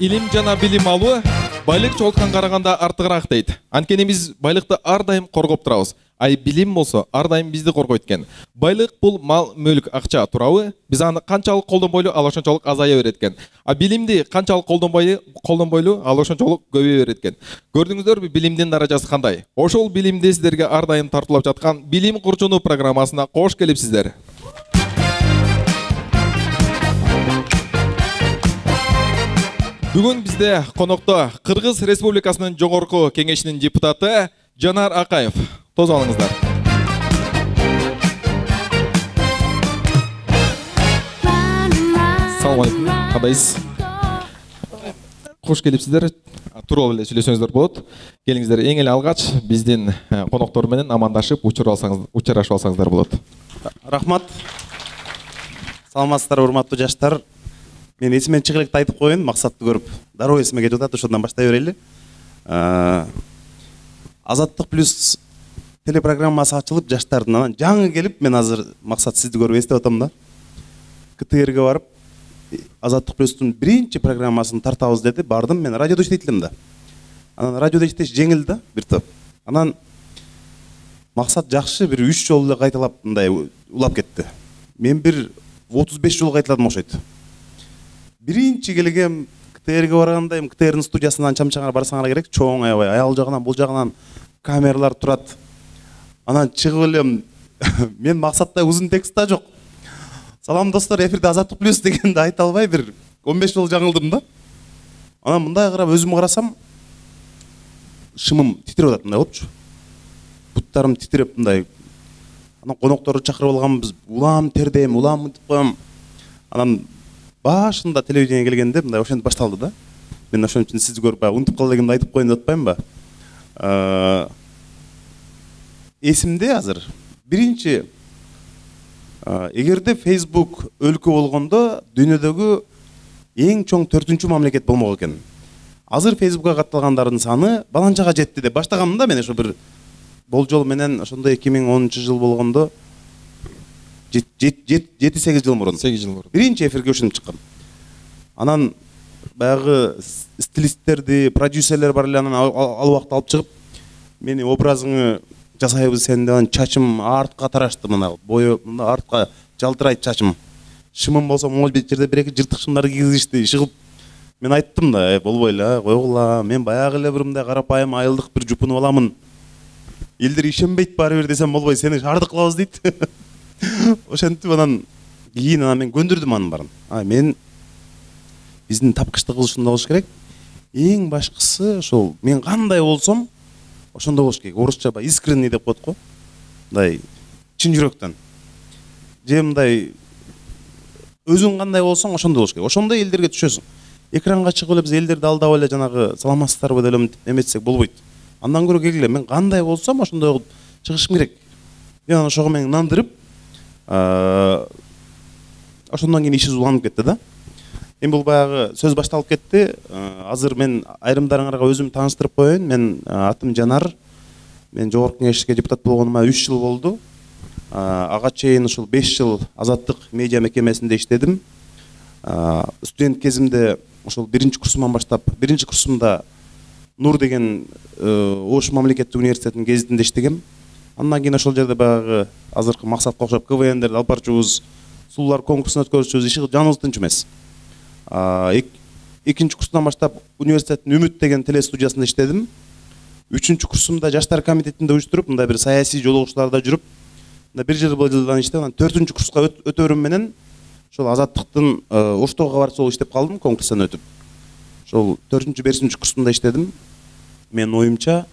илим жана билим алуу байлык чогулткан караганда артыгыраак дейт. Анткени биз байлыкты ар дайым коргоп турабыз. Ай билим болсо ар дайым бизди коргойт экен. Байлык бул мал, мүлк, акча туурабы? Биз аны канчалык колдонбойлу, ал ошончолук азая берет экен. А билимди канчалык колдонбойлу, ал ошончолук көбөйө берет экен. Көрдүңүздөрбү билимдин даражасы кандай? Ошол билимди сиздерге ар дайым тартуулап жаткан Билим Курчуну программасына кош келипсиздер. Бүгүн бизде конокто Кыргыз Республикасынын Жогорку Кеңешинин депутаты Жанар Акаев. Тоз алыңыздар. Салам алейкум. Кандайсыз? Кош келипсиздер. Туруп эле сүйлөсөңүздөр болот. Келиңиздер, эң эле алгач биздин коноктор менен амандашып, учурашып алсаңыздар болот. Рахмат. Саламатсыздар, урматтуу жаштар. Мен эсимен чыгып электе айтып коеюн, максатты көрүп. Дароо эсиме кетип атат, ошондон баштай берели. Азаттык плюс телепрограммасы ачылып, жаштардын анан жаңы келип, мен азыр максат сизди көрүп эстеп атам да. КТРге барып, Азаттык плюстун биринчи программасын тартабыз деди, бардым, мен радиодо иштейт элем да. Анан радиодо иштеш жеңил да, бир топ. Анан максат жакшы, бир 3 жолу эле кайталап мындай улап кетти. Мен бир 35 жолу кайталадым окшойт. Биринчи келгем КТРге барганда, КТРдин студиясынан чамчаңар барсаңар керек, чоң аябай, аял жагынан, бул жагынан камералар турат. Анан чыгып элем, мен максатта узун текст да жок. Салам достор, эфирде Азаттык плюс дегенди айта албай бир 15 жолу жаңылдым да. Анан мындай карап, өзүмө карасам, шымым титирип атат, мындай болчу. Буттарым титирип мындай. Анан конокторду чакырып алганбыз, улам тердейм, улам мынтип коем. Анан башында телевидение келгенде мындай ошентип башталды да. Мен ошон үчүн сизди көрүп унутуп кала дегенди айтып коеюн деп атпаймынбы? Эсимде азыр. Биринчи, эгерде Facebook өлкө болгондо дүйнөдөгү эң чоң 4-чү мамлекет болмок экен. Азыр Facebookка катталгандардын саны баланчага жетти деп баштагам да, мен ошо бир болжол менен ошондой 2010-жыл болгондо 7-8 жыл мурун. 8 жыл мурун. Биринчи эфирге ушинтип чыккан. Анан баягы стилисттерди, продюсерлер бар эле, анан ал убакта алып чыгып, мени образыңы жасайбыз сен деп, чачым артка тарашты, мына бою мына артка жалтырайт чачым. Шымым болсо могул бет жерде бир-эки жыртык шымдарды кийгизишти, шыгып. Мен айттым да, болбой эле, койгула, мен баягы эле бир мындай карапайым айылдык бир жупунуп аламын. Элдер ишенбейт баары бир десем болбой, сени шаардык кылабыз дейт. Ошентип анан кийин мен көндүрдүм анын баарын. Мен биздин тапкычтык ушундай болуш керек. Эң башкысы ошол мен кандай болсом ошондой болуш керек. Орусча искренний деп коет го. Мындай чын жүрөктөн. Же мындай өзүң кандай болсоң ошондой болуш керек. Ошондой элдерге түшөсүң. Экранга чыгып эле биз элдерди алдап эле жанагы саламатсыздарбы деп эле эметсек болбойт. Андан көрө келгиле, мен кандай болсом ошондой кылып чыгышым керек. Мен ошого мен нандырып, ошондон кийин иши уланып кетти да. Эми бул баягы сөз башталып кетти. Азыр мен айрымдарыңарга өзүмдү тааныштырып коеюн. Мен атым Жанар. Мен Жогорку Кеңешке депутат болгонума 3 жыл болду. Ага чейин ушул 5 жыл Азаттык медиа мекемесинде иштедим. Студент кезимде ошол биринчи курсуман баштап, биринчи курсумда Нур деген Ош мамлекеттик университетинин гезитинде иштегем. Андан кийин ошол жерде баягы азыркы максатка окшоп КВНдерди алып барчубуз, сулуулар конкурсун өткөрүчүбүз, иши жаныбыз тынч эмес. Экинчи курстан баштап университеттин Үмүт деген телестудиясында иштедим. Үчүнчү курсумда жаштар комитетинде уюштуруп, мындай бир саясий жолугушууларда жүрүп, мындай бир жылдан иштеп, анан 4-чү курска өтөөрүм менен ошол Азаттыктын Оштогу кабарчысы болуп иштеп калдым, конкурстан өтүп. Ошол 4-5 курсумда иштедим. Мен оюмча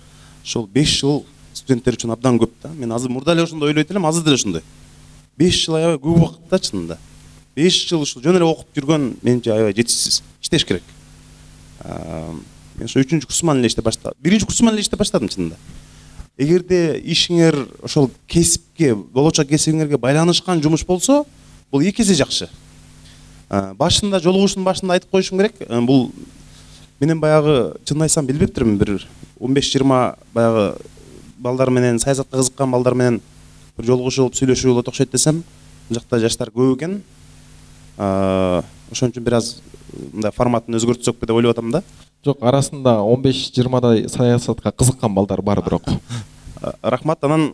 ошол 5 жыл студенттер үчүн абдан көп да. Мен азыр мурда эле ошондой ойлойт элем, азыр деле ошондой. 5 жыл аябай көп убакыт да чынында. 5 жыл ушул жөн эле окуп жүргөн менче аябай жетишсиз. Иштеш керек. Мен ошо 3-чү курсуман эле иштеп баштадым. 1-чи курсуман эле иштеп баштадым чынында. Эгерде ишиңер ошол кесипке, болочок кесибиңерге байланышкан жумуш болсо, бул 2 эсе жакшы. Башында жолугушуунун башында айтып коюшум керек. Бул менен баягы чын айтсам билбептирмин, бир 15-20 баягы балдар менен, саясатка кызыккан балдар менен бир жолугушуу болуп сүйлөшүү болот окшойт десем, бул жакта жаштар көп экен. Ошон үчүн бир аз мындай форматын өзгөртсөкпү деп ойлоп атам да. Жок, арасында 15-20дай саясатка кызыккан балдар бар бирок. Рахмат. Анан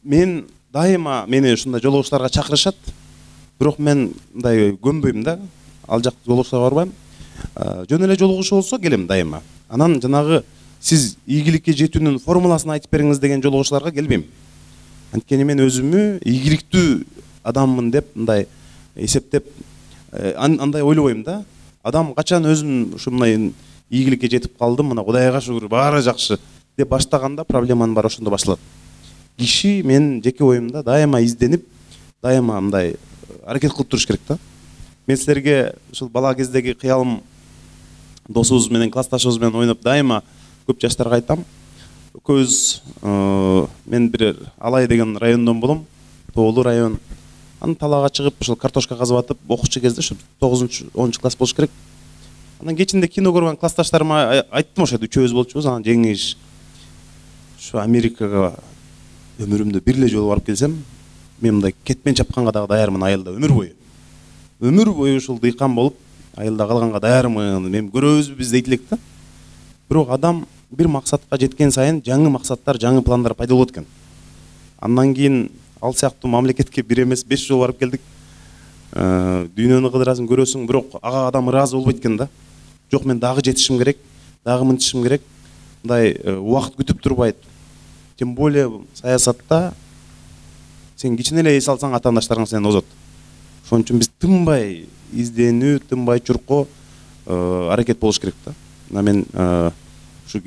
мен дайыма мени ушундай жолугушууларга чакырышат. Бирок мен мындай көнбөйм да. Ал жак жолугушууларга барбайм. Жөн эле жолугушуу болсо келем дайыма. Анан жанагы сиз ийгиликке жетүүнүн формуласын айтып бериңиз деген жолугушууларга келбейм. Анткени мен өзүмү ийгиликтүү адаммын деп мындай эсептеп андай ойлобойм да. Адам качан өзүн ушундай ийгиликке жетип калдым, мына Кудайга шүгүр, баары жакшы деп баштаганда проблеманын баары ошондо башталат. Киши мен жеке оюмда дайыма изденип, дайыма мындай аракет кылып туруш керек да. Мен силерге ушул бала кездеги кыялым досубуз менен, классташыбыз менен ойноп дайыма көп жаштарга айтам. Көз мен бир Алай деген райондон болом, Тоолуу район. Анан талаага чыгып ушул картошка казып атып окуучу кезде ушу 9-10 класс болуш керек. Анан кечинде кино көргөн классташтарыма айттым, ошо үчөөбүз болчубуз. Анан жеңиш ушу Америкага өмүрүмдө бир эле жолу барып келсем, мен мындай кетмен чапканга дагы даярмын айылда өмүр бою. Өмүр бою ушул дыйкан болуп, айылда калганга даярмын. Мен көрөбүзбү биз дейт элек да. Бирок адам бир максатка жеткен сайын жаңы максаттар, жаңы пландар пайда болот экен. Андан кийин ал сыяктуу мамлекетке бир эмес 5 жолу барып келдик. Дүйнөнү кыдырасың, көрөсүң, бирок ага адам ыраазы болбойт экен да. Жок, мен дагы жетишим керек, дагы мынтишим керек. Мындай убакыт күтүп турбайт. Тем более саясатта сен кичине эле эс алсаң атаандаштарың сенен озот. Ошон үчүн биз тынбай изденүү, тынбай чуркоо аракет болуш керек да. Мына мен ушу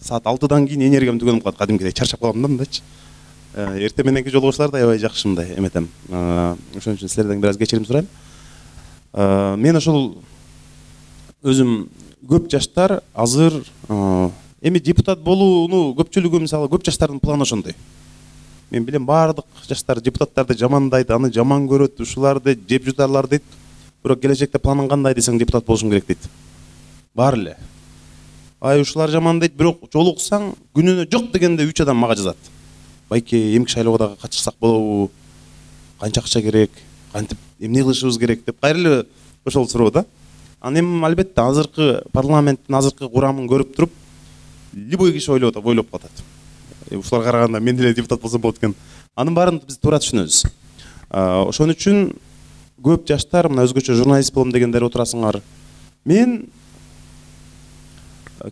саат 6-дан кийин энергиям түгөнүп калат, кадимкидей чарчап калам да мындайчы. Эртең мененки жолугушуулар да аябай жакшы мындай эметем. Ошон үчүн силерден бир аз кечирим сурайм. Мен ошол өзүм көп жаштар азыр эми депутат болууну көпчүлүгү мисалы көп жаштардын планы ошондой. Мен билем баардык жаштар депутаттарды жамандайт, аны жаман көрөт, ушуларды жеп жутарлар дейт. Бирок келечекте планың кандай десең депутат болушум керек дейт. Бар эле. Ушулар жаман дейт, бирок жолуксаң күнүнө жок дегенде 3 адам мага жазат. Байке, эмки шайлоого дагы катышсак болобу? Канча акча керек? Кантип эмне кылышыбыз керек деп кайра эле ошол суроо да. Анан эми албетте азыркы парламенттин азыркы курамын көрүп туруп, любой киши ойлоп калат. Ушуларга караганда мен деле депутат болсом болот экен. Анын баарын биз туура түшүнөбүз. Ошон үчүн көп жаштар мына өзгөчө журналист болом дегендер отурасыңар. Мен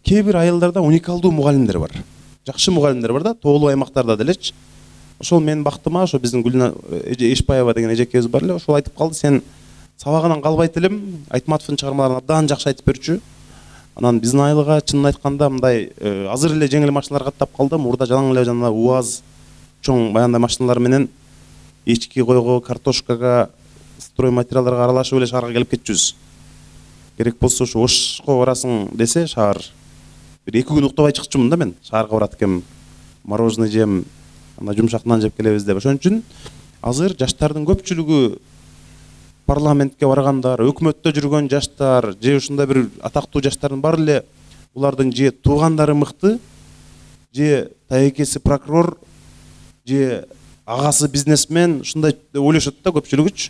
кээ бир айылдарда уникалдуу мугалимдер бар. Жакшы мугалимдер бар да, тоолуу аймактарда делечи. Ошол менин бактыма, ошо биздин Гүлнар Эшпаева деген эжекебиз бар эле, ошол айтып калды, сен сабагынан калбайт элем, Айтматовдун чыгармаларын абдан жакшы айтып берчү. Анан биздин айылга чынын айтканда мындай азыр эле жеңил машиналар каттап калды, мурда жалаң эле жана УАЗ чоң баяндай машиналар менен эчки койго, картошкага, строй материалдарга аралашып эле шаарга келип кетчүбүз. Керек болсо ушу Ошко барасың десе шаар, бир 2 күн уктабай чыкчумун да мен. Шаарга барат экем, мороженое жем, анда жумшак нан жеп келебиз деп. Ошон үчүн азыр жаштардын көпчүлүгү парламентке баргандар, өкмөттө жүргөн жаштар, же ушундай бир атактуу жаштардын баары эле булардын же туугандары мыкты, же таекеси прокурор, же агасы бизнесмен, ушундай деп ойлошот да көпчүлүгүчү.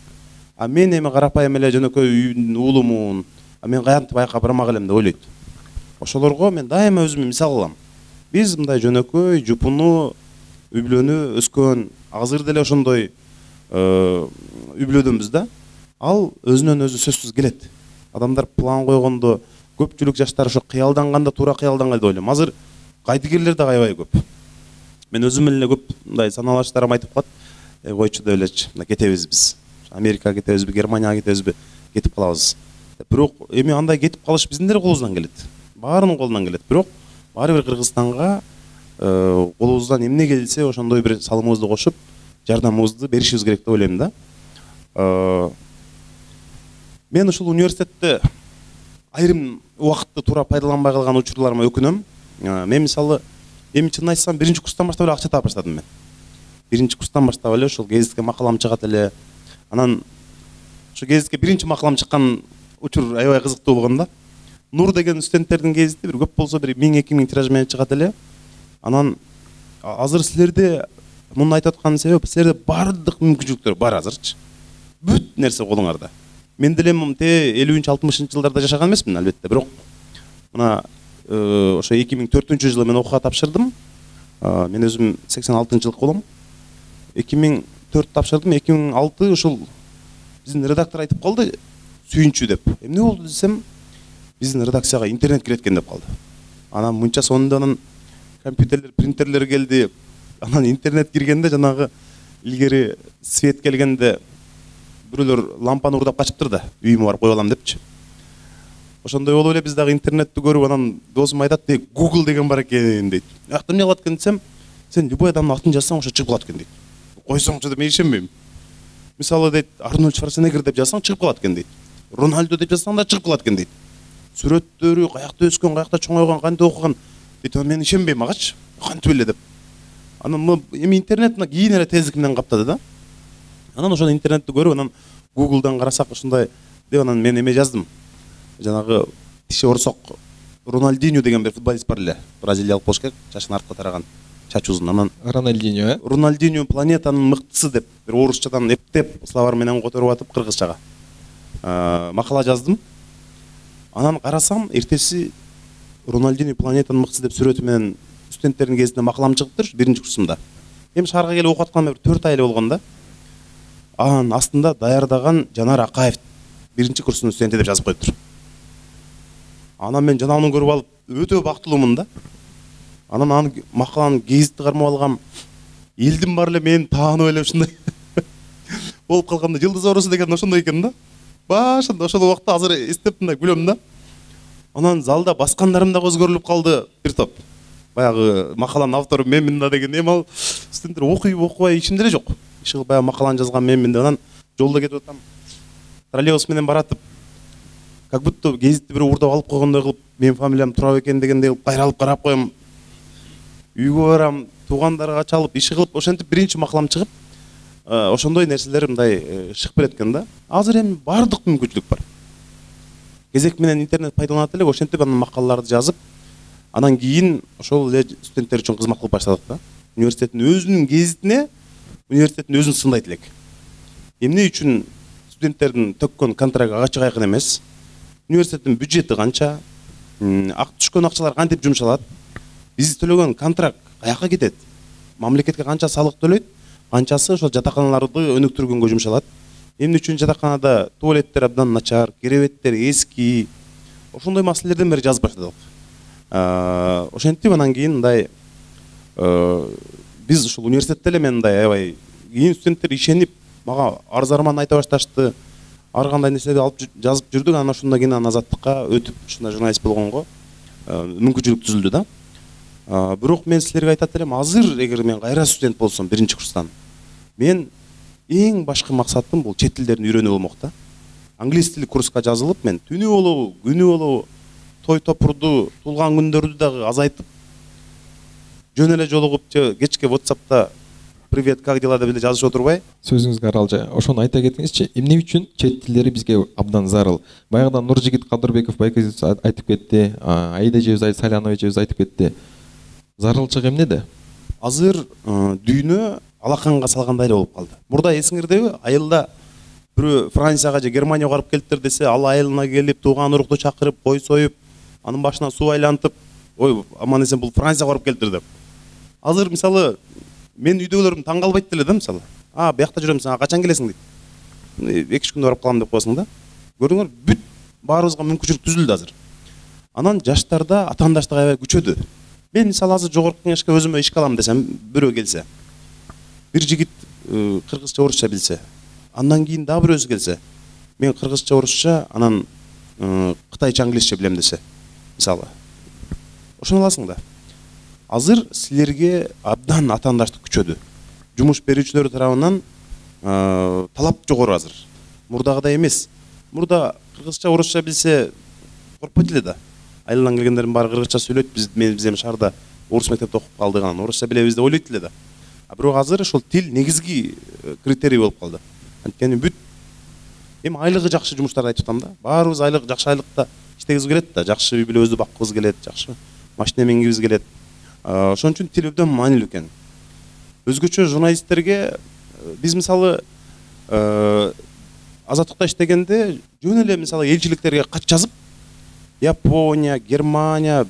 А мен эми карапайым эле жөнөкөй үйдүн уулумун, мен кантип айкка бармак элем деп ойлойт. Ошолорго мен дайыма өзүмө мисал кылам. Биз мындай жөнөкөй, жупуну, үй бүлөнү өскөн, азыр деле ошондой үй бүлөдөнбүз да. Ал өзүнөн өзү сөзсүз келет. Адамдар план койгондо, көпчүлүк жаштар ошо кыялданганда туура кыялданган деп ойлойм. Азыр кайдыгерлер да аябай көп. Мен өзүм эле көп мындай саналаштарым айтып калат, койчу деп элечи, мына кетебиз биз. Америкага кетебизби, Германияга кетебизби, кетип калабыз. Бирок эми андай кетип калыш биздин деле колубуздан келет. Баарынын колунан келет. Бирок баары бир Кыргызстанга колубуздан эмне келсе ошондой бир салымыбызды кошуп, жардамыбызды беришибиз керек деп ойлойм да. Мен ушул университетте айрым убакытты туура пайдаланбай калган учурларыма өкүнөм. Мен мисалы эми чынын айтсам 1-курстан баштап эле акча таап баштадым мен. 1-курстан баштап эле ушул гезитке макалам чыгат эле. Анан ошо гезитке 1-макалам чыккан учур аябай кызыктуу болгон да. Нур деген студенттердин гезити бир көп болсо бир 1000-2000 тираж менен чыгат эле. Анан азыр силерде муну айтып атканын себеби силерде баардык мүмкүнчүлүктөр бар азырчы. Бүт нерсе колуңарда. мен деле те 50-60 жылдарда жашаган эмесмин албетте, бирок мына ошо 2004 жылы мен окууга тапшырдым. Мен өзүм 86-жылкы болом. 2004 тапшырдым, 2006 ушул биздин редактор айтып калды, сүйүнчү деп. Эмне болду десем, биздин редакцияга интернет кирет экен деп калды. Анан мынча сонунда анан компьютерлер, принтерлер келди. Анан интернет киргенде жанагы илгери свет келгенде бирөөлөр лампаны урдап качыптыр да, үйүмө барып коюп алам депчи. Ошондой болуп эле биз дагы интернетти көрүп, анан досум айтат, Google деген бар экен дейт. Акта эмне кылат экен десем, сен любой адамдын атын жазсаң ошо чыгып калат экен дейт. Койсоңчу деп мен ишенбейм. Мисалы дейт, Арнольд Шварценеггер деп жазсаң чыгып калат экен дейт. Рональдо деп жазсаң да чыгып калат экен дейт. Сүрөттөрү, каякта өскөн, каякта чоңойгон, кантип окуган дейт. Мен ишенбейм агачы. Кантип эле деп. Анан эми интернет кийин эле тездик менен каптады да. Анан ошону интернетти көрүп, анан Google'дан карасак ушундай деп, анан мен эме жаздым. Жанагы тиши орсок Рональдиньо деген бир футболист бар эле. Бразилиялык болуш керек, чачын артка тараган, чач узун. Анан Рональдиньо, Рональдиньо планетанын мыктысы деп бир орусчадан эптеп словарь менен которуп атып кыргызчага макала жаздым. Анан карасам, эртеси Рональдиньо планетанын мыктысы деп сүрөтү менен студенттердин кезинде макалам чыгыптыр, биринчи курсумда. Эми шаарга келип окуп атканыма бир 4 ай эле болгон да. Анан астында даярдаган Жанар Акаев биринчи курстун студенти деп жазып коюптур. Анан мен жанагыны көрүп алып өтө бактылуумун да. Анан анын макаланын гезитти кармап алгам. Элдин баары эле мени таанып эле ушундай болуп калганда, жылдыз оорусу деген ошондой экен да. Башында ошол убакта азыр эстеп мындай күлөм да. Анан залда баскандарым да өзгөрүлүп калды бир топ. Баягы макаланын автору менмин да деген, эми ал студенттер окуй-окубай ишимде эле жок. Иши баягы макаланы жазган менмин деп. Анан жолдо кетип атам. Троллейбус менен баратып, как будто гезитти бирөө урдап алып койгондой кылып, менин фамилиям Турап экен дегендей кылып кайралып карап коем. Үйгө барам, туугандарга чалып, иши кылып, ошентип биринчи макалам чыгып, ошондой нерселер мындай чыгып берет экен да. Азыр эми баардык мүмкүнчүлүк бар. Кезек менен интернет пайдаланат элек, ошентип анан макалаларды жазып, анан кийин ошол эле студенттер үчүн кызмат кылып баштадык да. Университеттин өзүнүн гезитине университеттин өзүн сындайт элек. Эмне үчүн студенттердин төккөн контракты ачык айкын эмес? Университеттин бюджети канча? Түшкөн акчалар кантип жумшалат? Биз төлөгөн контракт каяка кетет? Мамлекетке канча салык төлөйт? Канчасы ошол жатаканаларды өнүктүргөнгө жумшалат? Эмне үчүн жатаканада туалеттер абдан начар, керебеттер эски? Ошондой маселелерден бери жазып баштадык. Ошентип анан кийин мындай биз ушул университетте эле мен мындай аябай кийин студенттер ишенип мага арыз-арман айта башташты. Ар кандай нерселерди алып жазып жүрдүк. Анан ошондон кийин Азаттыкка өтүп ушундай журналист болгонго мүмкүнчүлүк түзүлдү да. Бирок мен силерге айтат элем, азыр эгер мен кайра студент болсом биринчи курстан, мен эң башкы максатым бул чет тилдерин үйрөнүү болмок да. Англис тили курска жазылып, мен түнү болобу, күнү болобу, той топурду, туулган күндөрдү дагы азайтып, жөн эле жолугуп, кечке WhatsApp'та привет, как дела деп эле жазып отурбай. Сөзүңүзгө аралжа. Ошону айта кетиңизчи. Эмне үчүн чет тилдери бизге абдан зарыл? Баягыдан Нуржигит Кадырбеков байкебиз айтып кетти, Аида эжебиз, Салянова эжебиз айтып кетти. Зарылчык эмнеде? Азыр дүйнө алаканга салгандай эле болуп калды. Мурда эсиңердеби, айылда бирөө Францияга же Германияга барып келиптир десе, ал айылына келип, тууган урукту чакырып, кой союп, анын башына суу айлантып, ой, аман эсен бул Францияга барып келиптир деп. Азыр мисалы мен үйдөгүлөрүм таң калбайт деле да, мисалы. Биякта жүрөм, сен качан келесиң дейт. 2-3 күндө барып калам деп коесуң да. Көрдүңөр, бүт баарыбызга мүмкүнчүлүк түзүлдү азыр. Анан жаштарда атаандаштык аябай күчөдү. Мен мисалы азыр жогорку кеңешке өзүмө ишке алам десем, бирөө келсе, бир жигит кыргызча орусча билсе, андан кийин дагы бирөөсү келсе, мен кыргызча орусча, анан кытайча англисче билем десе, мисалы. Ошону аласың да. Азыр силерге абдан атаандаштык күчөдү. Жумуш берүүчүлөр тарабынан талап жогору азыр. Мурдагыдай эмес. Мурда кыргызча орусча билсе коркпойт эле да. Айылдан келгендердин баары кыргызча сүйлөйт, биз эми шаарда орус мектепте окуп калдык, анан орусча билебиз деп ойлойт эле да. Бирок азыр ошол тил негизги критерий болуп калды. Анткени бүт эми айлыгы жакшы жумуштарды айтып атам да. Баарыбыз жакшы айлыкта иштегибиз келет да, жакшы үй бүлөбүздү баккыбыз келет, жакшы машина мингибиз келет. Ошон үчүн тил абдан маанилүү экен. Өзгөчө журналисттерге биз мисалы азаттыкта иштегенде жөн эле мисалы элчиликтерге кат жазып Япония, Германия,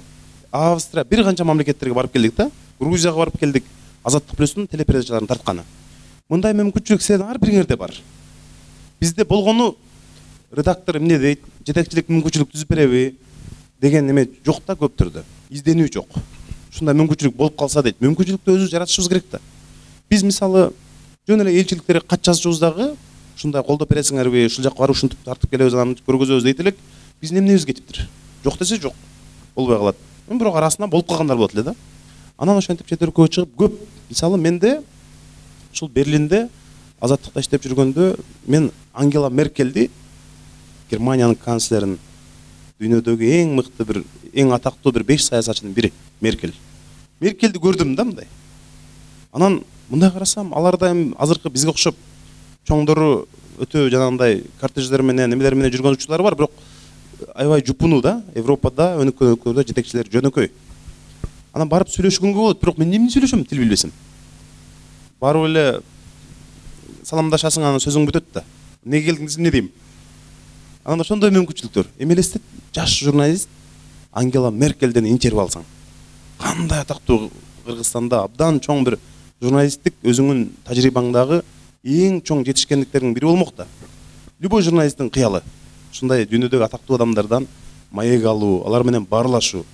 Австрия бир канча мамлекеттерге барып келдик да. Грузияга барып келдик. Азаттык плюстун телепередачаларын тартканы. Мындай мүмкүнчүлүк силердин ар бириңерде бар. Бизде болгону редактор эмне дейт, жетекчилик мүмкүнчүлүк түзүп береби деген неме жок да көптөрдө. Изденүү жок. Ушундай мүмкүнчүлүк болуп калса дейт. Мүмкүнчүлүктү өзүбүз жаратышыбыз керек да. Биз мисалы жөн эле элчиликтерге кат жазышыбыз дагы ушундай колдоп бересиңерби, ушул жакка барып ушинтип тартып келебиз, анан көргөзөбүз дейт элек. Биздин эмнебиз кетиптир? Жок десе жок. Болбой калат. Бирок арасында болуп калгандар болот эле да. Анан ошентип чет өлкөгө чыгып көп. Мисалы менде ушул Берлинде азаттыкта иштеп жүргөндө мен Ангела Меркельди, Германиянын канцлерин, дүйнөдөгү эң мыкты бир, эң атактуу бир 5 саясатчынын бири Меркель. Меркельди көрдүм да мындай. Анан мындай карасам, аларда эми азыркы бизге окшоп чоңдору өтө жанагындай кортеждер менен, немелер менен жүргөн учурлары бар, бирок аябай жупуну да. Европада өнүккөн өлкөлөрдө жетекчилер жөнөкөй. Анан барып сүйлөшкөнгө болот, бирок мен эмне сүйлөшөм, тил билбесем. Барып эле саламдашасың, анан сөзүң бүтөт да. Эмнеге келдиңиз, эмне дейм? Анан ошондой мүмкүнчүлүктөр. Эми элестет, жаш журналист Ангела Меркельден интервью алсаң. Кандай атактуу Кыргызстанда абдан чоң бир журналисттик өзүңүн тажрыйбаңдагы эң чоң жетишкендиктердин бири болмок да. Любой журналисттин кыялы ушундай дүйнөдөгү атактуу адамдардан маек алуу, алар менен баарлашуу.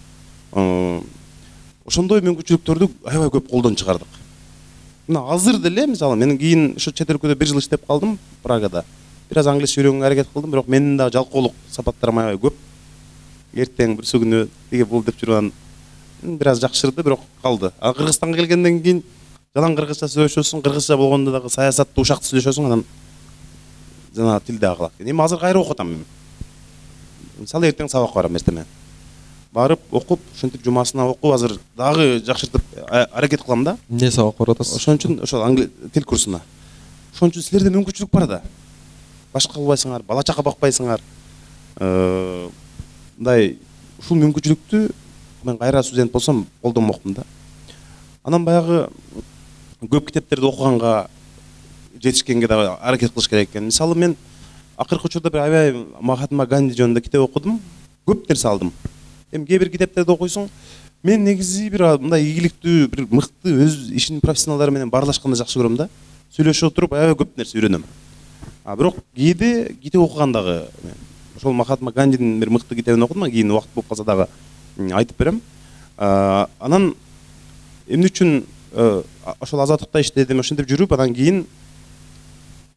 Ошондой мүмкүнчүлүктөрдү аябай көп колдон чыгардык. Мына азыр деле мисалы мен кийин ушу чет өлкөдө 1 жыл иштеп калдым Прагада. Бир аз англисче үйрөнгөнгө аракет кылдым, бирок менин да жалкоолук сапаттарым аябай көп. Эртең бир күнү тиге бул деп жүргөн бир аз жакшырды, бирок калды. А Кыргызстанга келгенден кийин жалаң кыргызча сүйлөшөсүң, кыргызча болгондо дагы саясатты ушакты сүйлөшөсүң, анан жана тил дагы калат. Эми азыр кайра окуп атам мен. Мисалы эртең сабакка барам эртемен. Барып окуп, ушинтип жумасына окуп, азыр дагы жакшыртып аракет кылам да. Эмне сабак барып атасыз? Ошон үчүн ошол тил курсуна. Ошон үчүн силерде мүмкүнчүлүк бар да. Башка кылбайсыңар, бала чака бакпайсыңар. Мындай ушул мүмкүнчүлүктү мен кайра студент болсом колдонмокмун да. Анан баягы көп китептерди окуганга жетишкенге да аракет кылыш керек экен. Мисалы мен акыркы учурда бир аябай Махатма Ганди жөнүндө китеп окудум. Көп нерсе алдым. Эми кээ бир китептерди окуйсуң, мен негизи бир мындай ийгиликтүү, бир мыкты өз ишинин профессионалдары менен баарлашканды жакшы көрөм да. Сүйлөшө отуруп аябай көп нерсе үйрөнөм. Бирок кээде китеп окугандагы ошол Махатма Гандинин бир мыкты китебин окудум, кийин убакыт болуп калса дагы айтып берем. Анан эмне үчүн ошол азаттыкта иштедим, ошентип жүрүп, анан кийин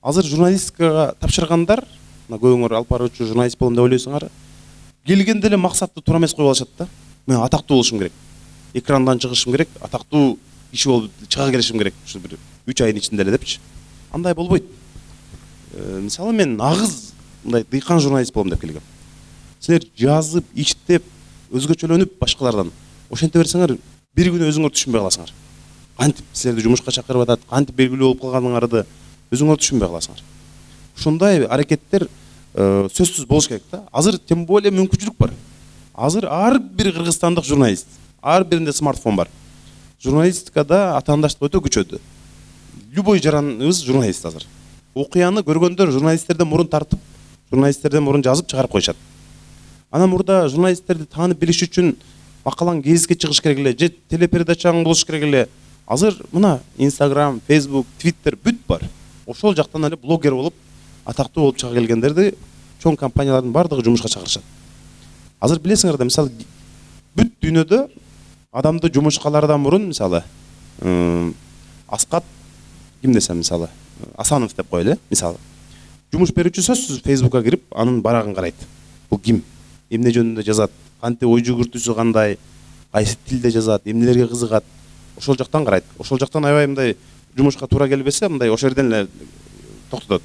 азыр журналистикага тапшыргандар, мына көбүңөр алып баруучу журналист болом деп ойлойсуңар, келгенде эле максатты туура эмес коюп алышат да. Мен атактуу болушум керек, экрандан чыгышым керек, атактуу киши болуп чыга келишим керек, ушу бир 3 айдын ичинде эле депчи. Андай болбойт. Мисалы мен нагыз мындай дыйкан журналист болом деп келгем. Силер жазып, иштеп, өзгөчөлөнүп башкалардан ошенте берсеңер, бир күнү өзүңөр түшүнбөй каласыңар. Кантип силерди жумушка чакырып атат, кантип белгилүү болуп калганыңарды өзүңөр түшүнбөй каласыңар. Ушундай аракеттер сөзсүз болуш керек да. Азыр тем более мүмкүнчүлүк бар. Азыр ар бир кыргызстандык журналист, ар биринде смартфон бар. Журналистикада атаандаштык өтө күчөдү. Любой жараныбыз журналист азыр. Окуяны көргөндөр журналисттерден мурун тартып, журналисттерден мурун жазып чыгарып коюшат. Анан мурда журналисттерди таанып билиш үчүн макалаң гезитке чыгыш керек эле, же телепередачаң болуш керек эле. Азыр мына Instagram, Facebook, Twitter бүт бар. Ошол жактан эле блогер болуп, атактуу болуп чыга келгендерди чоң компаниялардын бардыгы жумушка чакырышат. Азыр билесиңер да, мисалы бүт дүйнөдө адамды жумушка алардан мурун, мисалы Аскат ким десем, мисалы Асанов деп коелу, мисалы. Жумуш берүүчү сөзсүз Facebookка кирип, анын барагын карайт. Бул ким? Эмне жөнүндө жазат? Кантип ой жүгүртүүсү кандай? Кайсы тилде жазат? Эмнелерге кызыгат? Ошол жактан карайт. Ошол жактан аябай мындай жумушка туура келбесе, мындай ошол жерден эле токтотот.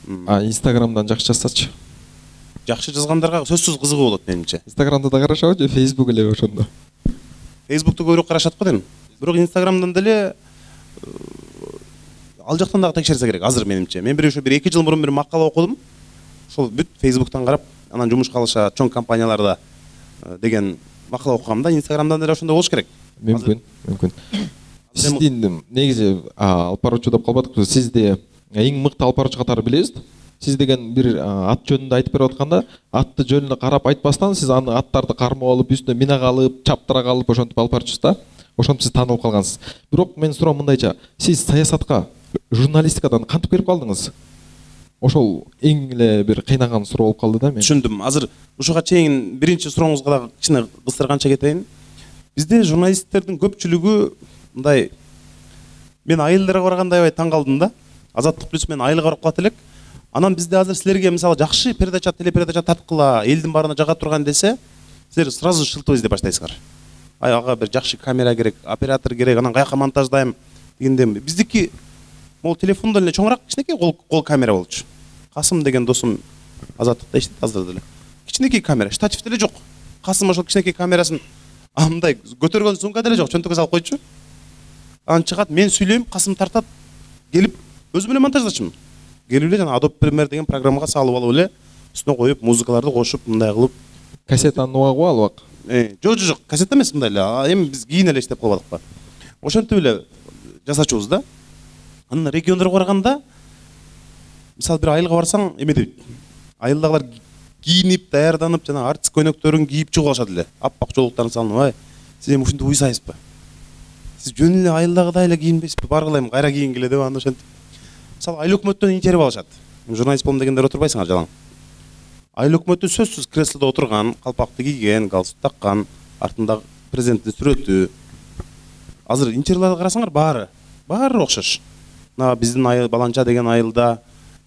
Instagramдан жакшы жазсачы? Жакшы жазгандарга сөзсүз кызыгуу болот менимче. Instagramда да карашабы же Facebook эле ошондо? Facebook'tu көбүрөөк карашат го дейм. Бирок Instagramдан деле ал жактан дагы текшерсе керек азыр менимче. Мен бир 2 жыл мурун бир макала окудум. Ошол бүт Facebook'тан карап, анан жумушка алышат чоң компанияларда деген макала окугам да. Instagram'дан деле ошондой болуш керек. Мүмкүн. Сиздин негизи алып баруучу деп калбадык. Сизди эң мыкты алып баруучу катары билебиз. сиз деген бир ат жөнүндө айтып берип атканда, атты жөнүнө карап айтпастан сиз аны аттарды кармап алып, үстүнө мина калып, чаптыра калып ошентип алып барчысыз да. Ошентип сиз таанылып калгансыз. Бирок мен суроом мындайча, сиз саясатка, журналистикадан кантип кирип калдыңыз? Ошол эң эле бир кыйнаган суроо болуп калды да мен. Түшүндүм. Азыр ушуга чейин биринчи сурооңузга дагы кичине кыстырганча кетейин. Бизде журналисттердин көпчүлүгү мындай, мен айылдарга барганда аябай таң калдым да. Азаттык плюс мен айылга барып калат элек. Анан бизде азыр силерге мисалы жакшы передача, телепередача тарткыла, элдин баарына жага турган десе, силер сразу шылтоо издеп баштайсыздар. Ага бир жакшы камера керек, оператор керек, анан каяка монтаждайм дегенде биздики могул телефондон эле чоңураак кичинекей кол камера болчу. Касым деген досум Азаттыкта иштейт азыр деле. Кичинекей камера, штатив деле жок. Касым ошол кичинекей камерасын андай көтөргөн сумка деле жок, чөнтөккө салып койчу. Анан чыгат, мен сүйлөйм, Касым тартат, келип өзүм эле монтаждачымын. Келип эле жана Adobe Premiere деген программага салып алып эле үстүнө коюп, музыкаларды кошуп, мындай кылып. Кассетаны нугагы албак. Жок, кассета эмес, мындай эле. Эми биз кийин эле иштеп калбадык ба. Ошентип эле жасачубуз да. Анан региондорго барганда, мисалы бир айылга барсаң, эме дейт. Айылдагылар кийинип, даярданып, жана артист көйнөктөрүн кийип чыгып алышат эле. Аппак жолуктарын салынып, ай, сиз эми ушинтип уйсайсызбы? Сиз жөн эле айылдагыдай эле кийинбейсизби? Баргылайм, кайра кийингиле деп аны ошентип. Мисалы айыл өкмөттөн интервью алышат. Журналист болом дегендер отурбайсыңар жалаң. Айыл өкмөтү сөзсүз креслодо отурган, калпакты кийген, галстук таккан, артында президенттин сүрөтү. Азыр интервьюларды карасаңар баары окшош. Мына биздин айыл Баланча деген айылда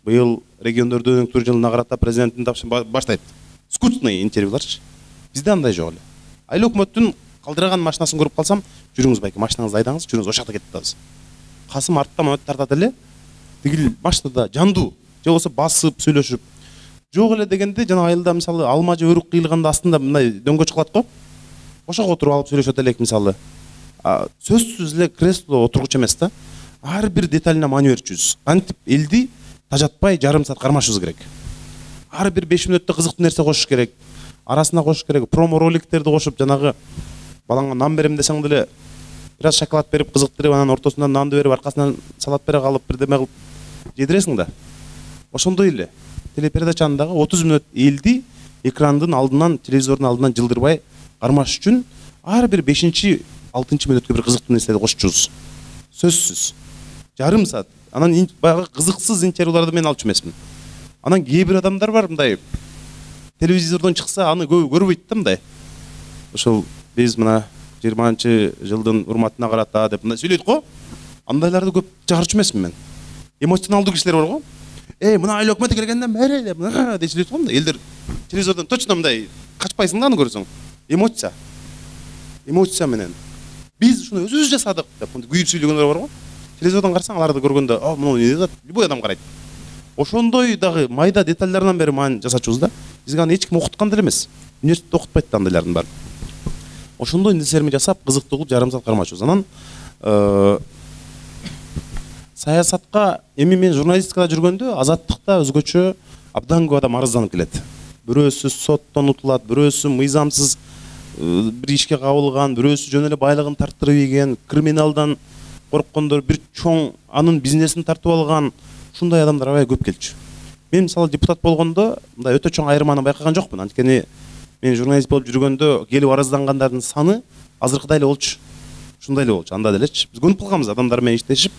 быйыл региондордун өнүктүрүү жылына карата президенттин баштайт. Скучный интервьюларчы. Бизде андай жок эле. Айыл өкмөттүн калдырган машинасын көрүп калсам, жүрүңүз байке, машинаңызды айдаңыз, жүрүңүз, ошол жакта кетип атабыз. Касым арттан өтүп тартат эле. Тигил машинада жандуу, же болбосо басып сүйлөшүп. Жок эле дегенде жана айылда мисалы алма же өрүк кыйылганда астында мындай дөңгөч кылат го. Ошого отуруп алып сүйлөшөт элек мисалы. Сөзсүз эле кресло отургучу эмес да. Ар бир деталына маани берчүбүз. Кантип элди тажатпай жарым саат кармашыбыз керек. Ар бир 5 мүнөттө кызыктуу нерсе кошуш керек. Арасына кошуш керек. Промо роликтерди кошуп, жанагы балаңга нан берем десең деле бир аз шоколад берип кызыктырып, анан ортосунан нанды берип, аркасынан салат бере калып, бирдеме кылып жедиресиң да. Ошондой эле телепередачаны дагы 30 мүнөт элди экрандын алдынан, телевизордун алдынан жылдырбай кармаш үчүн ар бир 5-6 мүнөткө бир кызыктуу нерселерди кошчубуз. Сөзсүз. Жарым саат. Анан баягы кызыксыз интервьюларды мен алчу эмесмин. Анан кээ бир адамдар бар мындай телевизордон чыкса аны көрбөйт да мындай. Ошол биз мына 20-жылдын урматына карата деп мындай сүйлөйт го. Андайларды көп чыгарчу эмесмин мен. Эмоционалдуу кишилер бар го. Мына айыл өкмөтү келгенден бери деп мына деп сүйлөйт го мындай. Элдер телевизордон точно мындай качпайсың да аны көрсөң. Эмоция менен. Биз ушуну өзүбүз жасадык деп күйүп сүйлөгөндөр бар го. Телевизордон карасаң аларды көргөндө, муну эмне деп любой адам карайт. Ошондой дагы майда детальдарынан бери маани жасачубуз да. Бизге аны эч ким окуткан деле эмес. Университетте окутпайт да андайлардын баары. Ошондой нерселерди жасап, кызыктуу кылып жарым саат кармашыбыз. Анан саясатка эми мен журналистикада жүргөндө Азаттыкта өзгөчө абдан көп адам арызданып келет. Бирөөсү соттон утулат, бирөөсү мыйзамсыз бир ишке кабылган, бирөөсү жөн эле байлыгын тарттырып ийген, криминалдан корккондор, бир чоң анын бизнесин тартып алган, ушундай адамдар аябай көп келчү. Мен мисалы депутат болгондо мындай өтө чоң айырманы байкаган жокмун. Анткени мен журналист болуп жүргөндө келип арыздангандардын саны азыркыдай эле болчу. Ушундай эле болчу, анда делечи. Биз көнүп калганбыз адамдар менен иштешип.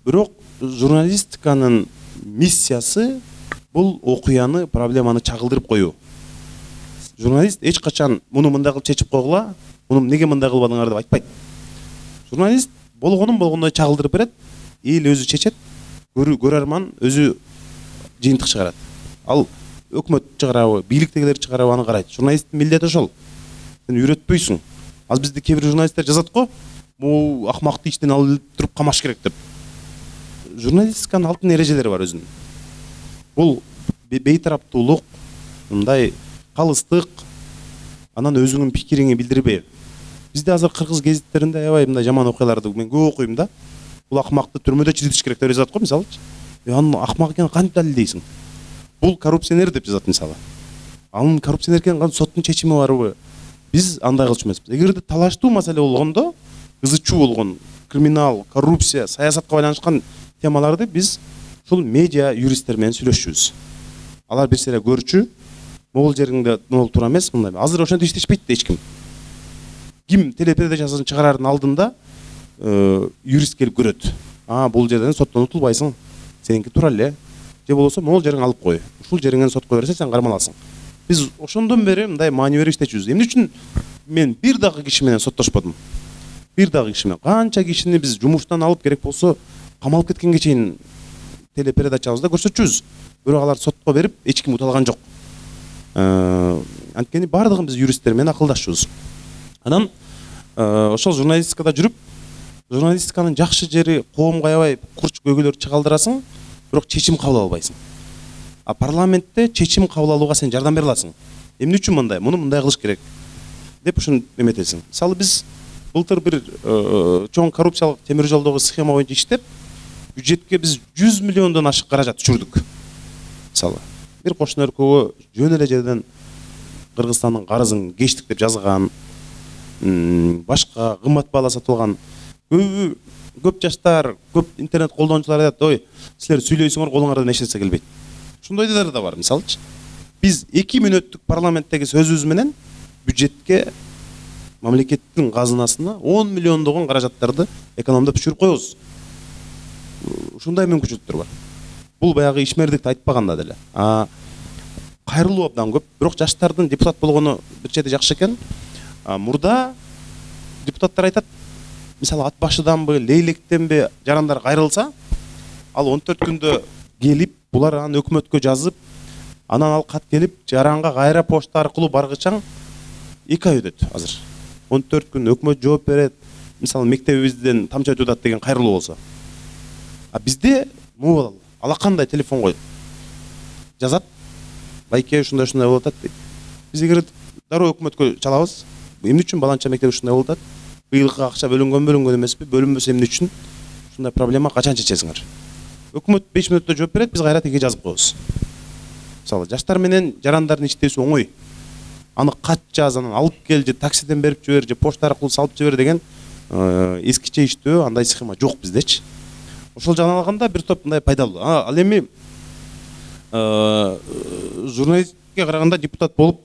Бирок журналистиканын миссиясы бул окуяны, проблеманы чагылдырып коюу. Журналист эч качан муну мындай кылып чечип койгула, муну эмнеге мындай кылбадыңар деп айтпайт. Журналист болгондой чагылдырып берет, эл өзү чечет, көрөрман өзү жыйынтык чыгарат. Ал өкмөт чыгарабы, бийликтегилер чыгарабы аны карайт. Журналисттин милдети ошол. Сен үйрөтпөйсүң. Аз бизде кээ бир журналисттер жазат го, бул акмакты иштен алып туруп камаш керек деп. Журналистиканын алтын эрежелери бар өзүнүн. Бул бейтараптуулук, мындай калыстык, анан өзүңдүн пикириңди билдирбей. Бизде азыр кыргыз гезиттеринде аябай мындай жаман окуяларды мен көп окуйм да. Бул акмакты түрмөдө чиритиш керек деп жазат го мисалычы. Анын акмак экенин кантип далилдейсиң? Бул коррупционер деп жазат мисалы. Анын коррупционер экенин кантип соттун чечими барбы? Биз андай кылчу эмеспиз. Эгерде талаштуу маселе болгондо, кызычуу болгон криминал, коррупция, саясатка байланышкан темаларды биз ушул медиа юристтер менен сүйлөшчүбүз. Алар бир сыйра көрчү, могул жериңде могул туура эмес мындай. Азыр ошентип иштешпейт да эч ким. Ким телепередачасын чыгарардын алдында юрист келип көрөт. Бул жерден соттон утулбайсың. Сеники туура эле. Же болбосо могул жериң алып кой. Ушул жериңден сотко берсе сен кармаласың. Биз ошондон бери мындай маани берип иштечүбүз. Эмне үчүн мен бир дагы киши менен соттошподум? Бир дагы киши менен. Канча кишини биз жумуштан алып керек болсо камалып кеткенге чейин телепередачабызда көрсөтчүбүз. Бирок алар сотко берип эч ким уталган жок. Анткени бардыгын биз юристтер менен акылдашчубуз. Анан ошол журналистикада жүрүп, журналистиканын жакшы жери коомго аябай курч көйгөйлөрдү чыгалдырасың, бирок чечим кабыл албайсың. Парламентте чечим кабыл алууга сен жардам бере аласың. Эмне үчүн мындай? Муну мындай кылыш керек деп ушуну эметесиң. Мисалы биз былтыр бир чоң коррупциялык темир жолдогу схема боюнча иштеп, бюджетке биз 100 миллиондон ашык каражат түшүрдүк. Мисалы бир кошуна өлкөгө жөн эле жерден Кыргызстандын карызын кечтик деп жазган, башка кымбат баала сатылган. Көп жаштар, көп интернет колдонуучулар айтат, ой, силер сүйлөйсүңөр, колуңардан эч нерсе келбейт. Ошондойлор да бар, мисалычы. Биз 2 мүнөттүк парламенттеги сөзүбүз менен бюджетке, мамлекеттин казынасына 10 миллиондогон каражаттарды экономдоп түшүрүп коебуз. Ушундай мүмкүнчүлүктөр бар. Бул баягы ишмердикти айтпаганда деле. Кайрылуу абдан көп, бирок жаштардын депутат болгону бир чети жакшы экен. Мурда депутаттар айтат, мисалы ат башыданбы, лейлектенби жарандар кайрылса, ал 14 күндө келип, булар аны өкмөткө жазып, анан ал кат келип, жаранга кайра почта аркылуу баргычаң 2 ай өтөт азыр. 14 күн өкмөт жооп берет. Мисалы мектебибизден тамча өтүп атат деген кайрылуу болсо. Бизде могул алакандай телефон коюп жазат. Байке ушундай болуп атат дейт. Биз эгер дароо өкмөткө чалабыз, эмне үчүн баланча мектеп ушундай болуп атат? Быйылкы акча бөлүнгөн эмеспи? Бөлүнбөсө эмне үчүн? Ушундай проблема качан чечесиңер? Өкмөт 5 мүнөттө жооп берет, биз кайра тиге жазып коебуз. Мисалы жаштар менен жарандардын иштеси оңой. Аны кат жаз, анан алып кел, же таксиден берип жибер, же почта аркылуу салып жибер деген эскиче иштөө, андай схема жок биздечи. Ошол жагынан алганда бир топ мындай пайдалуу. Ал эми журналистикке караганда депутат болуп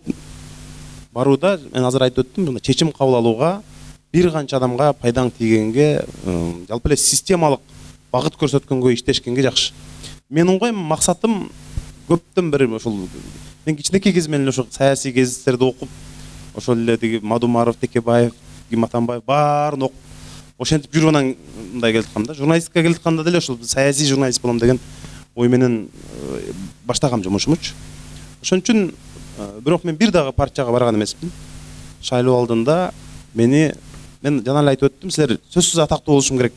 барууда мен азыр айтып өттүм, мына чечим кабыл алууга бир канча адамга пайдаң тийгенге, жалпы эле системалык багыт көрсөткөнгө, иштешкенге жакшы. Менин максатым көптөн бери ошол мен кичинекей кезимден эле ошо саясий гезиттерди окуп, ошол эле тиги Мадумаров, Текебаев, Гиматанбаев баарын окуп, ошентип жүрүп анан мындай келаткам да. Журналистикага келатканда деле ошол саясий журналист болом деген ой менен баштагам жумушумчу. Ошон үчүн бирок мен бир дагы партияга барган эмеспин. Шайлоо алдында мен жана эле айтып өттүм, силер сөзсүз атактуу болушум керек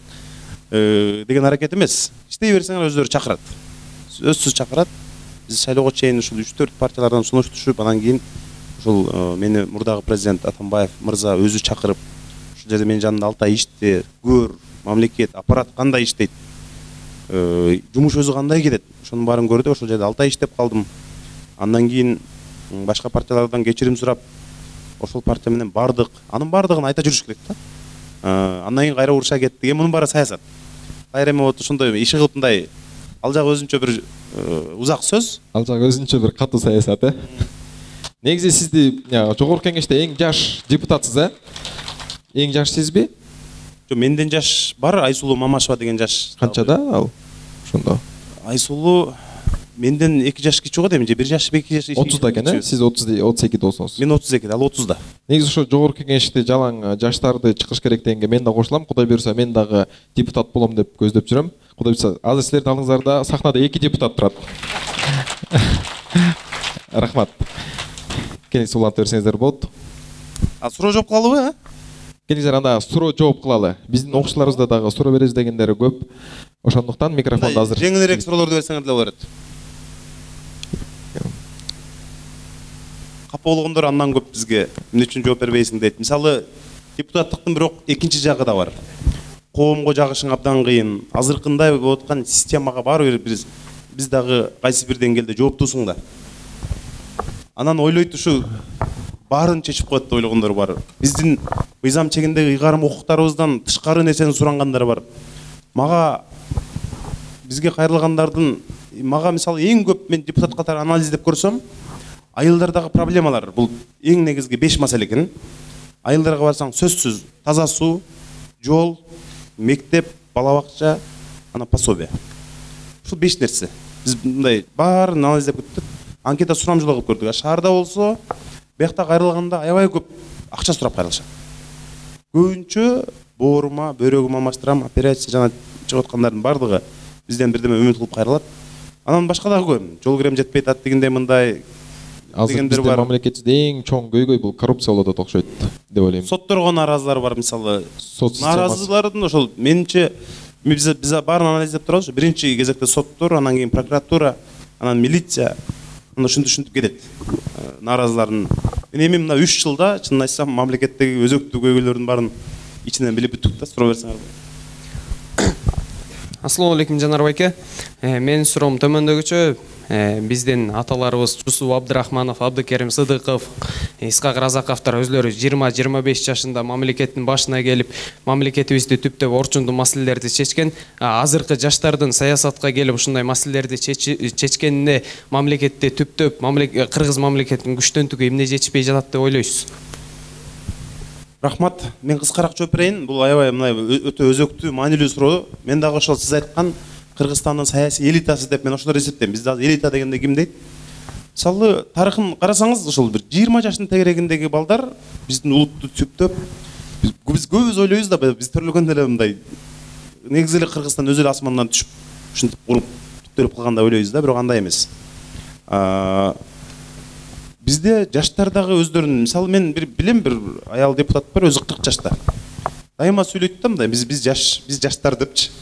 деген аракет эмес. Иштей берсеңер өздөрү чакырат. Сөзсүз чакырат. Биз шайлоого чейин ушул 3-4 партиялардан сунуш түшүп, анан кийин ушул мени мурдагы президент Атамбаев мырза өзү чакырып, ушул жерде менин жанымда 6 ай иште, көр, мамлекет, аппарат кандай иштейт, жумуш өзү кандай кетет, ошонун баарын көрдү. Ошол жерде 6 ай иштеп калдым. Андан кийин башка партиялардан кечирим сурап, ошол партия менен бардык. Анын бардыгын айта жүрүш керек да. Андан кийин кайра уруша кеттик. Мунун баары саясат. Кайра эми ошондой иши кылып мындай ал жагы өзүнчө бир узак сөз. Ал жагы өзүнчө бир катуу саясат, Негизи сизди жогорку кеңеште эң жаш депутатсыз, Эң жаш сизби? Жок, менден жаш бар, Айсулуу Мамашева деген жаш. Канчада ал? Ошондо. Айсулуу менден 2 жаш кичүү го дейм, же 1 жаш, 2 жаш. 30да экен, Сиз 32 досуңуз. Мен 32, ал 30да. Негизи ошо жогорку кеңеште жалаң жаштарды чыгыш керек дегенге мен да кошулам. Кудай буйрса мен дагы депутат болом деп көздөп жүрөм. Кудай буйрса азыр силердин алдыңыздарда сахнада 2 депутат турат. Рахмат. Кеңес улантып берсеңиздер болот. Суроо жооп кылалыбы? Келиңиздер анда суроо жооп кылалы. Биздин окуучуларыбызда дагы суроо беребиз дегендери көп. Ошондуктан микрофонду азыр жеңилирээк суроолорду берсеңер деле болот. Капа болгондор андан көп бизге эмне үчүн жооп бербейсиң дейт. Мисалы депутаттыктын бирок экинчи жагы да бар. Коомго жагышың абдан кыйын. Азыркындай болуп аткан системага баары бир биз дагы кайсы бир деңгээлде жооптуусуң да. Анан ойлойт ушу баарын чечип коет деп ойлогондор бар. Биздин мыйзам чегиндеги ыйгарым укуктарыбыздан тышкары нерсени сурангандар бар. Мага бизге кайрылгандардын мага мисалы эң көп мен депутат катары анализдеп көрсөм, айылдардагы проблемалар бул эң негизги 5 маселе экен. Айылдарга барсаң сөзсүз таза суу, жол, мектеп, бала бакча, ана пособие. Ушул 5 нерсе. Биз мындай баарын анализдеп көттүк. Анкета сурамжылоо кылып көрдүк. Шаарда болсо, биякта кайрылганда аябай көп акча сурап кайрылышат. Көбүнчө боорума, бөйрөгүм алмаштырам, операция жана чыгып аткандардын бардыгы бизден бирдеме үмүт кылып кайрылат. Анан башка дагы көп. Жол кирем жетпей атат дегендей мындай дегендер бар. Мамлекетте эң чоң көйгөй бул коррупция болот окшойт деп ойлойм. Сотторго нааразылар бар мисалы. Нааразылардын ошол менимче биз баарын анализдеп турабыз. Биринчи кезекте соттор, анан кийин прокуратура, анан милиция, анан ушинтип кетет. Нааразылардын. Мен эми мына 3 жылда чынын айтсам мамлекеттеги өзөктүү көйгөйлөрдүн баарын ичинен билип бүттүк да, суроо берсеңер. Ассалому алейкум Жанар байке. Менин суроом төмөндөгүчө. Биздин аталарыбыз Чусуп Абдрахманов, Абдыкерим Сыдыков, Исхак Разаковдор өзлөрү 20-25 жашында мамлекеттин башына келип, мамлекетибизди түптөп орчундуу маселелерди чечкен. Азыркы жаштардын саясатка келип ушундай маселелерди чечкенине мамлекетти түптөп кыргыз мамлекетинин күчтөнтүгү эмне жетишпей жатат деп ойлойсуз? Рахмат. Мен кыскараак жооп берейин. Бул аябай мындай өтө өзөктүү, маанилүү суроо. Мен дагы ошол сиз айткан Кыргызстандын саясий элитасы деп мен ошолор эсептейм. Бизде азыр элита дегенде ким дейт? Мисалы, тарыхын карасаңыз, ошол бир 20 жаштын тегерегиндеги балдар биздин улутту түптөп, биз көбүз ойлойбуз да, биз төрөлгөндө эле мындай негизи эле Кыргызстан өзү эле асмандан түшүп, ушинтип куруп, түптөлүп калгандай ойлойбуз да, бирок андай эмес. Бизде жаштар дагы өздөрүнүн, мисалы мен билем бир аял депутат бар, өзү 40 жашта. Дайыма сүйлөйт да мындай, биз жаштар депчи.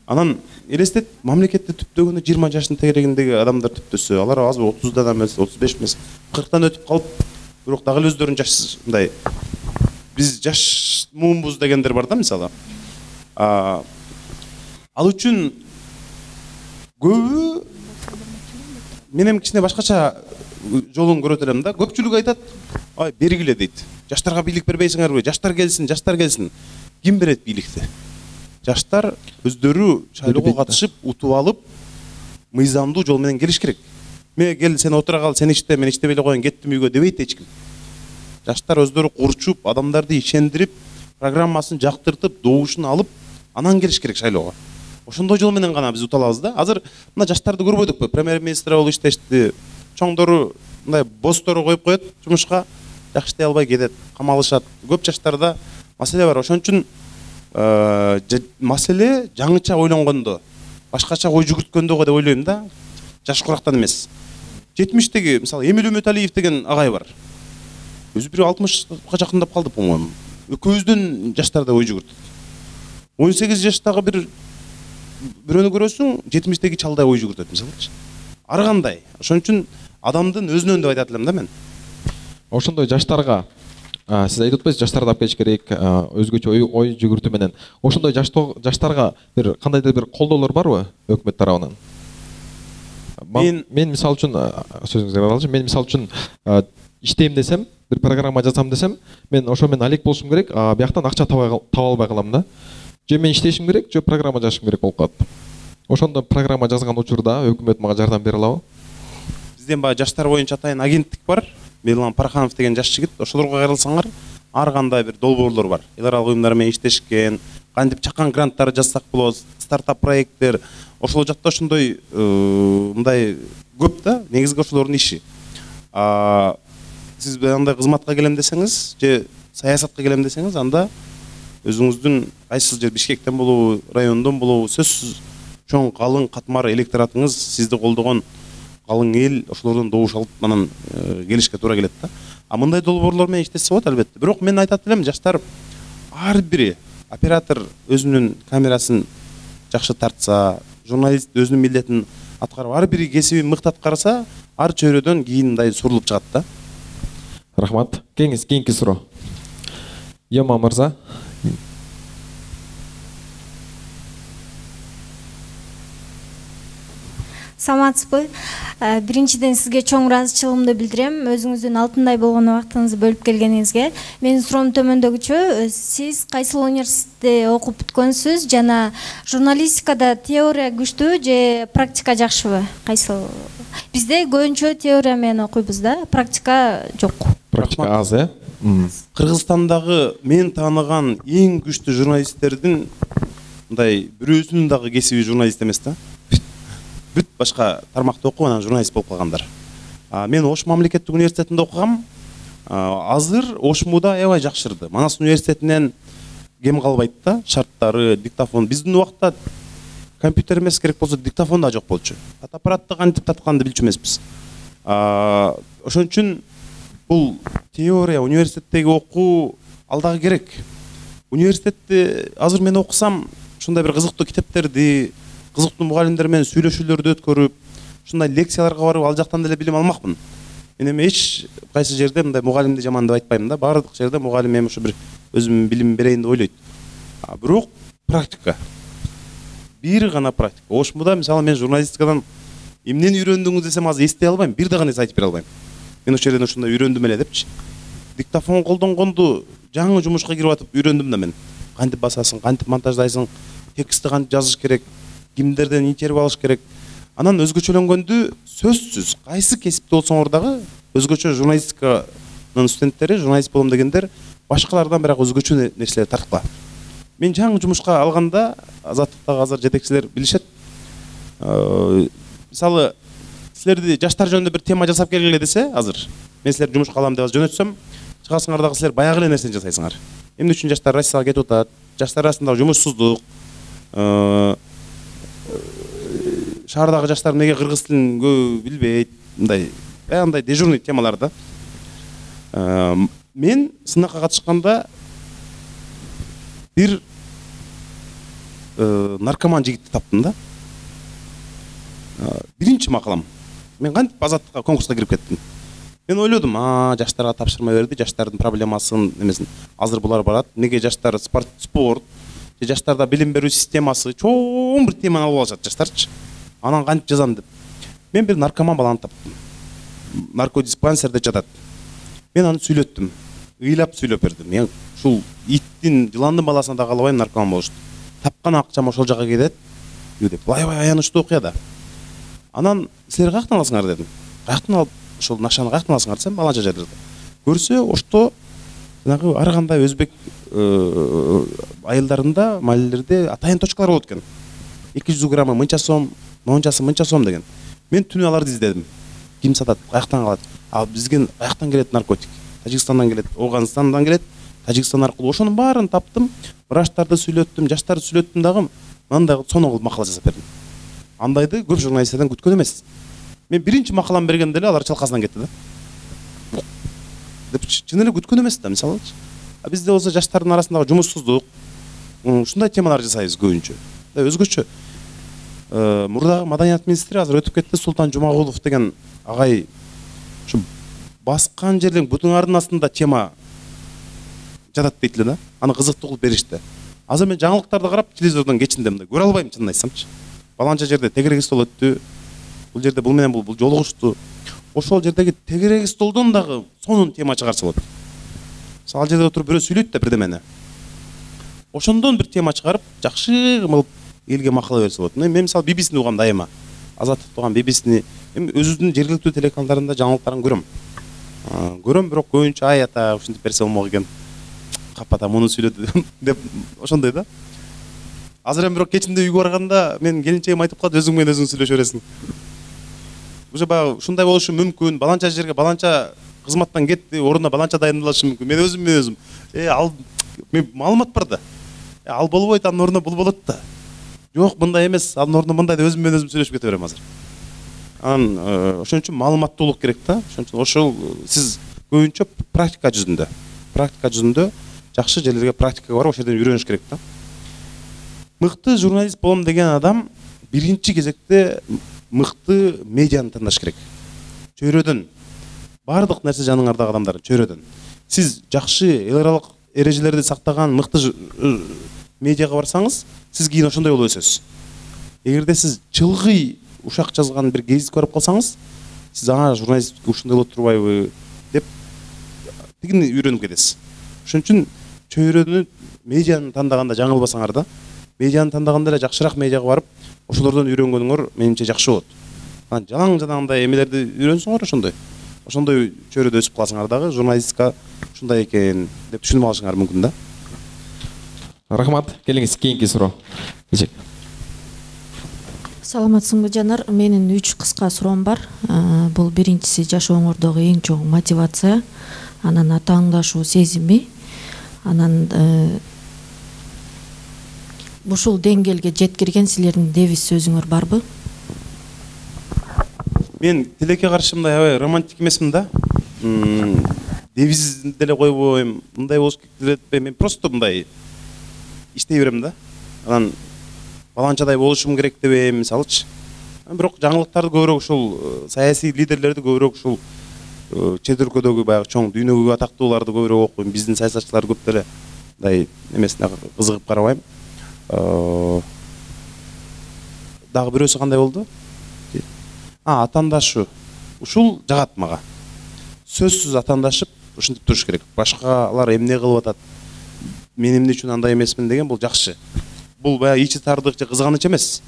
Анан элестет, мамлекетти түптөгөндө 20 жаштын тегерегиндеги адамдар түптөсө, алар азыр 30-дан эмес, 35 эмес, 40-тан өтүп калып, бирок дагы эле өздөрүнүн жаш мындай биз жаш муунбуз дегендер бар да мисалы. Ал үчүн көбү менен кичине башкача жолун көрөт элем да. Көпчүлүк айтат, ай бергиле дейт. Жаштарга бийлик бербейсиңерби? Жаштар келсин. Ким берет бийликти? Жаштар өздөрү шайлоого катышып, утуп алып, мыйзамдуу жол менен келиш керек. Мен кел, сен отура кал, сен ичте, мен иштебей эле коеюн, кеттим үйгө дебейт эч ким. Жаштар өздөрү курчуп, адамдарды ишендирип, программасын жактыртып, добушун алып, анан келиш керек шайлоого. Ошондой жол менен гана биз ута алабыз да. Азыр мына жаштарды көрбөдүкпү? Премьер-министр болуп иштешти. Чоңдору мындай бостору коюп коет жумушка, жакшытай албай кетет, камалышат. Көп жаштарда маселе бар. Ошон үчүн маселе жаңыча ойлонгондо, башкача ой жүгүрткөндөгө деп ойлойм да. Жаш курактан эмес. 70-теги, мисалы, Эмил Үмөталиев деген агай бар. Өзү бир 60-га жакындап калды, по-моему. Экөөбүздөн жаштарда ой жүгүртөт. 18 жаштагы бирөөнү көрөсүң, 70-теги чалдай ой жүгүртөт, мисалы. Ар кандай. Ошон үчүн адамдын өзүнөн деп айтат элем да мен. Ошондой жаштарга сиз айтып атпайсызбы, жаштарды алып келиш керек, өзгөчө ой жүгүртүү менен. Ошондой жаштарга бир кандайдыр бир колдоолор барбы өкмөт тарабынан? Мен мисалы үчүн сөзүңүздү алчы. Мен мисалы үчүн иштейм десем, бир программа жазам десем, мен ошо менен алек болушум керек, бияктан акча таба албай калам да. Же мен иштешим керек, же программа жазышым керек болуп калат. Ошондо программа жазган учурда өкмөт мага жардам бере алабы? Бизден баягы жаштар боюнча атайын агенттик бар. Меломан Парханов деген жаш жигит. Ошолорго кайрылсаңар, ар кандай бир долбоорлор бар. Эл аралык уюмдар менен иштешкен, кантип чакан гранттар жазсак болот, стартап проекттер. Ошол жакта ошондой мындай көп да, негизги ошолордун иши. Сиз андай кызматка келем десеңиз, же саясатка келем десеңиз, анда өзүңүздүн кайсыл жер Бишкектен болобу, райондон болобу, сөзсүз чоң калың катмар электоратыңыз, сизди колдогон калың эл ошолордон добуш алып анан келишке туура келет да. Мындай долбоорлор менен иштесе болот албетте. Бирок мен айтат элем, жаштар ар бири оператор өзүнүн камерасын жакшы тартса, журналист өзүнүн милдетин аткарып, ар бири кесибин мыкты аткарса, ар чөйрөдөн кийин мындай сурулуп чыгат да. Рахмат. Кийинки суроо. Яма мырза. Саламатсызбы? Биринчиден сизге чоң ыраазычылыгымды билдирем. Өзүңүздүн алтындай болгон убактыңызды бөлүп келгениңизге. Менин суроом төмөндөгүчө. Сиз кайсыл университетте окуп бүткөнсүз жана журналистикада теория күчтүүбү же практика жакшыбы? Кайсыл? Бизде көбүнчө теория менен окуйбуз да, практика жок. Практика аз, Кыргызстандагы мен тааныган эң күчтүү журналисттердин мындай бирөөсүнүн дагы кесиби журналист эмес да. Бүт башка тармакта окуп анан журналист болуп калгандар. Мен Ош мамлекеттик университетинде окугам. Азыр Ошмуда аябай жакшырды. Манас университетинен кем калбайт да, шарттары, диктофон. Биздин убакта компьютер эмес, керек болсо диктофон да жок болчу. Аппаратты кантип татканды билчү эмеспиз. Ошон үчүн бул теория, университеттеги окуу ал дагы керек. Университетте азыр мен окусам, ушундай бир кызыктуу китептерди, кызыктуу мугалимдер менен сүйлөшүүлөрдү өткөрүп, ушундай лекцияларга барып, ал жактан деле билим алмакмын. Мен эми эч кайсы жерде мындай мугалимди жаман деп айтпайм да. Баардык жерде мугалим эми ушу бир өзүм билим берейин деп ойлойт. Бирок практика. Бир гана практика. Ошмуда мисалы мен журналистикадан эмнени үйрөндүңүз десем азыр эстей албайм, бир дагы нерсе айтып бере албайм. Мен ошол жерден ушундай үйрөндүм эле депчи. Диктофон колдонгонду жаңы жумушка кирип атып үйрөндүм да мен. Кантип басасың, кантип монтаждайсың, текстти кантип жазыш керек, кимдерден интервью алыш керек. Анан өзгөчөлөнгөндү сөзсүз кайсы кесипте болсоңор дагы өзгөчө журналистиканын студенттери, журналист болом дегендер башкалардан бирок өзгөчө нерселер тарткыла. Мен жаңы жумушка алганда Азаттыктагы азыр жетекчилер билишет. Мисалы силерди жаштар жөнүндө бир тема жасап келгиле десе, азыр мен силерди жумушка алам деп жөнөтсөм, чыгасыңар дагы силер баягы эле нерсени жасайсыңар. Эмне үчүн жаштар Россияга кетип атат? Жаштар арасындагы жумушсуздук, шаардагы жаштар эмнеге кыргыз тилин көп билбейт, мындай баягындай дежурный темалар да. Мен сынакка катышканда бир наркоман жигитти таптым да. Биринчи макалам. Мен кантип Азаттыкка конкурска кирип кеттим. Мен ойлодум, жаштарга тапшырма берди, жаштардын проблемасын эмесин. Азыр булар барат, эмнеге жаштар спорт, же жаштарда билим берүү системасы, чоң бир теманы алып алышат жаштарчы. Анан кантип жазам деп. Мен бир наркоман баланы таптым. Наркодиспансерде жатат. Мен аны сүйлөттүм. Ыйлап сүйлөп бердим. Мен ушул иттин, жыландын баласына да калбайм наркоман болушту. Тапкан акчам ошол жака кетет деп. Аябай аянычтуу окуя да. Анан силер каяктан аласыңар дедим. Каяктан алып ошол нашаны каяктан аласыңар десем, баланча жерде. Көрсө, ошто жанагы ар кандай өзбек айылдарында, маалелерде атайын точкалар болот экен. 200 граммы мынча сом, мончасы мынча сом деген. Мен түнү аларды издедим. Ким сатат, каяктан алат? Бизге каяктан келет наркотик? Тажикстандан келет, Ауганстандан келет, Тажикстан аркылуу. Ошонун баарын таптым, врачтарды сүйлөттүм, жаштарды сүйлөттүм дагы, мындай сонун кылып макала жазап бердим. Андайды көп журналисттерден күткөн эмес. Мен биринчи макалам бергенде эле алар чалкасынан кетти да. Деп чын эле күткөн эмес да, мисалы. Бизде болсо жаштардын арасындагы жумушсуздук, ушундай темалар жасайбыз көбүнчө. Өзгөчө мурдагы маданият министри азыр өтүп кетти, Султан Жумагулов деген агай ушу баскан жерден бутуң ардын астында тема жатат дейт эле да. Аны кызыктуу кылып беришти. Азыр мен жаңылыктарды карап телевизордон кечиндем да, көрө албайм чынын айтсамчы. Баланча жерде тегерек стол өттү. Бул жерде бул менен бул жолугушту. Ошол жердеги тегерек столдон дагы сонун тема чыгарса болот. Ал жерде отуруп бирөө сүйлөйт да бирдемени. Ошондон бир тема чыгарып, жакшы кылып элге макала берсе болот. Мен мисалы BBC-ни угам дайыма. Азаттык угам BBC-ни. Эми өзүбүздүн жергиликтүү телеканалдарында жаңылыктарын көрөм. Көрөм, бирок көбүнчө ата ушинтип берсе болмок экен. Капата муну сүйлөдү деп ошондой да. Азыр эми бирок кечинде үйгө барганда мен келинчегим айтып калат, өзүң менен өзүң сүйлөшө бересиң. Уже баягы ушундай болушу мүмкүн. Баланча жерге баланча кызматтан кетти, ордуна баланча дайындалышы мүмкүн. Мен өзүм ал мен маалымат бар да. Ал болбойт, анын ордуна бул болот да. Жок, мындай эмес, анын ордуна мындай деп өзүм менен өзүм сүйлөшүп кете берем азыр. Анан ошон үчүн маалыматтуулук керек да. Ошон үчүн ошол сиз көбүнчө практика жүзүндө жакшы жерлерге практикага барып, ошол жерден үйрөнүш керек да. Мыкты журналист болом деген адам биринчи кезекте мыкты медианы тандаш керек. Чөйрөдөн бардык нерсе жаныңардагы адамдар чөйрөдөн. Сиз жакшы эл аралык эрежелерди сактаган мыкты медиага барсаңыз, сиз кийин ошондой болуп өсөсүз. Эгерде сиз чылгый ушак жазган бир гезит көрүп калсаңыз, сиз журналист ушундай болот турбайбы деп тигини үйрөнүп кетесиз. Ошон үчүн чөйрөнү медианы тандаганда жаңылбасаңар да, медианы тандаганда эле жакшыраак медиага барып, ошолордон үйрөнгөнүңөр менимче жакшы болот. Жалаң-жалаңдай эмелерди үйрөнсөңөр ошондой чөйрөдө өсүп калсаңар дагы журналистика ушундай экен деп түшүнүп алышыңар мүмкүн да. Рахмат. Келиңиз, кийинки суроо. Саламатсыңбы Жанар? Менин 3 кыска суроом бар. Бул биринчиси жашооңордогу эң чоң мотивация, анан атааңдашуу сезими, анан ушул деңгээлге жеткирген силердин девиз сөзүңөр барбы? Мен тилекке каршы мындай аябай романтик эмесмин да. Девиз деле койбойм, мындай болуш керек деп, мен просто мындай иштей берем да. Анан баланчадай болушум керек дебейм, мисалычы. Бирок жаңылыктарды көбүрөөк ушул саясий лидерлерди көбүрөөк ушул чет өлкөдөгү баягы чоң дүйнөгө атактууларды көбүрөөк окуйм. Биздин саясатчылар көп деле мындай эмесине кызыгып карабайм. Дагы бирөөсү кандай болду? Атаандашу. Ушул жагат мага. Сөзсүз атаандашып ушинтип туруш керек. Башкалар эмне кылып атат? Мен эмне үчүн андай эмесмин деген бул жакшы. Бул баягы ичи тардык же кызганыч эмес.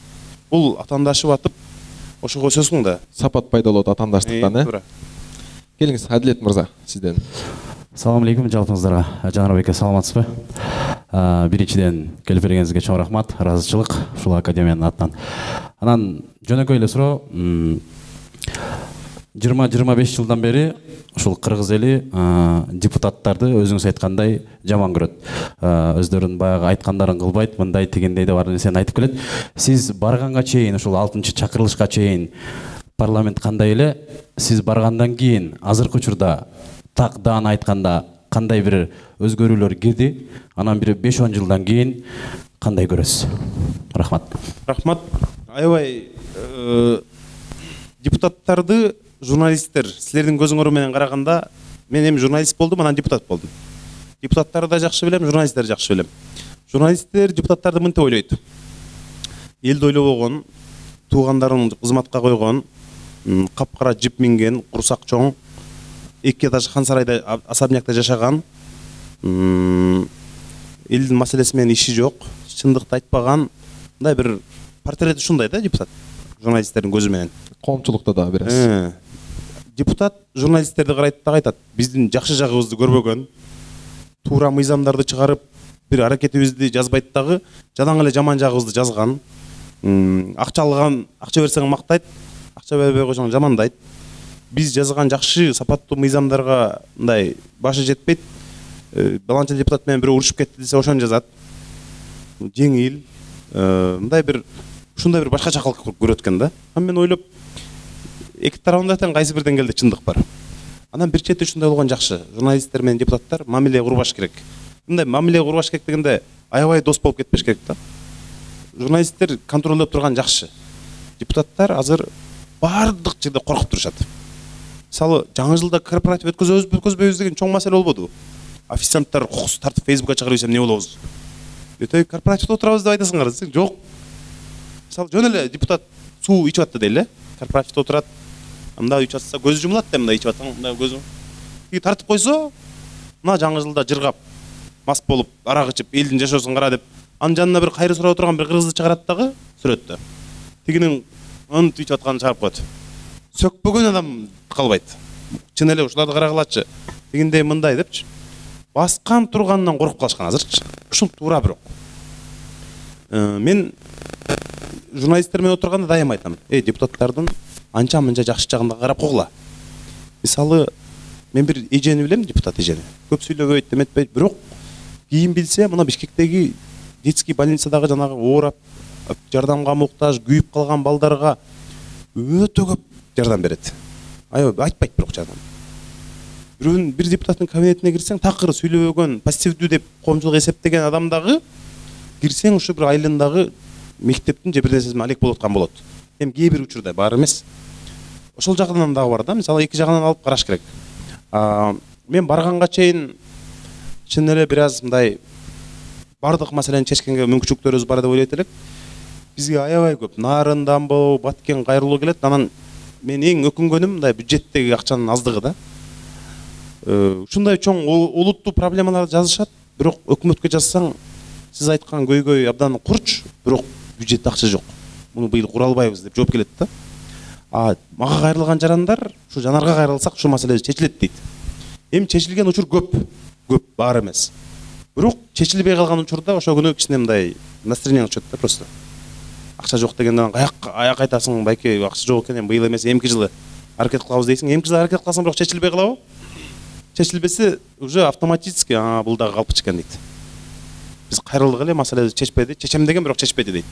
Бул атаандашып атып, ошого өсөсүң да. Сапат пайда болот атаандаштыктан, туура. Келиңиз, Адилет мырза, сизден. Салам алейкум жалпыңыздарга. Жанарбек саламатсызбы? Биринчиден келип бергениңизге чоң рахмат, ыраазычылык ушул академиянын атынан. Анан жөнөкөй эле суроо, 20-25 жылдан бери ушул кыргыз эли депутаттарды өзүңүз айткандай жаман көрөт. Өздөрүнүн баягы айткандарын кылбайт, мындай тигиндей деп бар нерсени айтып келет. Сиз барганга чейин, ушул 6-чакырылышка чейин парламент кандай эле? Сиз баргандан кийин азыркы учурда так даана айтканда кандай бир өзгөрүүлөр кирди? Анан бир 5-10 жылдан кийин кандай көрөсүз? Рахмат. Рахмат. Аябай депутаттарды журналисттер силердин көзүңөр менен караганда, мен эми журналист болдум, анан депутат болдум. Депутаттарды да жакшы билем, журналисттерди жакшы билем. Журналисттер депутаттарды мынтип ойлойт. Элди ойлобогон, туугандарын кызматка койгон, капкара жип минген, курсак чоң, 2 этаж хан сарайда особнякта жашаган, элдин маселеси менен иши жок, чындыкты айтпаган, мындай бир портрет ушундай да депутат. Журналисттердин көзү менен. Коомчулукта да бересиз. Депутат журналисттерди карайт да айтат, биздин жакшы жагыбызды көрбөгөн, туура мыйзамдарды чыгарып, бир аракетибизди жазбайт дагы, жадаң эле жаман жагыбызды жазган. Акча алган, акча берсең мактайт, акча бербей койсоң жамандайт. Биз жазган жакшы сапаттуу мыйзамдарга мындай башы жетпейт. Баланча депутат менен бирөө урушуп кетти десе ошону жазат. Жеңил, мындай бир ушундай бир башкачакылык көрөт экен да. Мен ойлоп, эки тарабында тең кайсы бир деңгээлде чындык бар. Анан бир чети ушундай болгон жакшы. Журналисттер менен депутаттар мамиле курбаш керек. Мындай мамиле курбаш керек дегенде аябай дос болуп кетпеш керек да. Журналисттер контролдоп турган жакшы. Депутаттар азыр бардык жерде коркуп турушат. Мисалы, жаңы жылда корпоратив өткөзбөйбүз деген чоң маселе болбоду. Официанттар кокус тартып Facebookка чыгарып ийсем эмне болобуз? Өтөй корпоративде отурабыз деп айтасыңар десең, жок. Мисалы, жөн эле депутат суу ичип атты дейли, корпоративде отурат. Мында ичип атса көзү жумулат да, мында ичип атсаң, мында көзү. Тартып койсо, мына жаңы жылда жыргап, мас болуп, арак ичип, элдин жашоосун кара деп, анын жанына бир кайры сурап отурган бир кыргызды чыгарат дагы сүрөттө. Тигинин ынтып ичип атканын чыгарып коет. Сөкпөгөн адам калбайт. Чын эле ушуларды карагылачы. Тигиндей мындай депчи. Баскан тургандан коркуп калышкан азырчы. Ушул туура бирок. Мен журналисттер менен отурганда дайым айтам. Депутаттардын анча-мынча жакшы жагына карап койгула. Мисалы, мен бир эжени билем, депутат эжени. Көп сүйлөбөйт, эметпейт, бирок кийин билсе, мына Бишкектеги детский больницадагы жанагы оорап, жардамга муктаж, күйүп калган балдарга өтө көп жардам берет. Айтпайт бирок жардам. Бир депутаттын кабинетине кирсең, такыр сүйлөбөгөн, пассивдүү деп коомчулук эсептеген адам дагы кирсең, ушу бир айылындагы мектептин же бир нерсесин алек болуп аткан болот. Эми кээ бир учурда бар эмес. Ошол жагынан дагы бар да, мисалы эки жагынан алып караш керек. Мен барганга чейин чын эле бир аз мындай бардык маселени чечкенге мүмкүнчүлүктөрүбүз бар деп ойлойт элек. бизге аябай көп Нарын, болобу, Баткен, Кайрылуу келет. Анан мен эң өкүнгөнүм мындай бюджеттеги акчанын аздыгы да. Ушундай чоң олуттуу проблемаларды жазышат, бирок өкмөткө жазсаң, сиз айткан көйгөй абдан курч, бирок бюджетте акча жок. Муну быйыл кура албайбыз деп жооп келет да. Мага кайрылган жарандар, ушу Жанарга кайрылсак, ушул маселе чечилет дейт. Эми чечилген учур көп бар эмес. Бирок чечилбей калган учурда ошо күнү кичине мындай настроение чөт да просто. Акча жок дегенден аяк айтасың, байке акча жок экен, эми быйыл эмес, эмки жылы аракет кылабыз дейсиң. Эмки жылы аракет кылсаң, бирок чечилбей калабы? Чечилбесе, уже автоматически бул дагы калпчы экен дейт. Биз кайрылдык эле, маселени чечпеди, чечем деген бирок чечпеди дейт.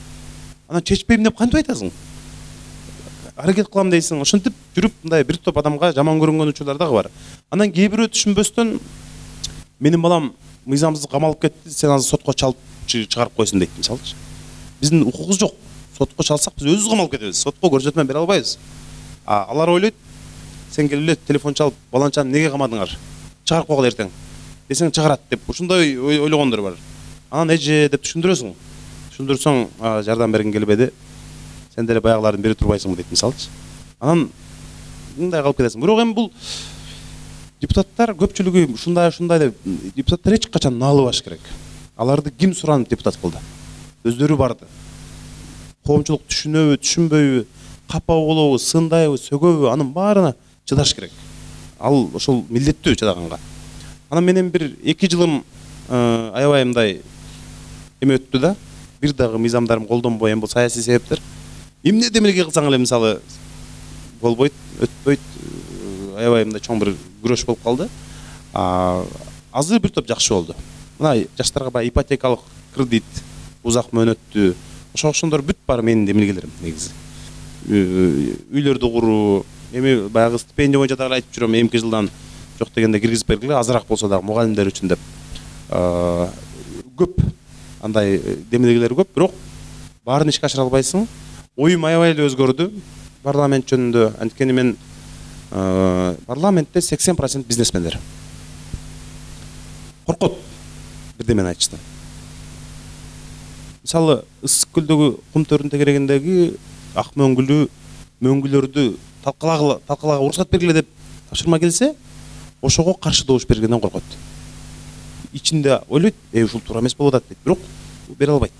Анан чечпейм деп кантип айтасың? Аракет кылам дейсиң, ошентип жүрүп мындай бир топ адамга жаман көрүнгөн учурлар дагы бар. Анан кээ бирөө түшүнбөстөн менин балам мыйзамсыз камалып кетти, сен азыр сотко чалып чыгарып койсуң дейт, мисалчы. Биздин укугубуз жок. Сотко чалсак биз өзүбүз камалып кетебиз. Сотко көрсөтмө бере албайбыз. Алар ойлойт, сен келип эле телефон чалып, баланчаны неге камадыңар? Чыгарып койгула эртең. Десең чыгарат деп. Ушундай ойлогондор бар. Анан эже деп түшүндүрөсүң. Түшүндүрсөң, жардам бергин келбеди. Сен деле баягылардын бири турбайсыңбы дейт, мисалчы. Анан мындай калып кетесиң. Бирок эми бул депутаттар көпчүлүгү ушундай деп, депутаттар эч качан наалыбаш керек. Аларды ким суранып депутат кылды? Өздөрү барды. Коомчулук түшүнөбү, түшүнбөйбү, капа болобу, сындайбы, сөгөбү, анын баарына чыдаш керек. Ал ошол милдеттүү чыдаганга. Анан менен бир 2 жылым аябай мындай эме өттү да. Бир дагы мыйзамдарым колдонбой, эми бул саясий себептер. Эмне демелге кылсаң эле мисалы болбойт, өтпөйт, аябай мындай чоң бир күрөш болуп калды. Азыр бир топ жакшы болду. Мына жаштарга баягы ипотекалык кредит, узак мөөнөттүү, ошондор бүт бар менин демилгелерим негизи. Үйлөрдү куруу, эми баягы стипендия боюнча дагы айтып жүрөм, эмки жылдан жок дегенде киргизип бергиле, азыраак болсо дагы мугалимдер үчүн деп. Көп андай демилгелер көп, бирок баарын ишке ашыра албайсың. Оюм аябай эле өзгөрдү парламент жөнүндө. Анткени мен парламентте 80% бизнесмендер. Коркот бирдемени айтышты. Мисалы, Ысык көлдөгү кум төрүнүн тегерегиндеги ак мөңгүлөрдү талкалаага уруксат бергиле деп тапшырма келсе, ошого каршы добуш бергенден коркот. Ичинде ойлойт, ушул туура эмес болуп атат дейт, бирок бере албайт.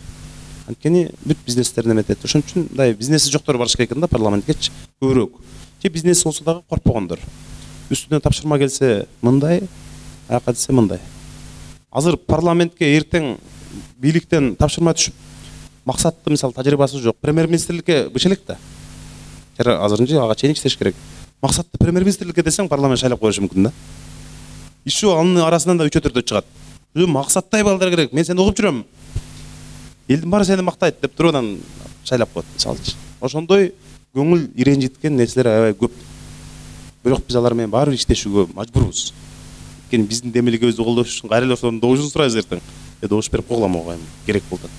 Анткени бүт бизнестерин эметет. Ошон үчүн мындай бизнеси жоктор барыш керек экен да парламенткечи көбүрөөк. Же бизнес болсо дагы коркпогондор. Үстүнөн тапшырма келсе мындай, аяка десе мындай. Азыр парламентке эртең бийликтен тапшырма түшүп, максатты мисалы тажрыйбасы жок премьер-министрликке быш элек да. Азырынча ага чейин иштеш керек. Максатты премьер-министрликке десең парламент шайлап коюшу мүмкүн да. Иши анын арасынан да 3-4 чыгат. Максаттай балдар керек. Мен сени угуп жүрөм. Элдин баары сени мактайт деп туруп анан шайлап коет, мисалчы. Ошондой көңүл иренжиткен нерселер аябай көп. Бирок биз алар менен баары иштешүүгө мажбурбуз. Анткени биздин демилгебизди колдош үчүн кайра эле ошонун добушун сурайбыз эртең. Добуш берип койгула мага керек болот.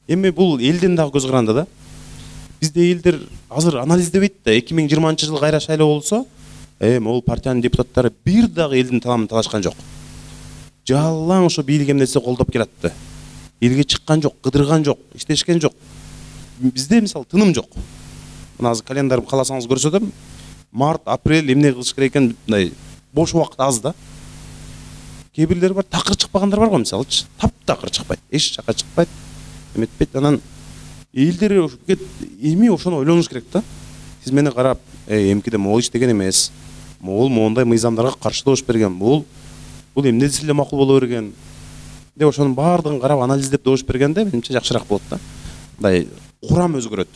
Эми бул элдин дагы көз каранды да. Бизде элдер азыр анализдебейт да. 2020-жылы кайра шайлоо болсо, могул партиянын депутаттары бир дагы элдин таламын талашкан жок. Жалаң ошо бийлик эмнесе колдоп келатты. Элге чыккан жок, кыдырган жок, иштешкен жок. Бизде мисалы тыным жок. Мына азыр календарым кааласаңыз көрсөтөм. Март, апрель эмне кылыш керек экен, мындай бош убакыт аз да. Кээ бирлери бар, такыр чыкпагандар бар го мисалчы. Таптакыр чыкпайт, эч жака чыкпайт, эметпейт. Анан элдер эми ошону ойлонуш керек да. Сиз мени карап, эмкиде могул иштеген эмес. Могул моундай мыйзамдарга каршы добуш берген. Бул эмне десе эле макул боло берген. Деп ошонун баардыгын карап анализдеп добуш бергенде менимче жакшыраак болот да. Мындай курам өзгөрөт.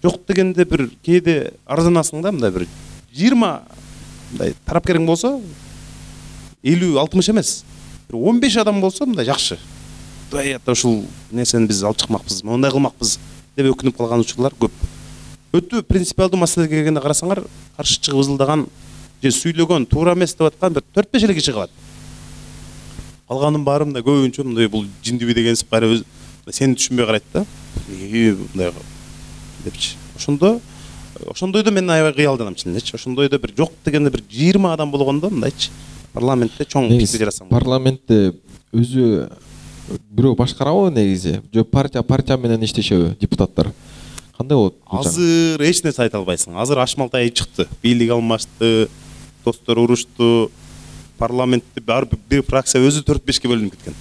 Жок дегенде бир кээде арзанасың да, мындай бир 20 мындай тарапкериң болсо 50-60 эмес. Бир 15 адам болсо мындай жакшы. Даята ушул нерсени биз алып чыкмакпыз, мондай кылмакпыз деп өкүнүп калган учурлар көп. Өтө принципиалдуу маселеге келгенде карасаңар, каршы чыгып ызылдаган же сүйлөгөн туура эмес деп аткан бир 4-5 эле киши калат. Калганын баары мындай көбүнчө мындай бул жиндиби дегенсип кайра өз сени түшүнбөй карайт да. Мындай депчи. Ошондойдо мен аябай кыялданам чынчы. Ошондойдо бир жок дегенде бир 20 адам болгондо мындайчы парламентте чоң пикир жарасаң. Парламентте өзү бирөө башкарабы негизи же партия менен иштешеби депутаттар? Кандай болот? Азыр эч нерсе айта албайсың. Азыр Ашмалтай чыкты, бийлик алмашты, достор урушту, парламентте бир фракция өзү 4-5ке бөлүнүп кеткен.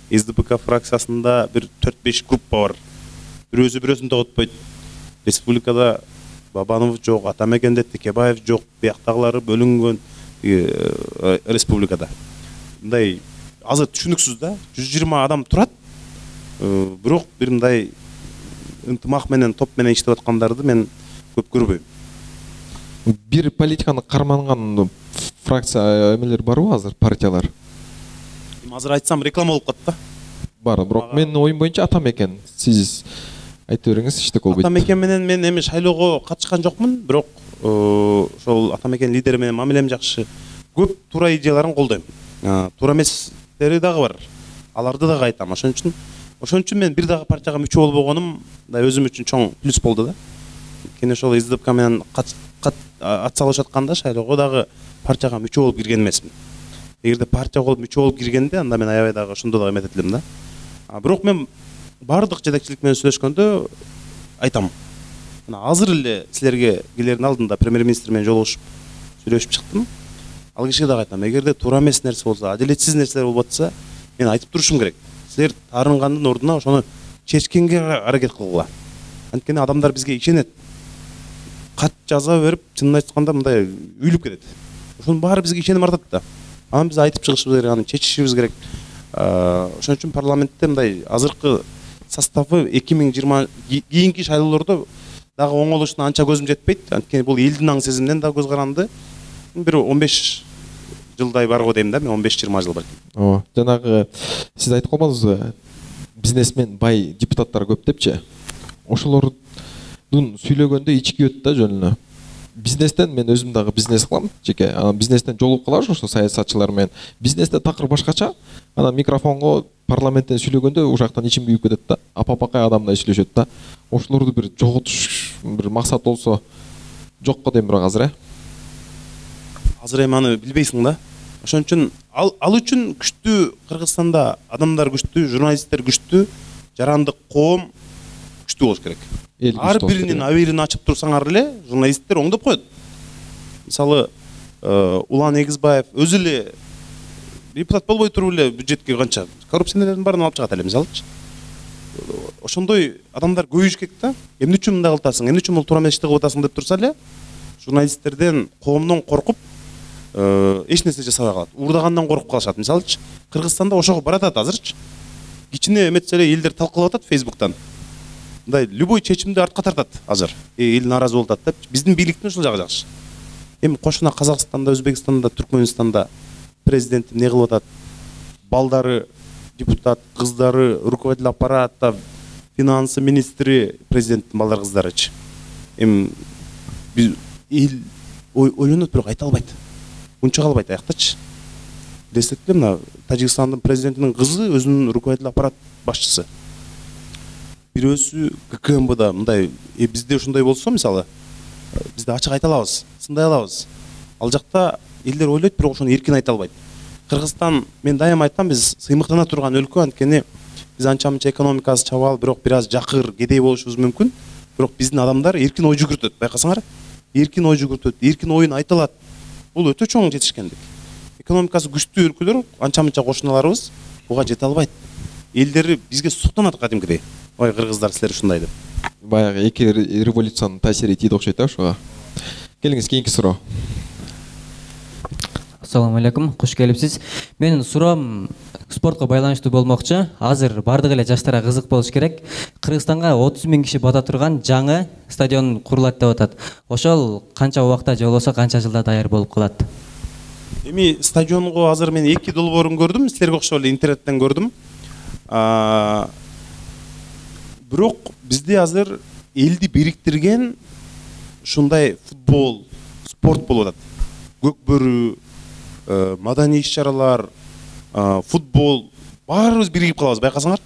СДПК фракциясында бир 4-5 группа бар. Бирөөсү бирөөсүн тоготпойт. Республикада Бабанов жок, Атамекенде Текебаев жок, бияктагылары бөлүнгөн республикада. Мындай азыр түшүнүксүз да. 120 адам турат. Бирок бир мындай ынтымак менен, топ менен иштеп аткандарды мен көп көрбөйм. Бир политиканы карманган фракция эмелер барбы азыр, партиялар? Азыр айтсам реклама болуп калат да. Бар, бирок менин оюм боюнча Атамекен. Сиз айта бериңиз, иштек болбойт. Атамекен менен мен эми шайлоого катышкан жокмун, бирок ошол Атамекен лидери менен мамилем жакшы. Көп туура идеяларын колдойм. Туура эместери дагы бар. Аларды дагы айтам. Ошон үчүн мен бир дагы партияга мүчө болбогонум да өзүм үчүн чоң плюс болду да. Кene ошол СДПК менен ат салышып атканда шайлоого дагы партияга мүчө болуп кирген эмесмин. Эгерде партия болуп мүчө болуп киргенде, анда мен аябай дагы ошондо дагы эметет элем да. Бирок мен бардык жетекчилик менен сүйлөшкөндө айтам. Мына азыр эле силерге келердин алдында премьер-министр менен жолугушуп сүйлөшүп чыктым. Ал кишиге дагы айтам, эгерде туура эмес нерсе болсо, адилетсиз нерселер болуп атса, мен айтып турушум керек. Силер таарынгандын ордуна ошону чечкенге аракет кылгыла. Анткени адамдар бизге ишенет. Кат жаза берип, чынын айтканда мындай үйлүп кетет. Ошонун баары бизге ишеним артат да. Аны биз айтып чыгышыбыз керек, аны чечишибиз керек. Ошон үчүн парламентте мындай азыркы составы 2020 кийинки шайлоолордо дагы оңолушуна анча көзүм жетпейт. Анткени бул элдин аң сезиминен дагы көз каранды. Бир 15 жылдай барго дейм да, мен 15-20 жыл балким. Жанагы сиз айтып калбадыңызбы? Бизнесмен, бай депутаттар көп депчи. Ошолордун сүйлөгөндө ичи күйөт да жөн эле. Бизнестен мен өзүм дагы бизнес кылам, жеке. Бизнестен жолугуп калабыз ошо саясатчылар менен. Бизнесте такыр башкача. Анан микрофонго парламенттен сүйлөгөндө ушактан ичим күйүп кетет да. Апа-апакай адамдай сүйлөшөт да. Ошолорду бир жоготуш бир максат болсо жокко дейм бирок азыр. Азыр эми аны билбейсиң да. Ошон үчүн ал үчүн күчтүү Кыргызстанда адамдар күчтүү, журналисттер күчтүү, жарандык коом күчтүү болуш керек. Ар биринин абийирин ачып турсаңар эле журналисттер оңдоп коет. Мисалы, Улан Эгизбаев өзү эле депутат болбой туруп эле бюджетке канча коррупциялардын баарын алып чыгат эле, мисалычы. Ошондой адамдар көбөйүш керек да. Эмне үчүн мындай кылтасың, эмне үчүн бул туура эмес ишти кылып атасың деп турса эле, журналисттерден, коомдон коркуп эч нерсе жасабай калат. Уурдагандан коркуп калышат, мисалычы. Кыргызстанда ошого баратат азырчы. Кичине эметсе эле элдер талкуулап атат Facebook'тан. Мындай любой чечимди артка тартат азыр. Эл наразы болуп атат деп. Биздин бийликтин ушул жагы жакшы. Эми кошуна Казакстанда, Өзбекстанда, Түркмөнстанда президент эмне кылып атат? Балдары депутат, кыздары руководитель аппарата, финансы министри президенттин балдар кыздарычы. Эми биз эл ойлонот, бирок айта албайт. Унча калбайт аяктачы. Десек эле мына Тажикстандын президентинин кызы өзүнүн руководитель аппарат башчысы. Бирөөсү ККМБда мындай бизде ушундай болсо, мисалы, бизде ачык айта алабыз, сындай алабыз. Ал жакта элдер ойлойт, бирок ошону эркин айта албайт. Кыргызстан, мен дайым айтам, биз сыймыктана турган өлкө, анткени биз анча-мынча экономикасы чабал, бирок бир аз жакыр, кедей болушубуз мүмкүн. Бирок биздин адамдар эркин ой жүгүртөт, байкасаңар. Эркин ой жүгүртөт, эркин оюн айта алат. Бул өтө чоң жетишкендик. Экономикасы күчтүү өлкөлөр, анча-мынча кошуналарыбыз буга жете албайт. Элдери бизге суктанат кадимкидей. Ой, кыргыздар силер ушундай деп. Баягы эки революциянын таасири тийди окшойт да ошого. Келиңиз, кийинки суроо. Ассаламу алейкум, куш келипсиз. Менин суроом спортко байланыштуу болмокчу. Азыр бардык эле жаштарга кызык болуш керек. Кыргызстанга 30 000 киши бата турган жаңы стадион курулат деп атат. Ошол канча убакта же болбосо канча жылда даяр болуп калат? Эми стадионго азыр мен 2 долбоорун көрдүм, силерге окшоп эле интернеттен көрдүм. Бирок бизде азыр элди бириктирген ушундай футбол, спорт болуп атат. Көкбөрү, маданий иш-чаралар, футбол, баарыбыз биригип калабыз, байкасаңар.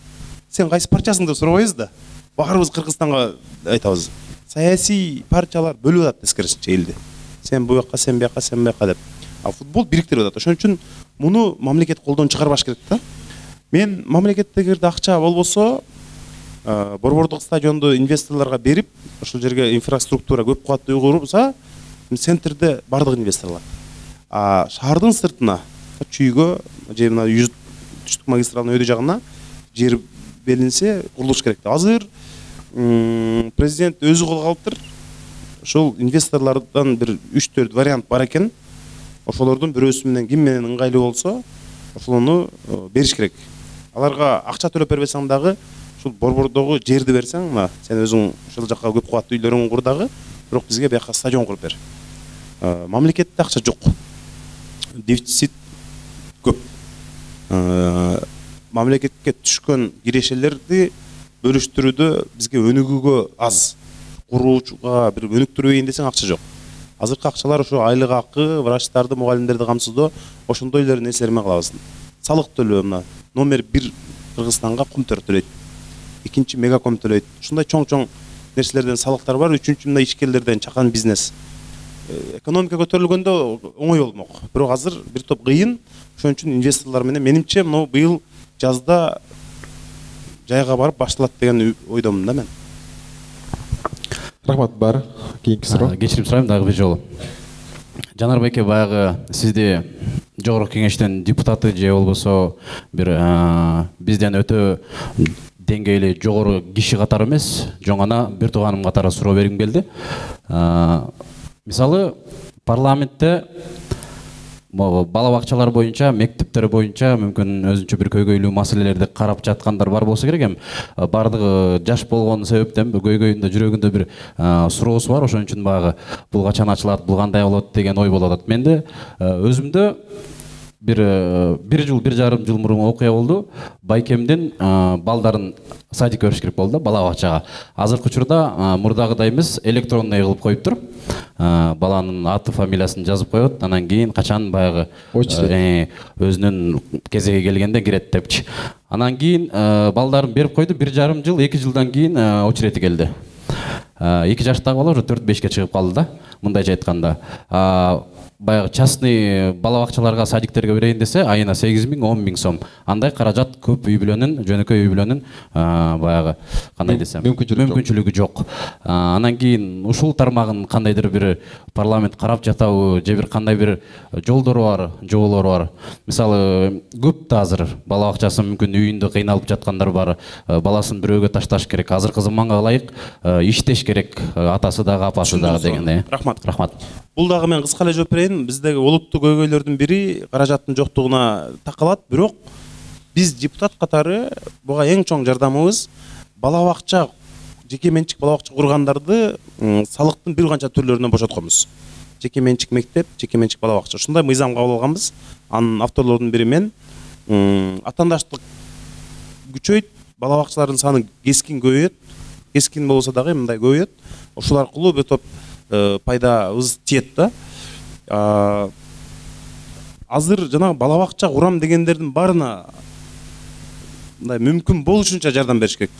Сен кайсы партиясың деп сурабайбыз да. Баарыбыз Кыргызстанга айтабыз. Саясий партиялар бөлүп атат тескерисинче элди. Сен бу жака, сен бияка, сен бияка деп. А футбол бириктирип атат. Ошон үчүн муну мамлекет колдон чыгарбаш керек да. Мен мамлекеттегирде акча болбосо борбордук стадионду инвесторлорго берип, ошол жерге инфраструктура көп кубаттуу курса, центрде бардык инвестор алат. А шаардын сыртына, чүйгө же мына түштүк магистралдын өйдө жагына жер белинсе курулуш керек. Азыр президент өзү колго алыптыр. Ошол инвесторлордон бир 3-4 вариант бар экен. Ошолордун бирөөсү менен ким менен ыңгайлуу болсо, ошону бериш керек. Аларга акча төлөп бербесең дагы, ушул борбордогу жерди берсең, мына сен өзүң ошол жакка көп кубаттуу үйлөрүңдү кур дагы, бирок бизге бияка стадион куруп бер. Мамлекетте акча жок. Дефицит көп. Мамлекетке түшкөн кирешелерди бөлүштүрүүдө бизге өнүгүүгө аз. Куруучуга бир өнүктүрөйүн десең акча жок. Азыркы акчалар ошо айлык акы, врачтарды, мугалимдерди камсыздоо, ошондой эле нерселер менен калабыз. Салык төлөө мына номер 1 Кыргызстанга Кумтөр төлөйт. Экинчи Мегаком төлөйт. Ушундай чоң-чоң нерселерден салыктар бар. Үчүнчү мына ишкерлерден чакан бизнес. Экономика көтөрүлгөндө оңой болмок. Бирок азыр бир топ кыйын. Ошон үчүн инвесторлор менен менимче мына быйыл жазда жайга барып башталат деген ойдомун да мен. Рахмат, бар. Кийинки суроо. Кечирим сурайм дагы бир жолу. Жанар байке, баягы сизди жогорку кеңештин депутаты же болбосо бир бизден өтө деңгээли жогору киши катары эмес, жөн гана бир тууганым катары суроо бергим келди. Мисалы, парламентте бала бакчалар боюнча, мектептер боюнча мүмкүн өзүнчө бир көйгөйлүү маселелерди карап жаткандар бар болсо керек эми. Бардыгы жаш болгон себептен көйгөйүндө, жүрөгүндө бир суроосу бар. Ошон үчүн баягы бул качан ачылат, бул кандай болот деген ой болуп атат. Менде өзүмдө бир жыл, 1,5 жыл мурун окуя болду. Байкемдин балдарын садикке бериш керек болду да, бала бакчага. Азыркы учурда мурдагыдай эмес, электронный кылып коюптур. Баланын аты, фамилиясын жазып коет, анан кийин качан баягы өзүнүн кезеги келгенде кирет депчи. Анан кийин балдарын берип койду, 1,5 жыл, 2 жылдан кийин очерети келди. 2 жаштагы бала уже 4-5ке чыгып калды да, мындайча айтканда. Баягы частный бала бакчаларга, садиктерге берейин десе, айына 8 000, 10 000 сом. Андай каражат көп үй бүлөнүн, жөнөкөй үй бүлөнүн баягы кандай десем, мүмкүнчүлүгү жок. Анан кийин ушул тармагын кандайдыр бир парламент карап жатабы, же бир кандай бир жолдору бар, жоболору бар. Мисалы, көп да азыр бала бакчасы мүмкүн үйүндө кыйналып жаткандар бар. Баласын бирөөгө ташташ керек. Азыркы заманга ылайык иштеш керек, атасы дагы, апасы дагы дегендей. Рахмат. Бул дагы мен кыска эле жооп берейин. Биздеги олуттуу көйгөйлөрдүн бири каражаттын жоктугуна такалат, бирок биз депутат катары буга эң чоң жардамыбыз бала бакча, жеке менчик бала бакча кургандарды салыктын бир канча түрлөрүнөн бошотконбуз. Жеке менчик мектеп, жеке менчик бала бакча. Ушундай мыйзам кабыл алганбыз. Анын авторлордун бири мен. Атаандаштык күчөйт, бала бакчалардын саны кескин көбөйөт. Кескин болсо дагы мындай көбөйөт. Ошол аркылуу бир топ пайдабыз тиет да. Азыр жанагы бала бакча курам дегендердин баарына мындай мүмкүн болушунча жардам бериш керек.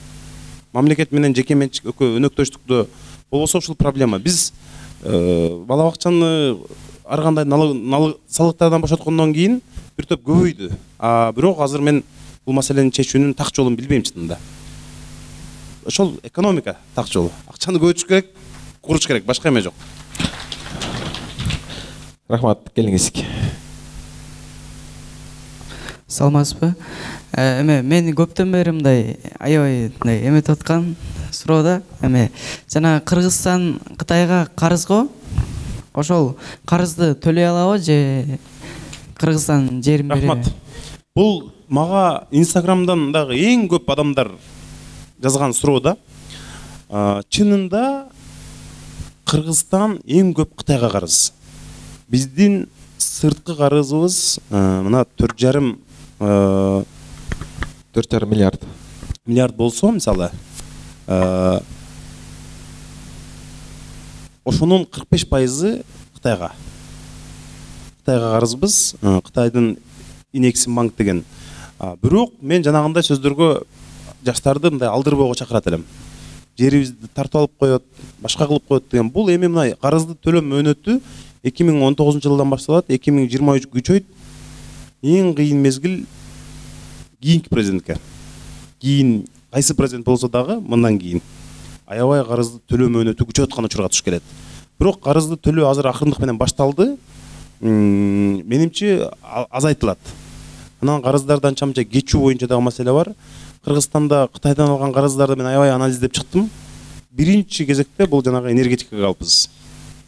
Мамлекет менен жеке менчик өнөктөштүктө болбосо ушул проблема. Биз бала бакчаны ар кандай салыктардан бошоткондон кийин бир топ көбөйдү. Бирок азыр мен бул маселени чечүүнүн так жолун билбейм чынында. Ошол экономика так жолу. Акчаны көбөйтүш керек, куруш керек, башка эме жок. Рахмат, келиңиз. Саламатсызбы? Мен көптөн бери мындай аябай мындай эметип аткан суроо жана Кыргызстан Кытайга карыз го. Ошол карызды төлөй алабы же Кыргызстан жерин береби? Рахмат. Бул мага Инстаграмдан дагы эң көп адамдар жазган суроо да. Чынында Кыргызстан эң көп Кытайга карыз. Биздин сырткы карызыбыз мына 4,5 миллиард болсо, мисалы, ошонун 45% Кытайга. Кытайга карызбыз, Кытайдын Инексимбанк деген. Бирок мен жанагындай сөздөргө жаштарды мындай алдырбоого чакырат элем. Жерибизди тартып алып коет, башка кылып коет деген. Бул эми мына карызды төлөм мөөнөтү 2019 жылдан башталат, 2023 күчөйт. Эң кыйын мезгил кийинки президентке кийин кайсы президент болсо дагы мындан кийин аябай карызды төлөө мөөнөтү күчөп аткан учурга туш келет. Бирок карызды төлөө азыр акырындык менен башталды. Менимче азайтылат. Анан карыздарды анча-мынча кечүү боюнча дагы маселе бар. Кыргызстанда Кытайдан алган карыздарды мен аябай анализдеп чыктым. Биринчи кезекте бул жанагы энергетикага алыпбыз.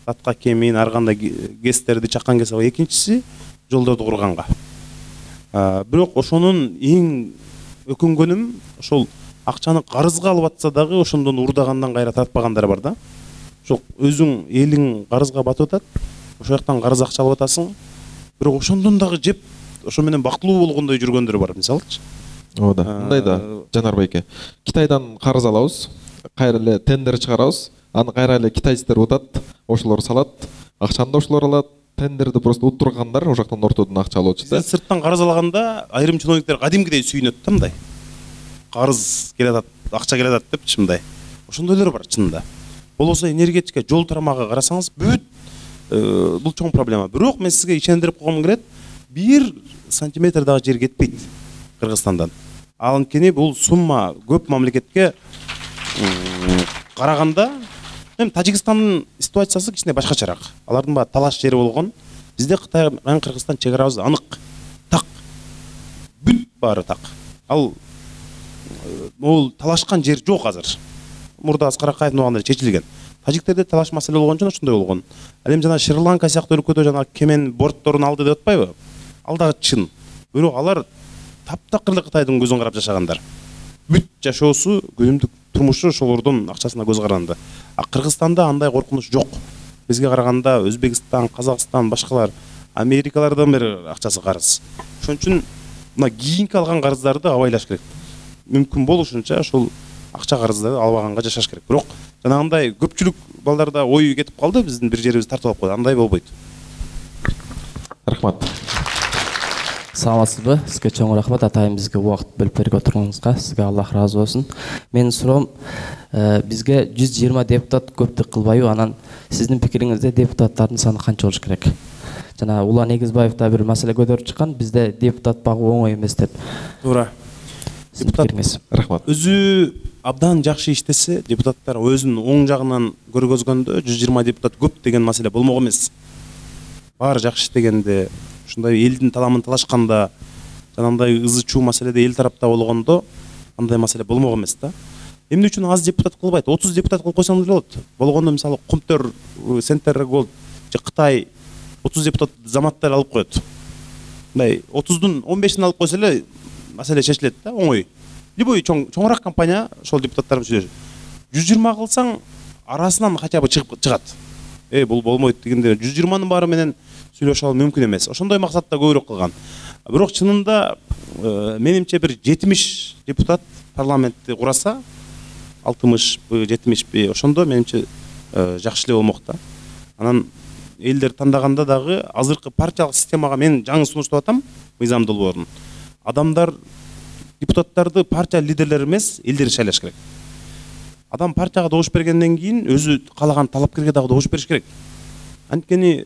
Татка кемин, ар кандай гэстерди чаккан кезде, экинчиси жолдорду курганга. Бирок ошонун эң өкүнгөнүм ошол акчаны карызга алып атса дагы ошондон урдагандан кайра тартпагандар бар да. Ошол өзүң элиң карызга батып атат, ошол жактан карыз акча алып атасың. Бирок ошондон дагы жеп, ошо менен бактылуу болгондой жүргөндөр бар, мисалычы. Ооба, мындай да, Жанар байке. Китайдан карыз алабыз, кайра эле тендер чыгарабыз, аны кайра эле китайцтер утат, ошолор салат, акчаны да ошолор алат. Тендерди просто уттургандар ошол жактан ортодон акча алып атышты. Сырттан карыз алганда айрым чиновниктер кадимкидей сүйүнөт да мындай. Карыз келатат, акча келатат деп чындай. Ошондойлор бар чынында. Болбосо энергетика, жол тарамагы карасаңыз бүт бул чоң проблема. Бирок мен сизге ишендирип койгум келет, 1 сантиметр дагы жер кетпейт Кыргызстандан. Анткени бул сумма көп мамлекетке караганда, эми Тажикстандын ситуациясы кичине башкачараак. Алардын баары талаш жери болгон. Бизде Кытай менен Кыргызстан чек арабыз анык. Так. Бүт баары так. Ал могул талашкан жер жок азыр. Мурда Аскар Акаевдин убагында чечилген. Тажиктерде талаш маселе болгон үчүн ошондой болгон. Ал эми жана Шри-Ланка сыяктуу өлкөдө жана кемен бортторун алды деп атпайбы? Ал дагы чын. Бирок алар таптакыр эле Кытайдын көзүн карап жашагандар. Бүт жашоосу, күнүмдүк турмушу ошолордун акчасына көз каранды. А Кыргызстанда андай коркунуч жок. Бизге караганда Өзбекстан, Казакстан, башкалар, Америкалардан бери акчасы карыз. Ошон үчүн мына кийинки алган карыздарды абайлаш керек. Мүмкүн болушунча ошол акча карыздарды албаганга жашаш керек. Бирок жанагындай көпчүлүк балдарда ою кетип калды, биздин бир жерибиз тартып алып койду. Андай болбойт. Рахмат. Саламатсызбы? Сизге чоң рахмат атайын бизге убакыт бөлүп берип отурганыңызга. Сизге Аллах ыраазы болсун. Менин суроом, бизге 120 депутат көптүк кылбайбы? Анан сиздин пикириңизде депутаттардын саны канча болуш керек? Жана Улан Эгизбаев да бир маселе көтөрүп чыккан, бизде депутат багуу оңой эмес деп. Туура. Депутат рахмат. Өзү абдан жакшы иштесе, депутаттар өзүнүн оң жагынан көргөзгөндө 120 депутат көп деген маселе болмок эмес. Баары жакшы иштегенде, ушундай элдин таламын талашканда, жанагындай ызы чуу маселеде эл тарапта болгондо андай маселе болмок эмес да. Эмне үчүн аз депутат кылбайт? 30 депутат кылып койсоңуз болот. Болгондо мисалы Кумтөр, Центр Голд же Кытай 30 депутат заматтар алып коет. Мындай 30дун 15-ин алып койсо эле маселе чечилет да, оңой. Любой чоңураак компания ошол депутаттар менен сүйлөшөт. 120 кылсаң арасынан хотя бы чыгат. Бул болмойт дегенде 120нын баары менен сүйлөшө алуу мүмкүн эмес. Ошондой максатта көбүрөөк кылган. Бирок чынында менимче бир 70 депутат парламентти кураса, 60 70 ошондо менимче жакшы эле болмок да. Анан элдер тандаганда дагы азыркы партиялык системага мен жаңы сунуштап атам, мыйзам долбоорун. Адамдар депутаттарды партия лидерлери эмес, элдер шайлаш керек. Адам партияга добуш бергенден кийин өзү каалаган талапкерге дагы добуш бериш керек. Анткени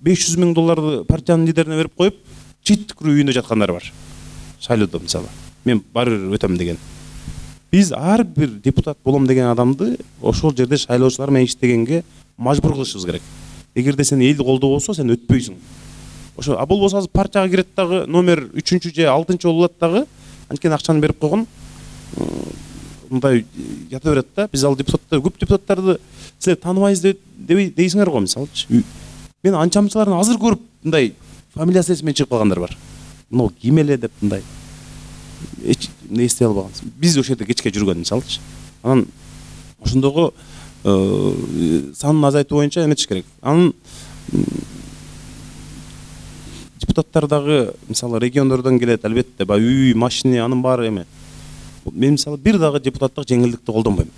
$500 000 партиянын лидерине берип коюп, четтикүрүү үйүндө жаткандар бар. Шайлоодо мисалы. Мен баары өтөм деген. Биз ар бир депутат болом деген адамды ошол жерде шайлоочулар менен иштегенге мажбур кылышыбыз керек. Эгерде сен эл колдобосо, сен өтпөйсүң. Ошо а болбосо азыр партияга кирет дагы номер 3-чү же 6-чы болот дагы, анткени акчаны берип койгон. Мындай ята берет да. Биз ал депутаттар, көп депутаттарды силер тааныбайсыз дейсиңер го мисалычы. Мен анча-мынчаларын азыр көрүп, мындай фамилиясы эсиме чыгып калгандар бар. Мына ким эле деп мындай эстей албаган. Биз ошол жерде кечке жүргөн мисалычы. Анан ошондогу санын азайтуу боюнча эметиш керек. Анан депутаттар дагы мисалы региондордон келет, албетте, үй, машина, анын баары эме. Мен мисалы бир дагы депутаттык жеңилдикти колдонбойм.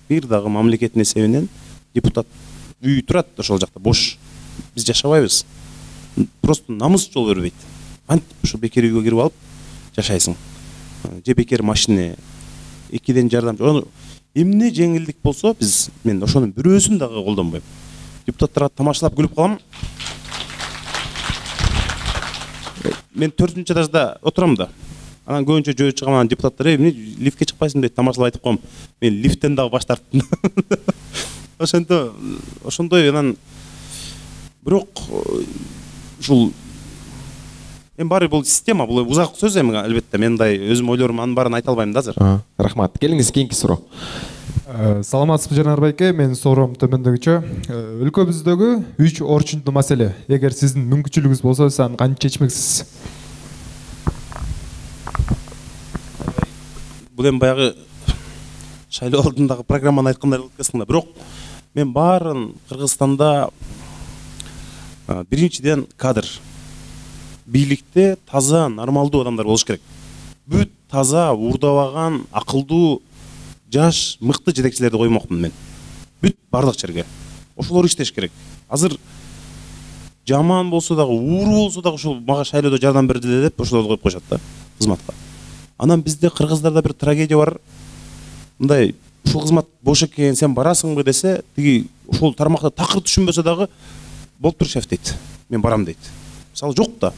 Бир дагы мамлекеттин эсебинен депутат үй турат ошол жакта бош. Биз жашабайбыз. Просто намыс жол бербейт. Антип ошо бекер үйгө кирип алып жашайсың. Же бекер машина, экиден жардамчы. Эмне жеңилдик болсо, мен ошонун бирөөсүн дагы колдонбойм. Депутаттарга тамашалап күлүп калам. Мен 4-этажда отурам да. Анан көбүнчө жөө чыгам, анан депутаттар эмне лифтке чыкпайсың дейт, тамашалап айтып коем. Мен лифттен дагы баш тарттым. Ошондой анан бирок ушул эми баары бул система, бул узак сөз эми албетте. Мен мындай өзүм ойлорум, анын баарын айта албайм да азыр. Рахмат. Келиңиз кийинки суроо. Саламатсызбы Жанарбайке, менин суроом төмөндөгүчө. Өлкөбүздөгү 3 орчундуу маселе. Эгер сиздин мүмкүнчүлүгүңүз болсо, сиз аны кантип чечмексиз? Бул эми баягы шайлоо алдындагы программаны айткандай болуп кетсиң да. Бирок мен баарын Кыргызстанда биринчиден кадр, бийликте таза, нормалдуу адамдар болуш керек. Бүт таза, уурдабаган, акылдуу, жаш, мыкты жетекчилерди коймокмун мен. Бүт бардык жерге. Ошолор иштеш керек. Азыр жаман болсо дагы, ууру болсо дагы ушул мага шайлоодо жардам бердиле деп ошолорду коюп коюшат да кызматка. Анан бизде Кыргыздарда бир трагедия бар. Мындай, ушул кызмат бош экен, сен барасыңбы десе, тиги ушул тармакта такыр түшүнбөсө дагы болуп тур шеф дейт. Мен барам дейт. Мисалы жок да.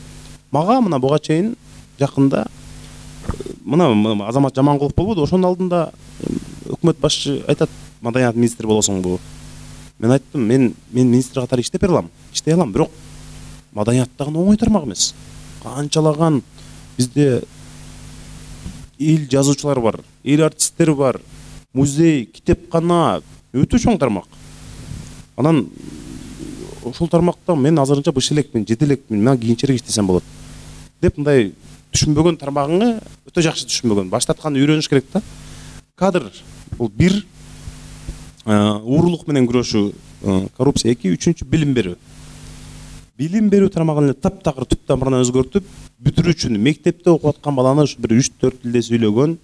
Мага мына буга чейин жакында мына Азамат Жаманкулов болбоду, ошонун алдында өкмөт башчы айтат, маданият министри болосуңбу? Мен айттым, мен министр катары иштеп бере алам, иштей алам, бирок маданияттагы оңой тармак эмес. Канчалаган бизде эл жазуучулар бар, эл артисттер бар, музей, китепкана, өтө чоң тармак. Анан ошол тармакта мен азырынча быш элекмин, жете элекмин, мен кийинчерээк иштесем болот деп мындай түшүнбөгөн тармагыңы өтө жакшы түшүнбөгөн. Баштаткан үйрөнүш керек да. Кадр бул бир, уурулук менен күрөшүү, коррупция 2, үчүнчү билим берүү. Билим берүү тармагын таптакыр түп тамырынан өзгөртүп, бүтүрүүчүнү мектепте окуп аткан баланы ушу бир 3-4 тилде сүйлөгөн,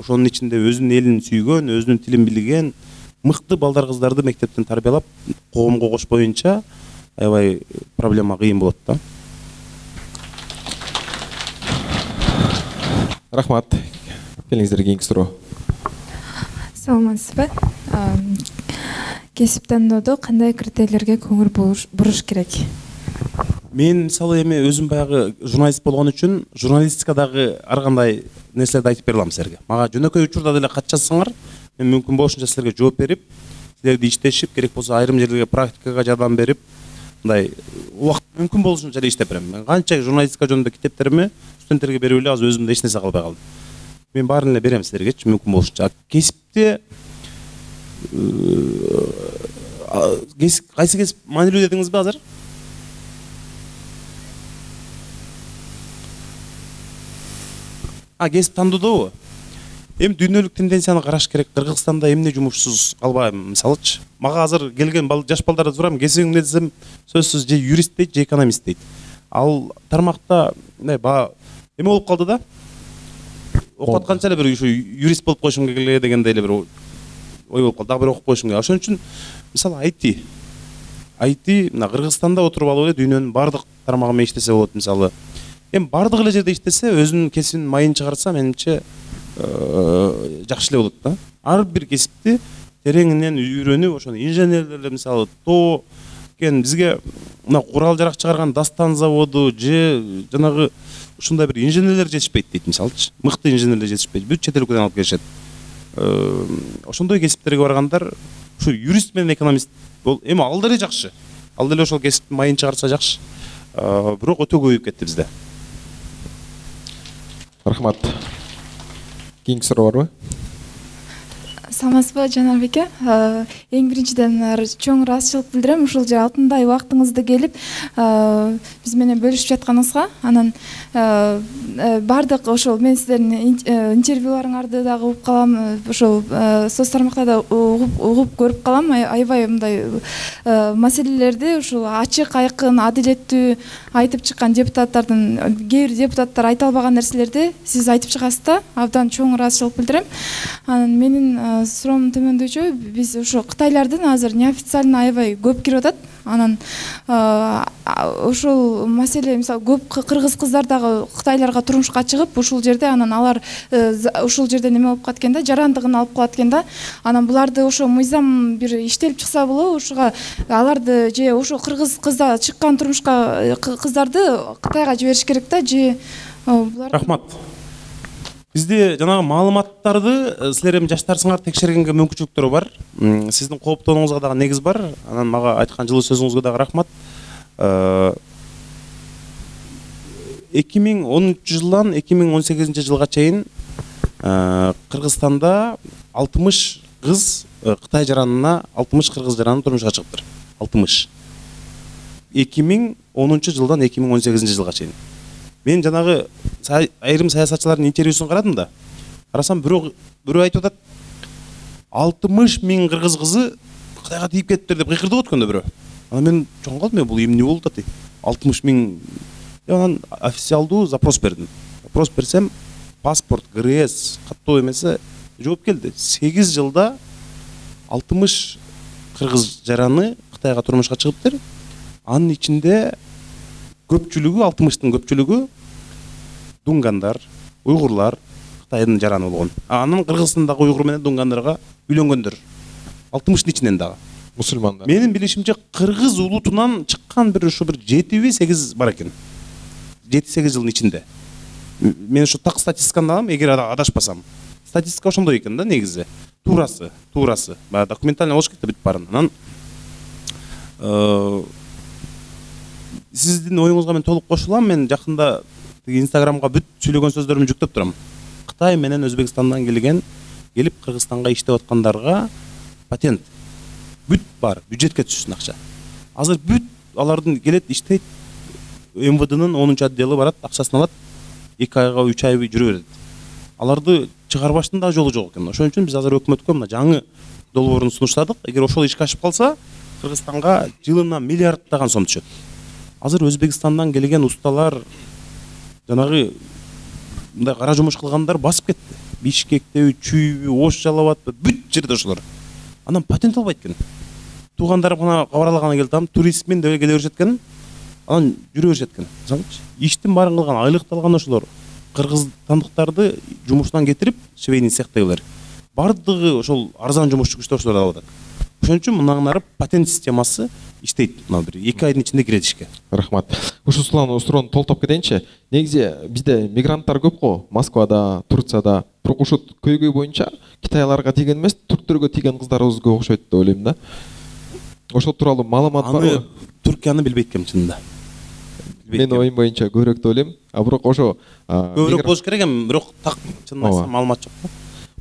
ошонун ичинде өзүнүн элин сүйгөн, өзүнүн тилин билген мыкты балдар кыздарды мектептен тарбиялап, коомго кошпоюнча аябай проблема кыйын болот да. Рахмат. Келиңиздер кийинки суроо. Саламатсызбы? Кесип тандоодо кандай критерийлерге көңүл буруш керек? Мен мисалы эми өзүм баягы журналист болгон үчүн журналистикадагы ар кандай нерселерди айтып бере алам силерге. Мага жөнөкөй учурда деле кат жазсаңар, мен мүмкүн болушунча силерге жооп берип, силерди иштешип, керек болсо айрым жерлерге практикага жардам берип, мындай убакыт мүмкүн болушунча эле иштеп берем. Мен канча журналистика жөнүндө китептеримди студенттерге берип эле азыр өзүмдө эч нерсе калбай калды. Мен баарын эле берем силергечи мүмкүн болушунча. Кесипте кайсы кесип маанилүү дедиңизби азыр? Кесип тандоодобу? Эми дүйнөлүк тенденцияны караш керек. Кыргызстанда эмне жумушсуз калбайм, мисалычы. Мага азыр келген жаш балдардан сурам, кесибиң эмне десем, сөзсүз же юрист дейт, же экономист дейт. Ал тармакта эме болуп калды да. Окуп атканча эле бир ушу юрист болуп койушум керек дегендей эле бир ой болуп калды. Дагы бир окуп коюшум керек. Ошон үчүн мисалы IT мына Кыргызстанда отуруп алып эле дүйнөнүн бардык тармагы менен иштесе болот мисалы. Эми бардык эле жерде иштесе, өзүнүн кесибинин майын чыгарса, менимче жакшы эле болот да. Ар бир кесипти тереңинен үйрөнүп, ошону инженерлер мисалы тоо бизге мына курал жарак чыгарган Дастан заводу же жанагы ушундай бир инженерлер жетишпейт дейт мисалычы. Мыкты инженерлер жетишпейт. Бүт чет өлкөдөн алып келишет. Ошондой кесиптерге баргандар ушу юрист менен экономист эми ал деле жакшы. Ал деле ошол кесиптин майын чыгарса жакшы. Бирок өтө көбөйүп кетти бизде. Рахмат. Кийинки суроо барбы? Саламатсызбы Жанарбеке? Эң биринчиден чоң ыраазычылык билдирем ушул же алтындай убактыңызды келип биз менен бөлүшүп жатканыңызга. Анан бардык ошол мен сиздердин интервьюларыңарды дагы угуп калам, ошол соц тармактарда угуп көрүп калам. Аябай мындай маселелерди ушул ачык, айкын, адилеттүү айтып чыккан депутаттардын, кээ бир депутаттар айта албаган нерселерди сиз айтып чыгасыз да. Абдан чоң ыраазычылык билдирем. Анан менин суроом төмөндөчү, биз ошо кытайлардын азыр неофициально аябай көп кирип атат. Анан ошол маселе мисалы көп кыргыз кыздар дагы кытайларга турмушка чыгып, ушул жерде анан алар ушул жерде неме болуп калат экен да, жарандыгын алып калат экен да. Анан буларды ошо мыйзам бир иштелип чыкса болобу, ушуга аларды же ошо кыргыз кыздар чыккан турмушка кыздарды Кытайга жибериш керек да, же булар. Рахмат. Бизде жанагы маалыматтарды силер эми жаштарсыңар текшергенге мүмкүнчүлүктөр бар. Сиздин кооптонуңузга дагы негиз бар. Анан мага айткан жылуу сөзүңүзгө дагы рахмат. 2010 жылдан 2018 жылга чейин Кыргызстанда 60 кыз Кытай жаранына 60 кыргыз жараны турмушка чыгыптыр. 60. 2010 жылдан 2018 жылга чейин. Мен жанагы айрым саясатчылардын интервьюсун карадым да. Карасам бирөө айтып атат 60 миң кыргыз кызы Кытайга тийип кетиптир деп кыйкырдып өткөндө бирөө. Анан мен чоң калдым, бул эмне болуп атат? 60 миң. Анан официалдуу запрос бердим. Запрос берсем, паспорт, ГРС каттоо эмесе жооп келди. 8 жылда 60 кыргыз жараны Кытайга турмушка чыгыптыр. Анын ичинде көпчүлүгү, 60тын көпчүлүгү дунгандар, уйгурлар, Кытайдын жараны болгон. Анан Кыргызстандагы уйгур менен дунгандарга үйлөнгөндөр. 60тын ичинен дагы мусулмандар. Менин билишимче кыргыз улутунан чыккан бир 7-8 бар экен. 7-8 жылдын ичинде. Мен ушу так статистиканы алам, эгер адашпасам. Статистика ошондой экен да негизи. Туурасы. Баягы документально болуш керек да бүт баарын. Анан сиздин оюңузга мен толук кошулам. Мен жакында Инстаграмга бүт сүйлөгөн сөздөрүмдү жүктөп турам. Кытай менен Өзбекстандан келип Кыргызстанга иштеп аткандарга патент бүт бар, бюджетке түшсүн акча. Азыр бүт алардын келет иштейт, МВДнын 10 отделы барат, акчасын алат, 2 айга 3 ай жүрө берет. Аларды чыгарбаштын да жолу жок экен. Ошон үчүн биз азыр өкмөткө мына жаңы долбоорун сунуштадык. Эгер ошол ишке ашып калса, Кыргызстанга жылына миллиарддаган сом түшөт. Азыр Өзбекстандан келген усталар жанагы мындай кара жумуш кылгандар басып кетти. Бишкектеби, Чүйбү, Ош Жалалабадпы, бүт жерде ошолор. Анан патент албайт экен. Туугандар мына кабарлаганы келдим, туризммен деле келе беришет экен. Анан жүрө беришет экен. Иштин баарын кылган, айлыкты алган ошолор. Кыргызстандыктарды жумушунан кетирип, швейный цехтегилер. Бардыгы ошол арзан жумушчу күчтөр алып атат. Ошон үчүн мындан ары патент системасы иштейт. Мына бир 2 айдын ичинде кирет ишке. Рахмат. Ушу суроону толтоп кетейинчи. Негизи бизде мигранттар көп го. Москвада, Турцияда. Бирок ушу көйгөй боюнча Кытайларга тийген эмес, түрктөргө тийген кыздарыбыз көп окшойт деп ойлойм да. Ошол тууралуу маалымат барбы? Түркияны билбейт экенм чынында. Мен оюм боюнча көбүрөөк деп ойлойм. Бирок ошо көбүрөөк болуш керек эми, бирок так чынын айтсам маалымат жок.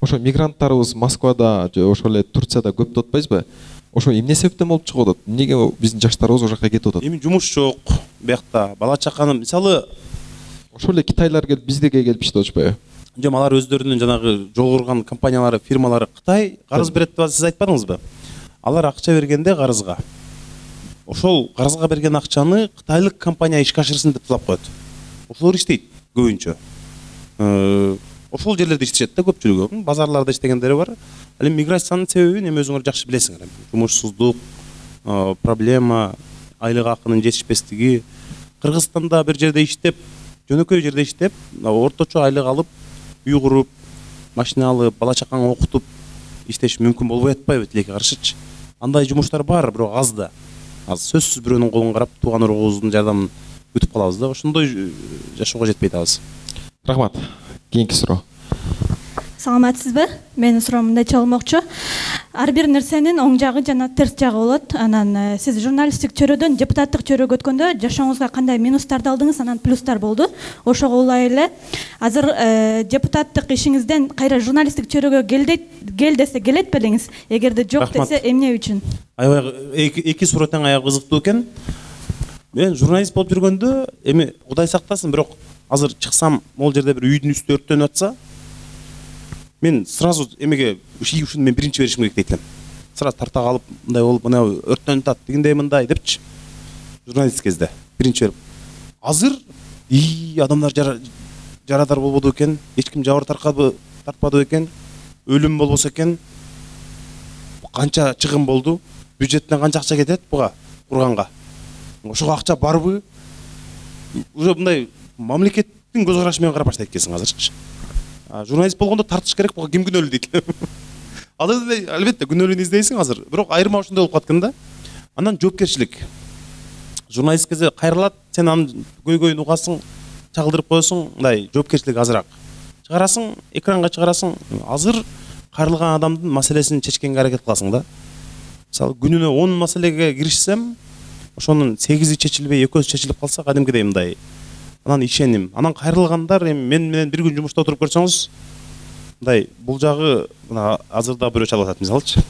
Ошо мигранттарыбыз Москвада же ошол эле Турцияда көп деп атпайсызбы? Ошо эмне себептен болуп чыгып атат? Эмнеге биздин жаштарыбыз ошол жака кетип атат? Эми жумуш жок биякта, бала чаканы мисалы ошол эле китайлар келип биздеге келип иштеп атышпайбы? Жок, алар өздөрүнүн жанагы жол курган компаниялары, фирмалары Кытай карыз берет деп сиз айтпадыңызбы? Алар акча бергенде карызга. Ошол карызга берген акчаны кытайлык компания ишке ашырсын деп талап коет. Ошолор иштейт көбүнчө. Ошол жерлерде иштешет да көпчүлүгү. Базарларда иштегендери бар. Ал эми миграциянын себебин эми өзүңөр жакшы билесиңер. Жумушсуздук, проблема, айлык акынын жетишпестиги. Кыргызстанда бир жерде иштеп, жөнөкөй жерде иштеп, орточо айлык алып, үй куруп, машина алып, бала чакаңы окутуп иштеш мүмкүн болбой атпайбы тилекке каршычы. Андай жумуштар бар, бирок аз да. Аз сөзсүз бирөөнүн колун карап, тууган ургубуздун жардамын күтүп калабыз да. Ошондой жашоого жетпей атабыз. Рахмат. Кийинки суроо. Саламатсызбы? Менин суроом мындайча болмокчу. Ар бир нерсенин оң жагы жана терс жагы болот. Анан сиз журналисттик чөйрөдөн депутаттык чөйрөгө өткөндө жашооңузга кандай минустарды алдыңыз, анан плюстар болду? Ошого улай эле азыр депутаттык ишиңизден кайра журналисттик чөйрөгө кел десе келет белеңиз? Эгерде жок десе эмне үчүн? Аябай эки суроо тең аябай кызыктуу экен. Мен журналист болуп жүргөндө эми Кудай сактасын, бирок азыр чыксам, могул жерде бир үйдүн үстү өрттөнүп атса, мен сразу эмеге ушуну мен биринчи беришим керек дейт элем. Сразу тарта калып, мындай болуп, мына өрттөнүп атат, дегендей мындай депчи. Журналист кезде биринчи берип. Азыр адамдар жарадар болбоду экен, эч ким жабыр тартпады экен, өлүм болбосо экен. Канча чыгым болду? Бюджеттен канча акча кетет буга курганга? Ошого акча барбы? Уже мындай мамлекеттин көз карашы менен карап баштайт экенсиң азырчы. Журналист болгондо тартыш керек, буга ким күнөөлүү дейт. Ал эле албетте күнөөлүүнү издейсиң азыр, бирок айырма ошондой болуп каткан да. Андан жоопкерчилик. Журналист кезде кайрылат, сен анын көйгөйүн угасың, чагылдырып коесуң, мындай жоопкерчилик азыраак. чыгарасың, экранга чыгарасың. Азыр кайрылган адамдын маселесин чечкенге аракет кыласың да. Мисалы күнүнө 10 маселеге киришсем, ошонун 8и чечилбей 2-сү чечилип калса, кадимкидей мындай анан ишеним. Анан кайрылгандар эми мен менен бир күн жумушта отуруп көрсөңүз, мындай бул жагы мына азырда бирөө чалып атат мисалычы.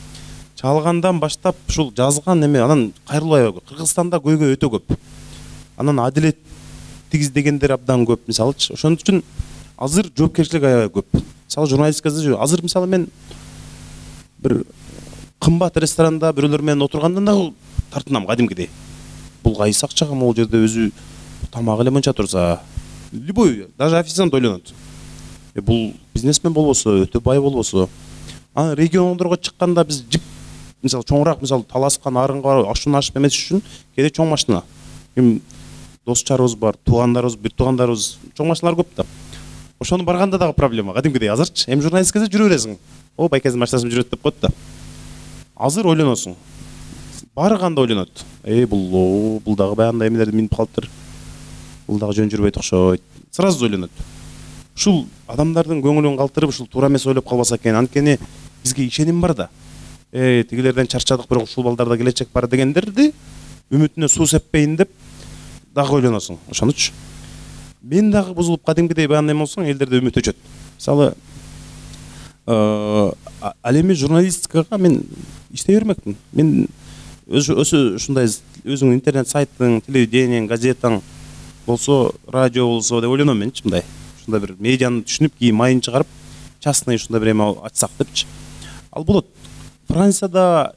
Чалгандан баштап ушул жазган эме анан кайрылбай. Кыргызстанда көйгөй өтө көп. Анан адилет тигиздегендер абдан көп мисалычы. Ошон үчүн азыр жоопкерчилик аябай көп. Мисалы журналистикада азыр мисалы мен бир кымбат ресторанда бирөөлөр менен отургандан да тартынам кадимкидей. Бул кайсы акчага могул жерде өзү тамак эле мынча турса, любой, даже официант ойлонот. Бул бизнесмен болбосо, өтө бай болбосо. Анан региондорго чыкканда биз жип мисалы чоңураак, мисалы Таласкан, Арынга барып, ашуун ашып эмес үчүн кээде чоң машина. Эми дос чарыбыз бар, туугандарыбыз, бир туугандарыбыз, чоң машиналар көп да. Ошону барганда дагы проблема, кадимкидей азырчы. Эми журналистикада жүрө бересиң. О, байкенин машинасы жүрөт деп коет да. Азыр ойлоносуң. Барганда ойлонот. Бул дагы баягындай эмелерди минип калыптыр. Бул дагы жөн жүрбөйт окшойт. Сразу ойлонот. Ушул адамдардын көңүлүн калтырып, ушул туура эмес ойлоп калбаса экен. Анткени бизге ишеним бар да. Тигилерден чарчадык, бирок ушул балдарда келечек бар дегендерди үмүтүнө суу сеппейин деп дагы ойлоносуң. Ошонучу мен дагы бузулуп кадимкидей баягындай болсоң, элдерде үмүт өчөт. Мисалы ал эми журналистикага мен иштей бермекмин. Мен ушундай өзүңдүн интернет сайтың, телевидениең, газетаң болсо, радио болсо деп ойлоном менчи мындай. Ушундай бир медианы түшүнүп, кийин майын чыгарып, частный ушундай бир эме ачсак депчи. Ал болот. Францияда,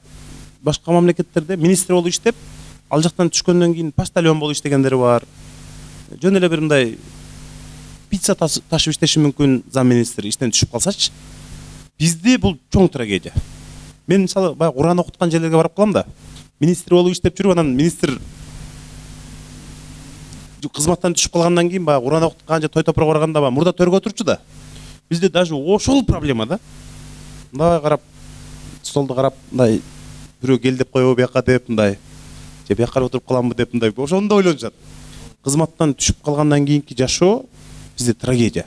башка мамлекеттерде министр болуп иштеп, ал жактан түшкөндөн кийин почтальон болуп иштегендер бар. Жөн эле бир мындай пицца ташып иштеши мүмкүн замминистр иштен түшүп калсачы. Бизде бул чоң трагедия. Мен мисалы баягы Куран окуткан жерлерге барып калам да. Министр болуп иштеп жүрүп, анан министр кызматтан түшүп калгандан кийин баягы Куран окуткан же той топурга барганда баягы мурда төргө отурчу да. Бизде даже ошол проблема да. Мындай карап, столду карап, мындай бирөө кел деп койбу бияка деп мындай. Же бияка отуруп каламбы деп мындай. Ошону да ойлонушат. Кызматтан түшүп калгандан кийинки жашоо бизде трагедия.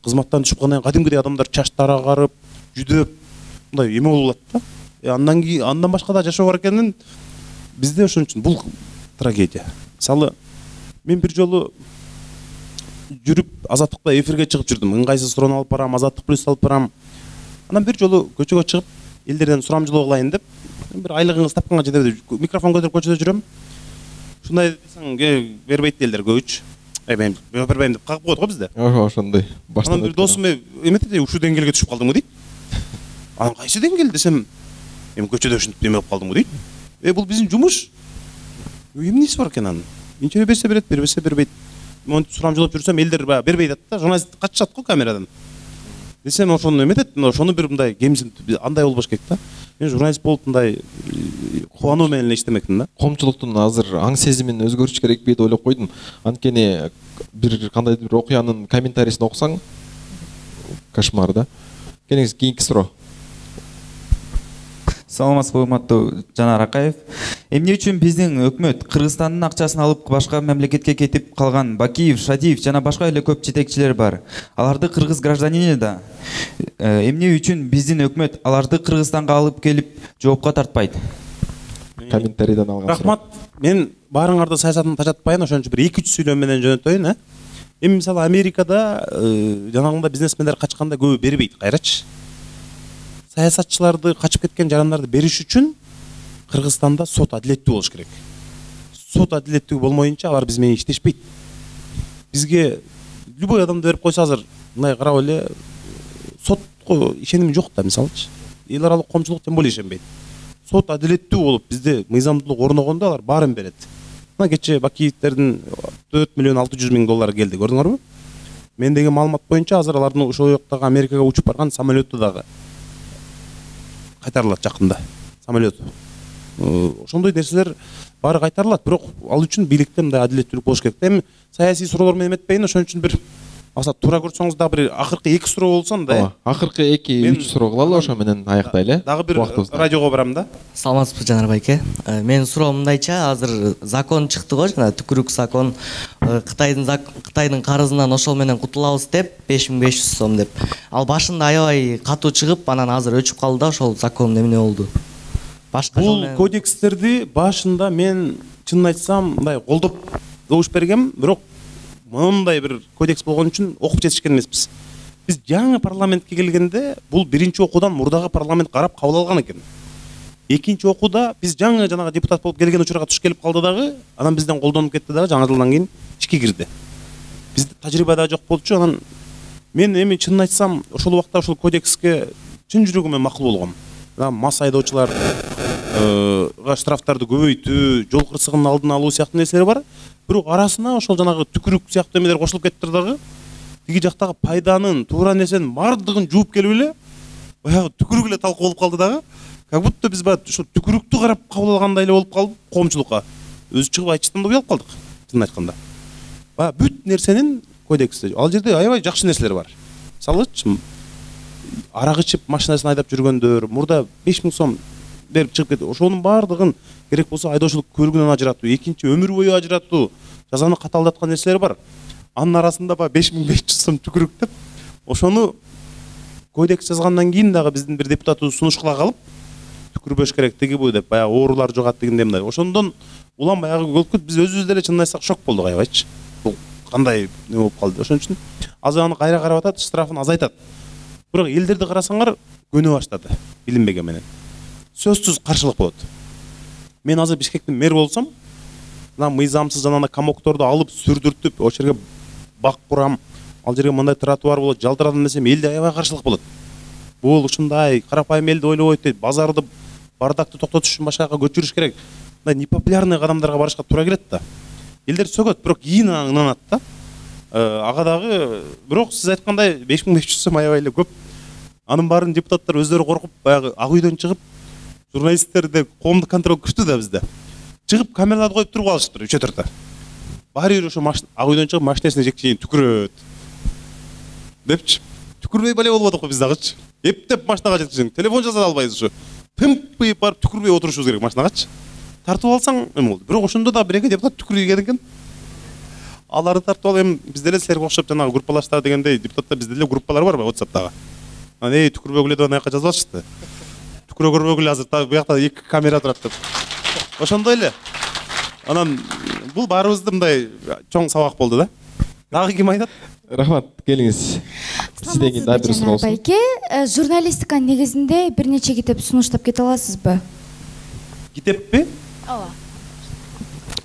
Кызматтан түшүп калгандан кийин кадимкидей адамдар чачтары агарып, жүдөп мындай эме болуп атат да. Андан башка да жашоо бар экенин бизде ошон үчүн бул трагедия. Мисалы мен бир жолу жүрүп Азаттыкта эфирге чыгып жүрдүм. Ыңгайсыз суроону алып барам, Азаттык плюс алып барам. Анан бир жолу көчөгө чыгып, элдерден сурамжылоо кылайын деп, бир айлыгыңыз тапканга жетеби деп микрофон көтөрүп көчөдө жүрөм. Ушундай десең, бербейт элдер көбүчө. Мен бербейм деп кагып коет го бизде. Ошондой. Анан бир досум эметти, ушул деңгээлге түшүп калдыңбы дейт. Анан кайсы деңгээл десем, эми көчөдө ушинтип эме болуп калдыңбы дейт. Бул биздин жумуш. Эмнеси бар экен анын? Инче берсе берет, бербесе бербейт. Монтип сурамжылап жүрсөм, элдер бербейт да, журналист качышат го камерадан. Десем, ошону эметет, ошону бир мындай кемсин андай болбош керек да. Мен журналист болуп мындай кубануу менен эле иштемекмин да. Коомчулуктун азыр аң сезимин өзгөртүш керекпи деп ойлоп койдум. Анткени бир кандайдыр бир окуянын комментарийсин окусаң, кошмар да. Кийинки суроо. Саламатсызбы, урматтуу Жанар Акаев. Эмне үчүн биздин өкмөт Кыргызстандын акчасын алып башка мамлекетке кетип калган Бакиев, Шадиев жана башка эле көп жетекчилер бар. Аларды кыргыз гражданини да. Эмне үчүн биздин өкмөт аларды Кыргызстанга алып келип жоопко тартпайт? Комментарийден алган. Рахмат. Мен баарыңарды саясатын тажатпайын, ошон үчүн бир 2-3 сүйлөм менен жөнөтөйүн, Эми мисалы Америкада жанагындай бизнесмендер качканда көбү бербейт, кайрачы. Саясатчыларды, качып кеткен жарандарды бериш үчүн Кыргызстанда сот адилеттүү болуш керек. Сот адилеттүү болмоюнча алар биз менен иштешпейт. Бизге любой адамды берип койсо азыр мындай карап эле сотко ишеним жок да, мисалычы. Эл аралык коомчулук тем более ишенбейт. Сот адилеттүү болуп бизде мыйзамдуулук орногондо алар баарын берет. Мына кече Бакиевтердин 4 миллион 600 миң доллар келди, көрдүңөрбү? Мендеги маалымат боюнча азыр алардын ошол жактагы Америкага учуп барган самолету дагы кайтарылат жакында. Самолет. Ошондой нерселер баары кайтарылат, бирок ал үчүн бийликте мындай адилеттүүлүк болуш керек. Эми саясий суроолор менен эметпейин, ошон үчүн бир аса туура көрсөңүз дагы бир акыркы 2 суроо болсо мындай. Акыркы 2-3 суроо кылалы, ошо менен аяктайлы. Дагы бир радиого барам да. Саламатсызбы Жанар байке. Менин суроом мындайча, азыр закон чыкты го, жана түкүрүк закон. Кытайдын карызынан ошол менен кутулабыз деп 5500 сом деп. Ал башында аябай катуу чыгып, анан азыр өчүп калды да, ошол закон эмне болду? Бул кодекстерди башында мен чынын айтсам мындай колдоп добуш бергем, бирок мондай бир кодекс болгон үчүн окуп жетишкен эмеспиз. Биз жаңы парламентке келгенде бул биринчи окуудан мурдагы парламент карап кабыл алган экен. Экинчи окууда биз жаңы жанагы депутат болуп келген учурга туш келип калды дагы, анан бизден колдонуп кетти дагы, жаңы жылдан кийин ишке кирди. Бизде тажрыйба да жок болчу, анан мен эми чынын айтсам ошол убакта ошол кодекске чын жүрөгүмөн макул болгом. Мас айдоочуларга штрафтарды көбөйтүү, жол кырсыгынын алдын алуу сыяктуу нерселер бар. Бирок арасына ошол жанагы түкүрүк сыяктуу эмелер кошулуп кетти дагы. Тиги жактагы пайданын, туура нерсенин бардыгын жууп келип эле баягы түкүрүк эле талкуу болуп калды дагы. Как будто биз баягы ошо түкүрүктү карап кабыл алгандай эле болуп калды коомчулукка. Өзү чыгып айтыштан да уялып калдык, чынын айтканда. Баягы бүт нерсенин кодексте. Ал жерде аябай жакшы нерселер бар. Мисалычы, арак ичип машинасын айдап жүргөндөр, мурда 5000 сом берип чыгып кетти. Ошонун бардыгын керек болсо айдоочулук көлүгүнөн ажыратуу, экинчи өмүр бою ажыратуу, жазаны катаалдаткан нерселер бар. Анын арасында баягы 5500 сом түкүрүк деп, ошону кодекс жазгандан кийин дагы биздин бир депутатыбыз сунуш кыла калып, түкүрбөш керек тиги бу деп, баягы оорулар жугат дегендей мындай. Ошондон улам баягы болуп биз өзүбүз деле чынын айтсак шок болдук аябайчы. Бул кандай эме болуп калды. Ошон үчүн азыр аны кайра карап атат, штрафын азайтат. Бирок элдерди карасаңар көнө баштады билинбеген менен. Сөзсүз каршылык болот. Мен азыр Бишкектин мэр болсом, мына мыйзамсыз жанагы комокторду алып сүрдүртүп, ошол жерге бак курам, ал жерге мындай тротуар болот, жалтыратам десем, элде аябай каршылык болот. Бул ушундай карапайым элди ойлобойт дейт, базарды, бардакты токтотуш үчүн башка жака көчүрүш керек. Мындай непопулярный кадамдарга барышка туура келет да. Элдер сөгөт, бирок кийин ынанат да. Ага дагы, бирок сиз айткандай 5500 сом аябай эле көп. Анын баарын депутаттар өздөрү коркуп, баягы ак үйдөн чыгып, журналисттерде коомдук контроль күчтүү да бизде. Чыгып камераларды коюп туруп алышыптыр 3-4-тө. Баары бир ошо ак үйдөн чыгып машинасына жекчейин түкүрөт. Депчи. Түкүрбөй бале болуп атат го биз дагычы. Эптеп машинага жеткизиң, телефон жаза албайбыз ушу. Тымпыйып барып түкүрбөй отурушубуз керек машинагачы. Тартып алсаң эме болду. Бирок ошондо да бир эки депутат түкүргөн экен. Аларды тартып алып, эми бизде эле силерге окшоп жанагы группалаштар дегендей депутаттар бизде эле группалар барбы WhatsApp'тагы. Анан түкүрбөгүлө деп анаяка жазып атышты. Түкүрө көрбөгүлө азыр буякта 2 камера турат деп. Ошондой эле. Анан бул баарыбызды мындай чоң сабак болду да. Дагы ким айтат? Рахмат, келиңиз. Сизден кийин дагы бир суроо болсун. Байке, журналистиканын негизинде бир нече китеп сунуштап кете аласызбы? Китеппи? Ооба.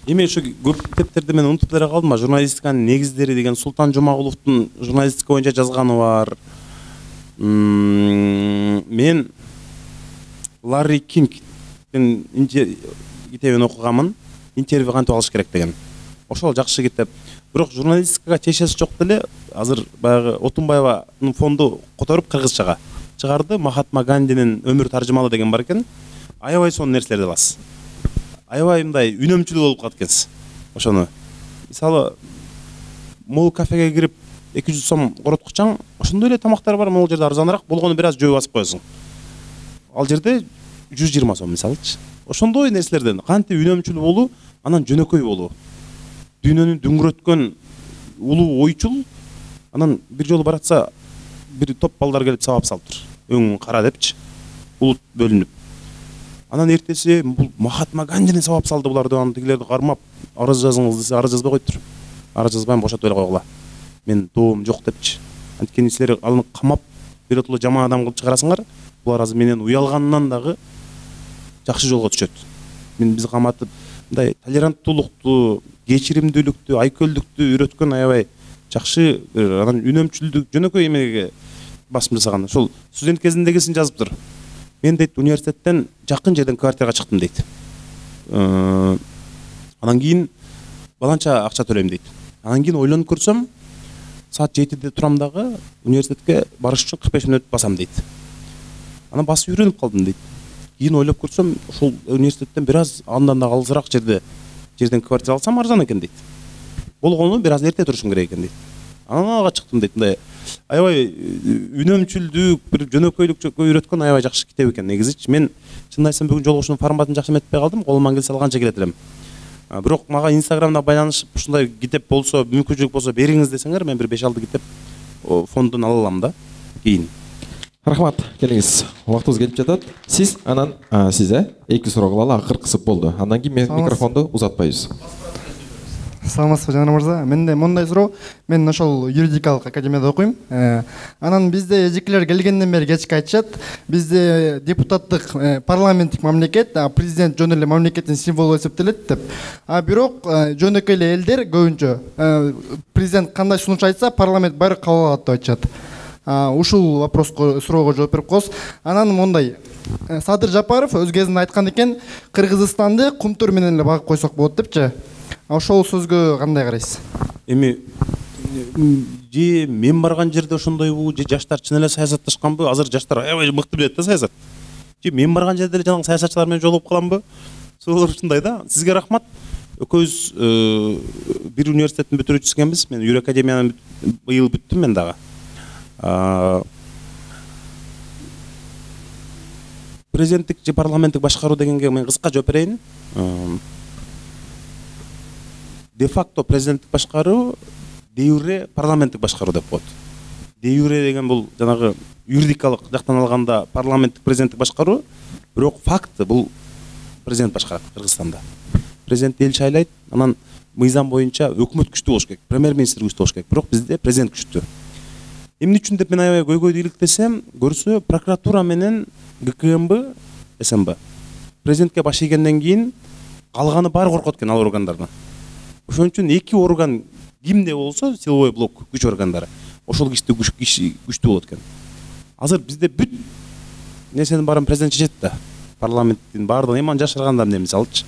Эми ошо көп китептерди мен унутуп эле калдым. Журналистиканын негиздери деген Султан Жумагуловдун журналистика боюнча жазганы бар. Мен Ларри Кингдин китебин окуганмын. Интервью кантип алыш керек деген. Ошол жакшы китеп. Бирок журналистикага чечеси жок деле азыр баягы Отунбаеванын фонду которуп кыргызчага чыгарды. Махатма Гандинин өмүр таржымалы деген бар экен. Аябай сонун нерселерди аласыз. Аябай мындай үнөмчүлүү болуп калат экенсиз. Ошону мисалы мол кафеге кирип 200 сом короткучаң, ошондой эле тамактар бар, могул жерде арзаныраак болгону бир аз жөө басып коесуң. Ал жерде 120 сом мисалычы. Ошондой нерселерден кантип үнөмчүлүү болуу, анан жөнөкөй болуу. Дүйнөнү дүңгүрөткөн улуу ойчул, анан бир жолу баратса бир топ балдар келип сабап салыптыр. Өң кара депчи, улут бөлүнүп. Анан эртеси бул Махатма Гандини сабап салды буларды, анан тигилерди кармап, арыз жазыңыз десе, арыз жазбай коюптур. Арыз жазбайм, бошотуп эле койгула. Мен доом жок депчи. Анткени силер аны камап, биротоло жаман адам кылып чыгарасыңар, булар азыр менен уялганынан дагы жакшы жолго түшөт. Мен биз каматып, мындай толеранттуулукту, кечиримдүүлүктү, айкөлдүктү үйрөткөн аябай жакшы, анан үнөмчүлдүк, жөнөкөй эмеге басым жасаган. Ошол студент кезиндегисин жазыптыр. Мен дейт университеттен жакын жерден квартирага чыктым дейт. Анан кийин баланча акча төлөйм дейт. Анан кийин ойлонуп көрсөм, саат 7-де турам дагы университетке барыш үчүн 45 мүнөт басам дейт. Анан басып үйрөнүп калдым дейт. Кийин ойлоп көрсөм, ошол университеттен бир аз андан да алысыраак жерден квартира алсам арзан экен дейт. Болгону бир аз эрте турушум керек экен дейт. анан ага чыктым дейт. Мындай аябай үнөмчүлдүк, бир жөнөкөйлүккө үйрөткөн аябай жакшы китеп экен негизичи. Мен чынын айтсам бүгүн жолугушуунун форматын жакшы эметпей калдым. Колуман келсе алганча келет элем. Бирок мага Инстаграмда байланышып ушундай китеп болсо, мүмкүнчүлүк болсо бериңиз десеңер, мен бир 5-6 китеп фондун ала алам да кийин. Рахмат, келиңиз. Убактыбыз келип жатат. Сиз анан сиз эки суроо кылалы, акыр кысып болду. Андан кийин мен микрофонду узатпайбыз. Саламатсызбы жанар мырза. Менде мындай суроо. Мен ошол юридикалык академияда окуйм. Анан бизде эжекелер келгенден бери кечке айтышат. Бизде депутаттык парламенттик мамлекет, президент жөн эле мамлекеттин символу эсептелет деп. Бирок жөнөкөй эле элдер көбүнчө президент кандай сунуш айтса, парламент баары кабыл алат деп айтышат. Ушул вопроско суроого жооп берип коесуз. Анан мындай Садыр Жапаров өз кезинде айткан экен, Кыргызстанды кумтур менен эле багып койсок болот депчи. Ошол сөзгө кандай карайсыз? Эми же мен барган жерде ошондойбу, же жаштар чын эле саясатташканбы? Азыр жаштар аябай мыкты билет да саясат. Же мен барган жерде эле жанагы саясатчылар менен жолугуп каламбы? Суроолор ушундай да. Сизге рахмат. Экөөбүз бир университеттин бүтүрүүчүсү экенбиз. Мен Юр академиянын быйыл бүттүм мен дагы. Президенттик же парламенттик башкаруу дегенге мен кыска жооп берейин. Де факто президенттик башкаруу, де юре парламенттик башкаруу деп коет. Де юре деген бул жанагы юридикалык жактан алганда парламенттик президенттик башкаруу, бирок факты бул президент башкарат Кыргызстанда. Президент эл шайлайт, анан мыйзам боюнча өкмөт күчтүү болуш керек, премьер-министр күчтүү болуш керек, бирок бизде президент күчтүү. Эмне үчүн деп мен аябай көйгөйдү иликтесем, көрсө прокуратура менен ГКМБ, СМБ президентке баш ийгенден кийин калганы баары коркот экен ал органдардан. Ошон үчүн эки орган кимде болсо, силовой блок күч органдары, ошол күчтүү болот экен. Азыр бизде бүт нерсенин баарын президент чечет да. Парламенттин баардыгын эми жашыргандар эмне мисалчы.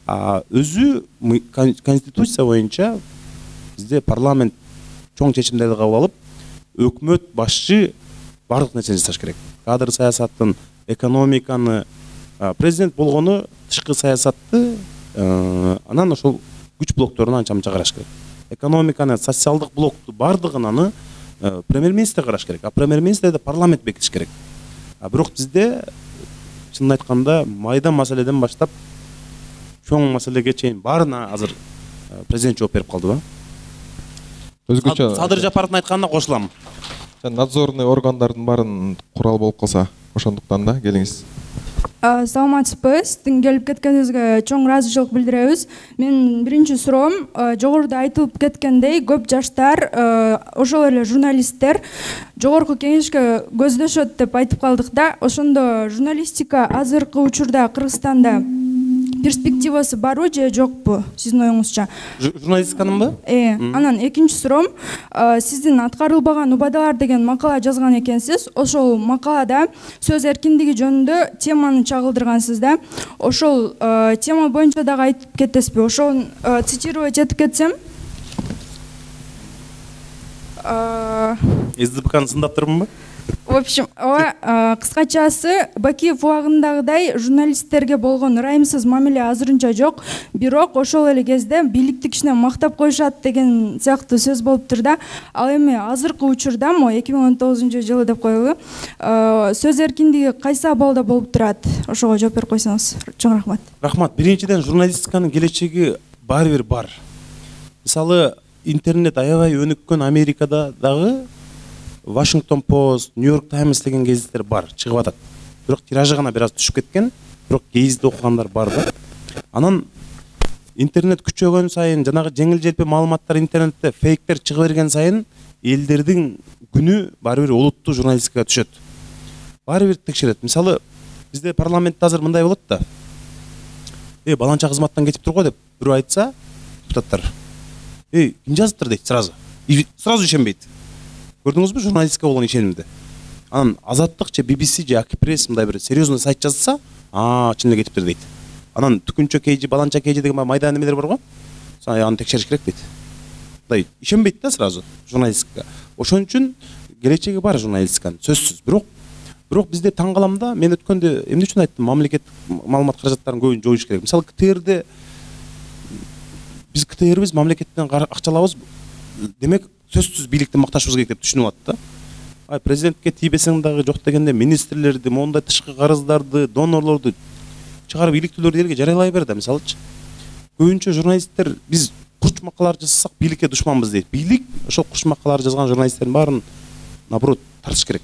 Өзү конституция боюнча бизде парламент чоң чечимдерди кабыл алып, өкмөт башчы бардык нерсени жасаш керек. Кадр саясатын, экономиканы, президент болгону тышкы саясатты, анан ошол күч блокторун анча-мынча караш керек. Экономиканы, социалдык блокту бардыгын аны премьер-министр караш керек. Премьер-министрди парламент бекитиш керек. Бирок бизде чынын айтканда майда маселеден баштап чоң маселеге чейин баарына азыр президент жооп берип калды ба? Өзгөчө Садыр Жапаровдун айтканына кошулам. Надзорный органдардын баарын курал болуп калса, ошондуктан да келиңиз. Саламатсызбы, сиздин келип кеткениңизге чоң ыраазычылык билдиребиз. Менин биринчи суроом, жогоруда айтылып кеткендей, көп жаштар, ошол эле журналисттер жогорку кеңешке көздөшөт деп айтып калдык да. Ошондо журналистика азыркы учурда Кыргызстанда перспективасы барбы же жокпу сиздин оюңузча? Журналистиканынбы? Анан экинчи суроом, сиздин аткарылбаган убадалар деген макала жазган экенсиз. Ошол макалада сөз эркиндиги жөнүндө теманы чагылдыргансыз да. Ошол тема боюнча дагы айтып кетесизби? Ошону цитировать этип кетсем. СДПКны сындаптырмынбы? В общем, кыскачасы Бакиев убагындагыдай журналисттерге болгон ырайымсыз мамиле азырынча жок, бирок ошол эле кезде бийликти кичине мактап коюшат деген сыяктуу сөз болуптур да. Ал эми азыркы учурда 2019-жылы деп коелу, сөз эркиндиги кайсы абалда болуп турат? Ошого жооп берип койсоңуз. Чоң рахмат. Рахмат. Биринчиден журналистиканын келечеги баары бир бар. Мисалы, интернет аябай өнүккөн Америкада дагы Washington Post, New York Times деген гезиттер бар, чыгып атат. Бирок тиражы гана бир аз түшүп кеткен, бирок гезитти окугандар бар да. Анан интернет күчөгөн сайын, жанагы жеңил-желпи маалыматтар интернетте фейктер чыга берген сайын, элдердин күнү баары бир олуттуу журналистикага түшөт. Баары бир текшерет. Мисалы, бизде парламентте азыр мындай болот да. Баланча кызматтан кетип турго деп бирөө айтса, депутаттар. Ким жазыптыр дейт сразу. Сразу ишенбейт. Көрдүңүзбү журналистика болгон ишенимди? Анан Азаттык же BBC же Акипресс мындай бир серьезный сайт жазса, чын эле кетиптир дейт. Анан Түкүнчө KG, Баланча KG деген майда немелер бар го? Аны текшериш керек дейт. Мындай ишенбейт да сразу журналистикага. Ошон үчүн келечеги бар журналистиканын, сөзсүз. Бирок бизде таң калам да, мен өткөндө эмне үчүн айттым, мамлекет маалымат каражаттарын көбүн жоюш керек. Мисалы КТРде биз КТРбиз мамлекеттен акча алабыз, демек сөзсүз бийликти макташыбыз керек деп түшүнүп алат да. Ай президентке тийбесең дагы жок дегенде министрлерди, мондай тышкы карыздарды, донорлорду чыгарып иликтүүлөрдү элге жарыялай бер да. Мисалычы көбүнчө журналисттер биз курч макалалар жазсак бийликке душманбыз дейт. Бийлик ошол курч макалалар жазган журналисттердин баарын наоборот тартыш керек.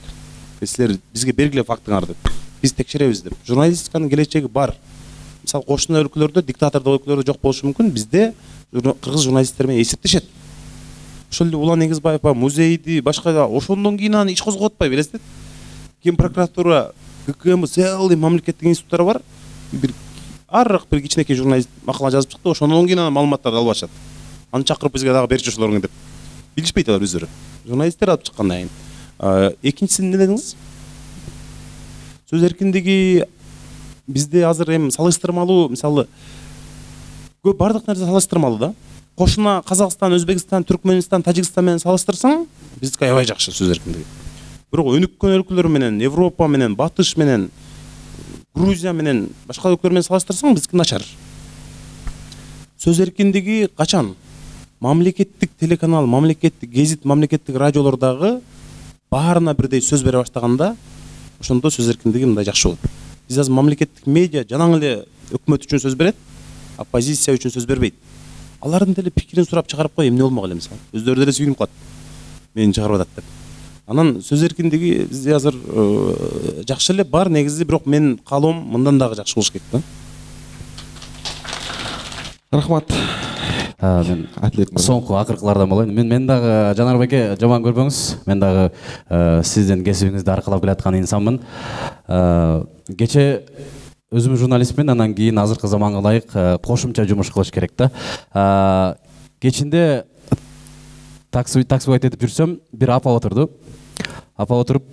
Силер бизге бергиле фактыңарды, биз текшеребиз деп. Журналистиканын келечеги бар. Мисалы кошуна өлкөлөрдө диктатордук өлкөлөрдө жок болушу мүмкүн, бизде кыргыз журналисттер менен эсептешет. Ошол эле Улан Эгизбаев музейди башка ошондон кийин аны иш козгоп атпайбы элестет. Кен прокуратура, ГКМ, целый мамлекеттик институттар бар. Бир арык бир кичинекей журналист макала жазып чыкты, ошондон кийин аны маалыматтарды алып атышат. Аны чакырып бизге дагы берчи ошолоруң деп. Билишпейт алар өздөрү. Журналисттер алып чыккандан кийин. Экинчиси эмне дедиңиз? Сөз эркиндиги бизде азыр эми салыштырмалуу, мисалы көп бардык нерсе салыштырмалуу да. Кошуна Казакстан, Өзбекстан, Түркмөнстан, Тажикстан менен салыштырсаң, биздики аябай жакшы сөз эркиндиги. Бирок өнүккөн өлкөлөр менен, Европа менен, Батыш менен, Грузия менен, башка өлкөлөр менен салыштырсаң, биздики начар. Сөз эркиндиги качан? Мамлекеттик телеканал, мамлекеттик гезит, мамлекеттик радиолордогу баарына бирдей сөз бере баштаганда, ошондо сөз эркиндиги мындай жакшы болот. Биз азыр мамлекеттик медиа жанаң эле өкмөт үчүн сөз берет, оппозиция үчүн сөз бербейт. Алардын деле пикирин сурап чыгарып кой, эмне болмок эле мисалы. Өздөрү деле сүйүнүп калат. Мени чыгарып атат деп. Анан сөз эркиндиги бизде азыр жакшы эле бар негизи, бирок менин каалоом мындан дагы жакшы болуш керек да. Рахмат. Мен соңку акыркылардан болоюн. Мен дагы Жанар байке жаман көрбөңүз. Мен дагы сиздин кесибиңизди аркалап келаткан инсанмын. Кече өзүм журналистмин, анан кийин азыркы заманга ылайык кошумча жумуш кылыш керек да. Кечинде таксибайт этип жүрсөм, бир апа отурду. Апа отуруп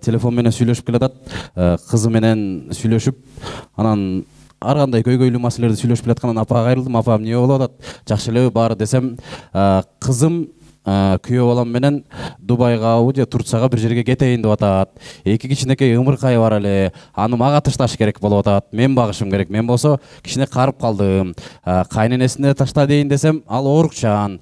телефон менен сүйлөшүп келатат. Кызы менен сүйлөшүп, анан ар кандай көйгөйлүү маселелерди сүйлөшүп келаткандан апага кайрылдым. Апам эмне болуп атат? Жакшы элеби баары десем, кызым күйөө балам менен Дубайга же Турцияга бир жерге кетейин деп атат. Эки кичинекей ымыркай бар эле. Аны мага ташташ керек болуп атат. Мен багышым керек. Мен болсо кичине карып калдым. Кайненесине ташта дейин десем, ал оорукчан.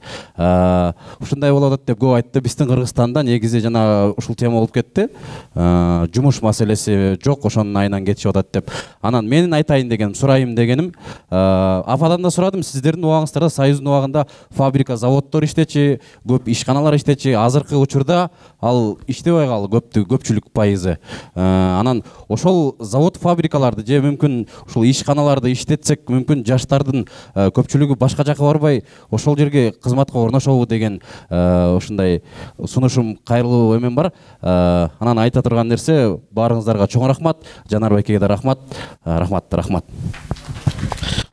Ушундай болуп атат деп көп айтты. Биздин Кыргызстанда негизи жана ушул тема болуп кетти. Жумуш маселеси жок, ошонун айынан кетишип атат деп. Анан менин айтайын дегеним, сурайым дегеним, ападан да сурадым, сиздердин убагыңыздарда Союздун убагында фабрика, заводдор иштечи, көп ишканалар иштечи. Азыркы учурда ал иштебей калды, көпчүлүк пайызы. Анан ошол завод, фабрикаларды же мүмкүн ушул ишканаларды иштетсек, мүмкүн жаштардын көпчүлүгү башка жака барбай ошол жерге кызматка орношобу деген ушундай сунушум, кайрылуу эмен бар. Анан айта турган нерсе, баарыңыздарга чоң рахмат. Жанар байкеге да рахмат. Рахмат.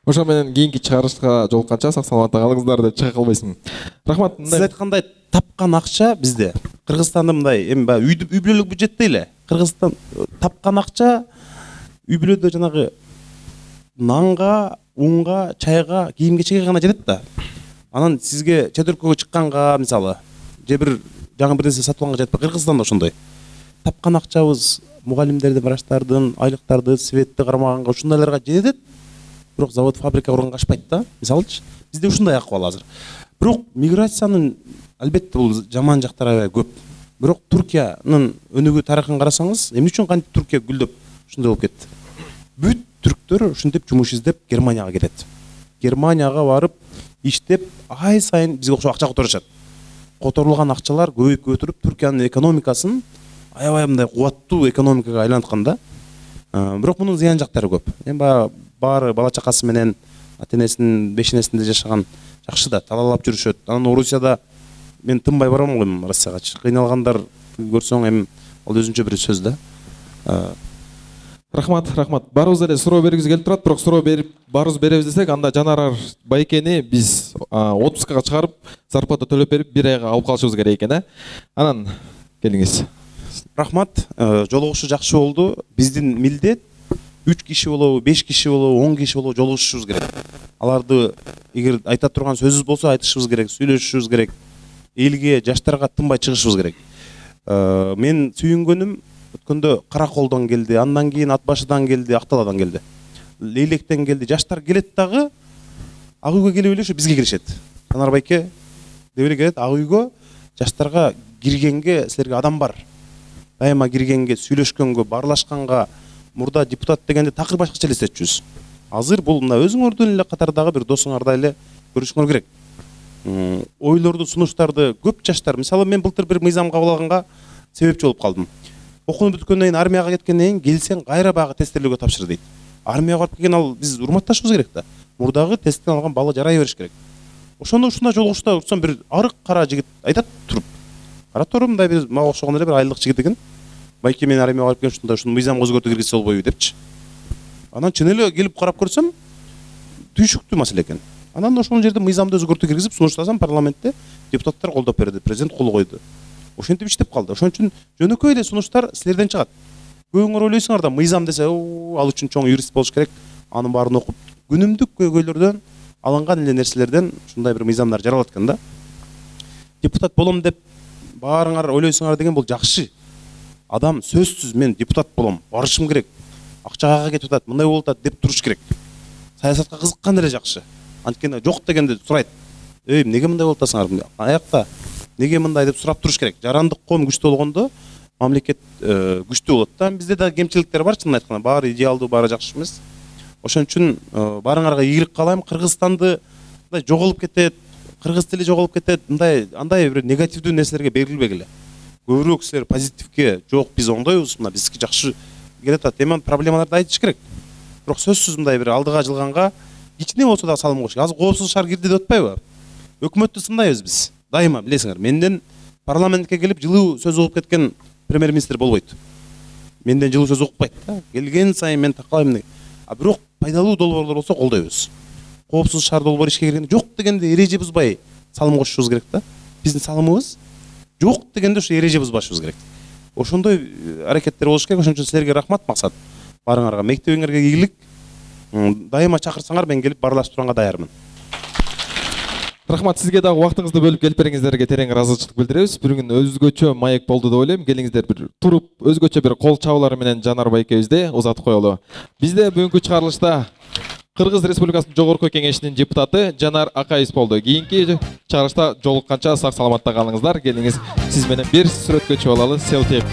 Ошо менен кийинки чыгарышка жолукканча сак саламатта калыңыздар деп чыга калбайсың. Рахмат. Сиз айткандай тапкан акча бизде Кыргызстанда мындай эми үй бүлөлүк бюджет дейли. Кыргызстан тапкан акча үй бүлөдө жанагы нанга, унга, чайга, кийим-кечекке гана жетет да. Анан сизге чет өлкөгө чыкканга, мисалы, же бир жаңы бир нерсе сатып алганга жетпей. Кыргызстанда ошондой. Тапкан акчабыз мугалимдердин, врачтардын, айлыктарды, светти кармаганга ушундайларга жетет. Бирок завод, фабрика курганга ашпайт да. Мисалычы, бизде ушундай акыбал азыр. Бирок миграциянын албетте бул жаман жактары аябай көп. Бирок Туркиянын өнүгүү тарыхын карасаңыз, эмне үчүн кантип Туркия гүлдөп ушундай болуп кетти? Бүт түрктөр ушинтип жумуш издеп Германияга кетет. Германияга барып иштеп, ай сайын бизге окшоп акча которушат. Которулган акчалар көбөйүп Туркиянын экономикасын аябай мындай кубаттуу экономикага айланткан да. Бирок мунун зыян жактары көп. Эми баары бала чакасы менен ата-энесинин бешенесинде жашаган жакшы да, талаалап жүрүшөт. Анан Орусияда мен тынбай барам го Россиягачы. Кыйналгандар көрсөң эми ал өзүнчө бир сөз да. Рахмат. Баарыбыз эле суроо бергибиз келип турат, бирок суроо берип баарыбыз беребиз десек, анда Жанар байкени биз отпускага чыгарып, зарплата төлөп берип, бир айга алып калышыбыз керек экен, Анан келиңиз. Рахмат. Жолугушуу жакшы болду. Биздин милдет 3 киши болобу, 5 киши болобу, 10 киши болобу жолугушушубуз керек. Аларды эгер айта турган сөзүбүз болсо айтышыбыз керек, сүйлөшүшүбүз керек. Элге, жаштарга тынбай чыгышыбыз керек. Мен сүйүнгөнүм өткөндө Караколдон келди, андан кийин Ат башыдан келди, Акталадан келди. Лейлектен келди. Жаштар келет дагы ак үйгө келип эле ушу бизге киришет. Жанар байке деп эле келет. Ак үйгө жаштарга киргенге силерге адам бар. Дайыма киргенге, сүйлөшкөнгө, баарлашканга, мурда депутат дегенде такыр башкача элестетчүбүз. Азыр бул мына өзүңөрдүн эле катардагы бир досуңардай эле көрүшүңөр керек. Ойлорду, сунуштарды көп жаштар, мисалы мен былтыр бир мыйзам кабыл алганга себепчи болуп калдым. Окууну бүткөндөн кийин армияга кеткенден кийин келсең кайра баягы тесттелүүгө тапшыр дейт. Армияга барып келген ал биз урматташыбыз керек да. Мурдагы тесттен алган бала жарай бериш керек. Ошондо ушундай жолугушта урсам бир арык кара жигит айтат туруп. Карап туруп мындай бир мага окшогон эле бир айлык жигит экен. Байке мен армияга барып келген ушундай ушуну мыйзамга өзгөртүү киргизсе болбойбу депчи. Анан чын эле келип карап көрсөм түйшүктүү маселе экен. Анан ошол жерде мыйзамды өзгөртүү киргизип сунуштасам парламентте депутаттар колдоп берди, президент кол койду. Ошентип иштеп калды. Ошон үчүн жөнөкөй эле сунуштар силерден чыгат. Көбүңөр ойлойсуңар да мыйзам десе, ал үчүн чоң юрист болуш керек. Анын баарын окуп, күнүмдүк көйгөйлөрдөн алынган эле нерселерден ушундай бир мыйзамдар жаралат экен да. Депутат болом деп баарыңар ойлойсуңар деген бул жакшы. Адам сөзсүз мен депутат болом, барышым керек. Акчага кетип атат, мындай болуп атат деп туруш керек. Саясатка кызыккан эле жакшы. Анткени жок дегенде сурайт. Эмнеге мындай болуп атасыңар? Аякта неге мындай деп сурап туруш керек. Жарандык коом күчтүү болгондо мамлекет күчтүү болот да. Бизде да кемчиликтер бар, чынын айтканда. Баары идеалдуу, баары жакшы эмес. Ошон үчүн баарыңарга ийгилик каалайм. Кыргызстанды мындай жоголуп кетет, кыргыз тили жоголуп кетет, мындай андай бир негативдүү нерселерге берилбегиле. Көбүрөөк силер позитивге, жок биз оңдойбуз, мына бизге жакшы келет атат. Эми проблемаларды айтыш керек. Бирок сөзсүз мындай бир алдыга жылганга кичине болсо да салым коюш керек. Азыр коопсуз шаар кирди деп атпайбы? Өкмөттү сындайбыз биз. Дайыма билесиңер, менден парламентке келип жылуу сөз угуп кеткен премьер-министр болбойт. Менден жылуу сөз укпайт да. Келген сайын мен такалайм. А бирок пайдалуу долбоорлор болсо колдойбуз. Коопсуз шаар долбоор ишке киргенде жок дегенде эреже бузбай салым кошушубуз керек да. Биздин салымыбыз жок дегенде ушу эреже бузбашыбыз керек. Ошондой аракеттер болуш керек. Ошон үчүн силерге рахмат, максат. Барыңарга, мектебиңерге ийгилик. Дайыма чакырсаңар мен келип баарлаштырганга даярмын. Рахмат, сизге дагы убактыңызды бөлүп келип бериңиздерге терең ыраазычылык билдиребиз. Бир күн өзгөчө маек болду деп ойлойм. Келиңиздер бир туруп өзгөчө бир кол чабуулар менен Жанар байкебизди узатып коелу. Бизде бүгүнкү чыгарылышта Кыргыз Республикасынын Жогорку Кеңешинин депутаты Жанар Акаевич болду. Кийинки чыгарылышта жолукканча сак саламатта калыңыздар. Келиңиз сиз менен бир сүрөткө чыгып алалы. Селфи.